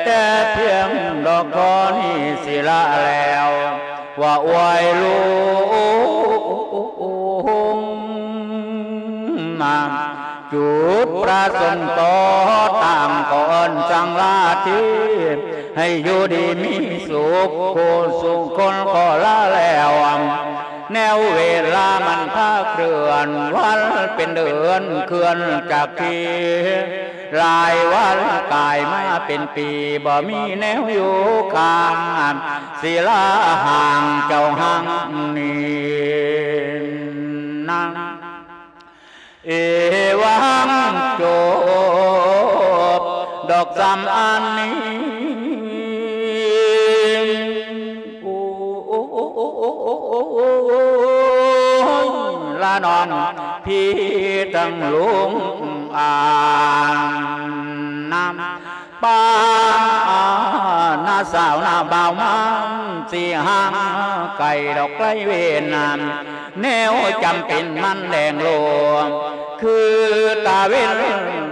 ແຕ່ພຽງດອກທໍ່ນີ້ສິລະແລ້ວ ວ່າອວຍລຸງ ຈຸດປະສົງຕໍ່ຕາງກໍເອີ້ນສັງລາທີ ໃຫ້ຢູ່ດີມີສຸກຄູ່ສູ່ຄົນກໍລາແລ້ວ ແນວເວລາມັນພາເຄື່ອນ ວັນເປັນເດືອນເຄື່ອນຈາກທີ່ ຫຼາຍວັນກາຍມາເປັນປີ ບໍ່ມີແນວຢູ່ຂ້າງ ສິລາຫ່າງເຈົ້າຮັ່ງນີ້ນາງ ເອວັງຈົບດອກສ່ຳອັນນີ້ ໂອ້ ລານ້ອງພີ່ທັງລຸງອານນຳ ປານາສາວນາບ່າວມາ ຊິຫ່າງໄກດອກໄກເວນນາ ແນວຈຳເປັນມັນແດງໂລ ຄືຕາເວັນ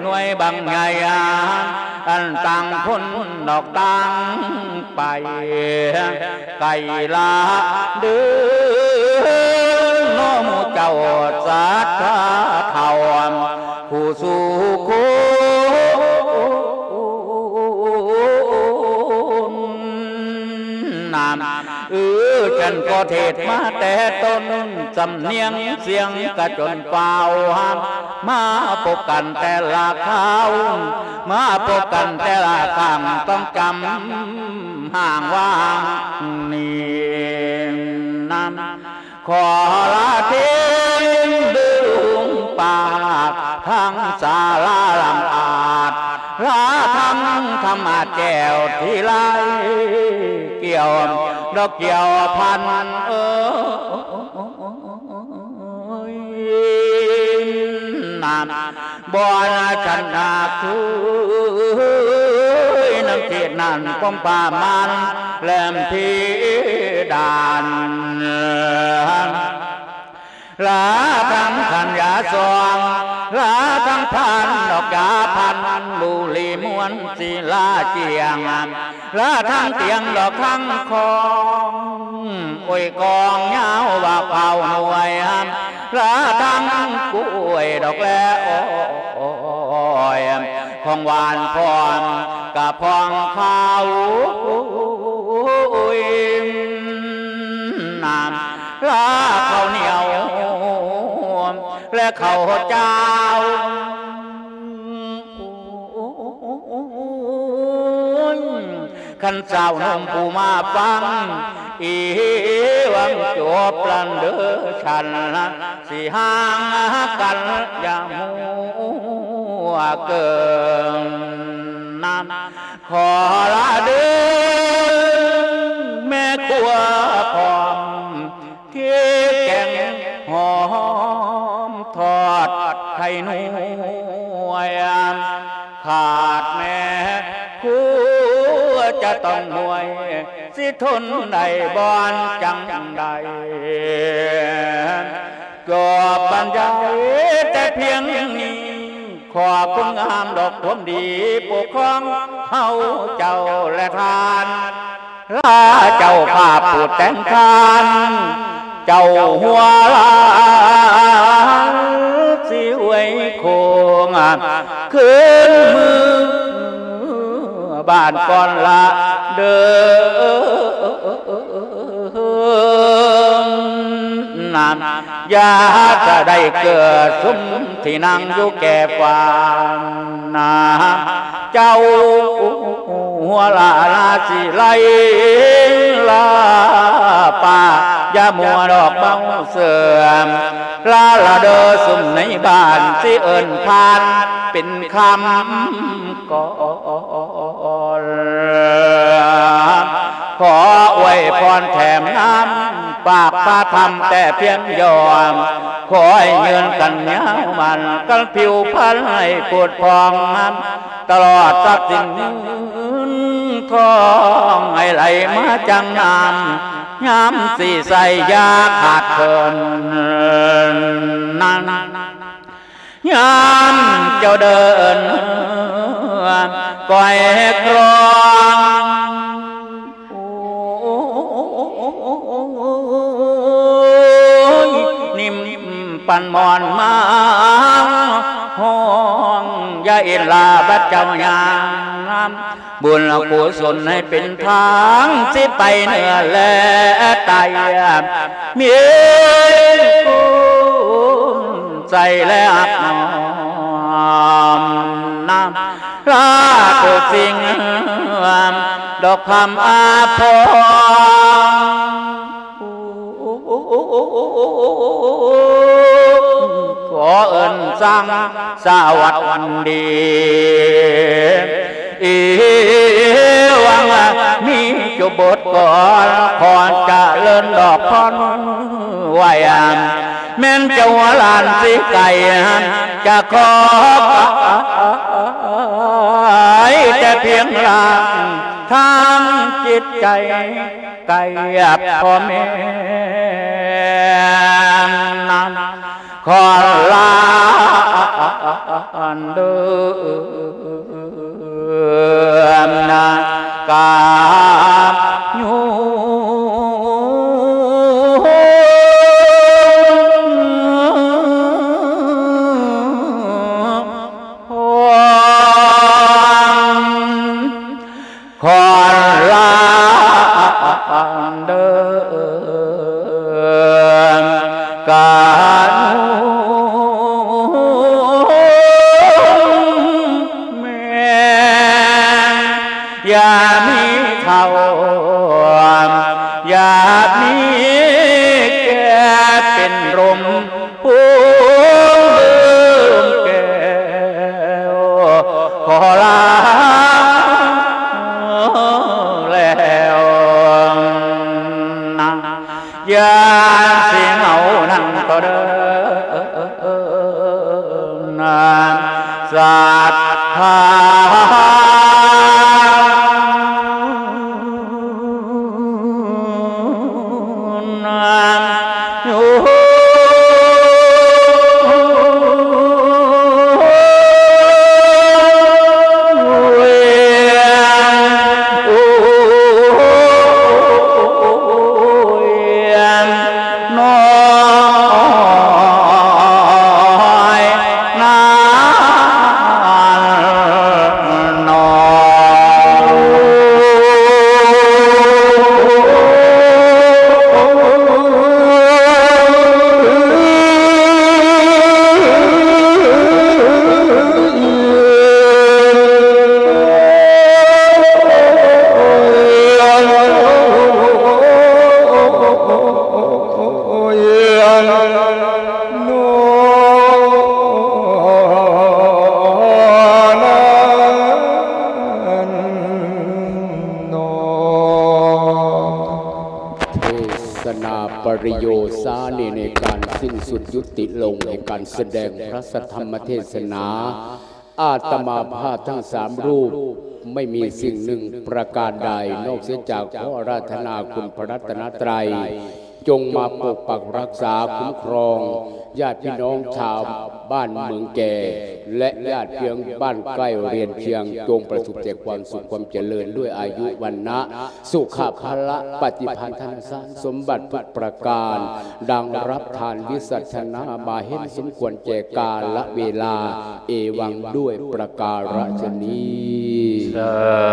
ໜ່ວຍບັກໃຫຍ່ ອັນຕ່າງພົ້ນອອກຕ່າງໄປ ໄກລາເດີ ເນາະໝູ່ເຈົ້າສັດທາເຖົ້າ ຄູ່ສູ່ຄົນ ນາມ ເອີ ຈັນກໍເທດມາແຕ່ຕົ້ນ ສຳນຽງສຽງກະຈົນຟ້າວ ມາພົບກັນແຕ່ລະຄາວ ມາພົບກັນແຕ່ລະຄັ້ງ ຕ້ອງຈຳຫ້າງວ່າງນີ້ນຳ ຂໍລາເທງດຶງປາກ ທາງສາລາຫຼັງອາດ ລາທາງທຳມະແຈວທີ່ໄລກ່ຽວ ດອກກ່ຽວພັນເອີຍ ນາມ ບ່ອນອັນຊະນະຄືນຳເຂດນັ້ນ ປ້ອມປ່າມານແຫຼມເພດານ ລາທັງຂັນຢາຊອງ ລາທັງພັນດອກຢາພັນ ບຸລີມວນສີລາຈຽງ ລາທັງຕຽງດອກທັງຄອງ ໂອ້ຍ ກອງຍາວວ່າເຜົາໜ່ວຍ ລາທັງກ້ວຍດອກແລອ້ອຍ ຂອງຫວານພ້ອມກະພອງຂາວ ໂອ້ຍ ນາມ ລາເຂົ້າໜຽວ ແລະເຂົ້າເຈົ້າ ຄັນສາວໜຸ່ມຜູ້ມາຟັງ ອີຫວັງຈົບລັນເດີ ສັນຊິຫ່າງກັນຢ່າຫົວເກີງນຳ ຂໍລາເດີ ແມ່ຄົວພ້ອມ ທີ່ແກງຫອມທອດໄຂ່ໜວຍ ຂາດແມ່ຄົວຈະຕ້ອງມວຍ ຊິທົນໄດ້ບ່ອນຈັ່ງໃດ ຈອບບັນຍາຍແຕ່ພຽງນີ້ ຂໍຄຸນງາມດອກຄວາມດີປົກຄອງເຮົາເຈົ້າແລະທ່ານ ລາເຈົ້າພາບຜູ້ແຕ່ງທ່ານ ເຈົ້າຫົວລານຊິອວຍໂຄງ ຄືນເມືອບ້ານກ່ອນລະເດີ ນາມ ຢ່າຈະໄດ້ເກີດຊຸມທີ່ນັ່ງຢູ່ແກ່ຟານນາ ເຈົ້າຫົວລາລາຊິໄລລາປ່າ ຢ່າມົວດອກເບົາເສື່ອມ ລາລະເດີ ຊຸມໃນບ້ານຊິເອີ້ນຜ່ານເປັນຄຳ ກ່ອນ ຂໍອວຍພອນແຖມນຳ ຝາກພາທຳແຕ່ພຽງຢ່ອມ ຂໍໃຫ້ຍືນກັນຍາວໝັ້ນ ກັນຜິວພັນໃຫ້ໂພດຜ່ອງ ຕະຫຼອດຊັບສິນເງິນທອງ ໃຫ້ໄຫຼມາຈັ່ງນ້ຳ ຍາມຊິໃຊ້ຢາຂາດເຂີນນັ້ນ ຍາມເຈົ້າເດີນ ກອຍຄລອງ ໂອ້ຍ ນິ້ມປັນໝອນມາ ຮ້ອງຢ່າເອັນລາບັດເຈົ້າຍ່າງ ບຸນກຸສົນໃຫ້ເປັນທາງ ຊິໄປເໜືອແລະໃຕ້ ມີຄຸນໃຈແລະຮັກຫອມນຳ ລາໂຕສິ່ງ ດອກຄຳອາພອງ ຂໍເອີ້ນສັ່ງສະຫວັດດີ ອີຫວັງມີຈຸບົດກ່ອນ ຂໍຈະເລີນດອກພອນໄວ້ ແມ່ນເຈົ້າຫຼານຊິໄກ ຈະຂໍກາຍແຕ່ພຽງຮ່າງ ທາງຈິດໃຈ ໃກ້ພໍ່ແມ່ນນຳ ຂໍລາ ອັນເດີມນາກາຍູ ຂອນລາເດີມການແມ່ນ ຢ່າມີເຖົ້າ ຢ່າມີແກ່ເປັນລົມ ຜູ້ດື່ມແກ້ວຂໍລາແລ້ວນະ ຢ່າຊິເມົານັ້ນກໍເດີນະ ສັດທາ ນ້ອຍນັ້ນໜໍ. ເທສະໜາປະລິໂຍສານີໃນການສິ້ນສຸດຍຸຕິລົງ ໃນການສະແດງພະສັດທຳມະເທສະໜາ ອາດຕະມາພາບທັງສາມຮູບ ໄມ່ມີສິ່ງໜຶ່ງປະການໃດ ນອກເສຍຈາກຂໍອາລາທະນາຄຸນພະລັດຕະນະໄຕ ຈົ່ງມາປົກປັກຮັກສາຄຸ້ມຄອງ ຍາດພີ່ນ້ອງຊາວບ້ານເມືອງແກ່ ແລະ ຍາດພີ່ນ້ອງບ້ານໃກ້ຮຽນຄຽງ ຈົ່ງປະສົບແຕ່ຄວາມສຸກຄວາມຈະເລີນ ດ້ວຍອາຍຸວັນນະ ສຸຂະພະລະ ປະຕິພັນທະນະສານສົມບັດທຸກປະການ ດັ່ງຮັບທານວິສັດທະນາມາເຫັນສົມຄວນແກ່ກາລະເວລາ ເອວັງ ດ້ວຍປະກາລະຊະນີ້. ສາ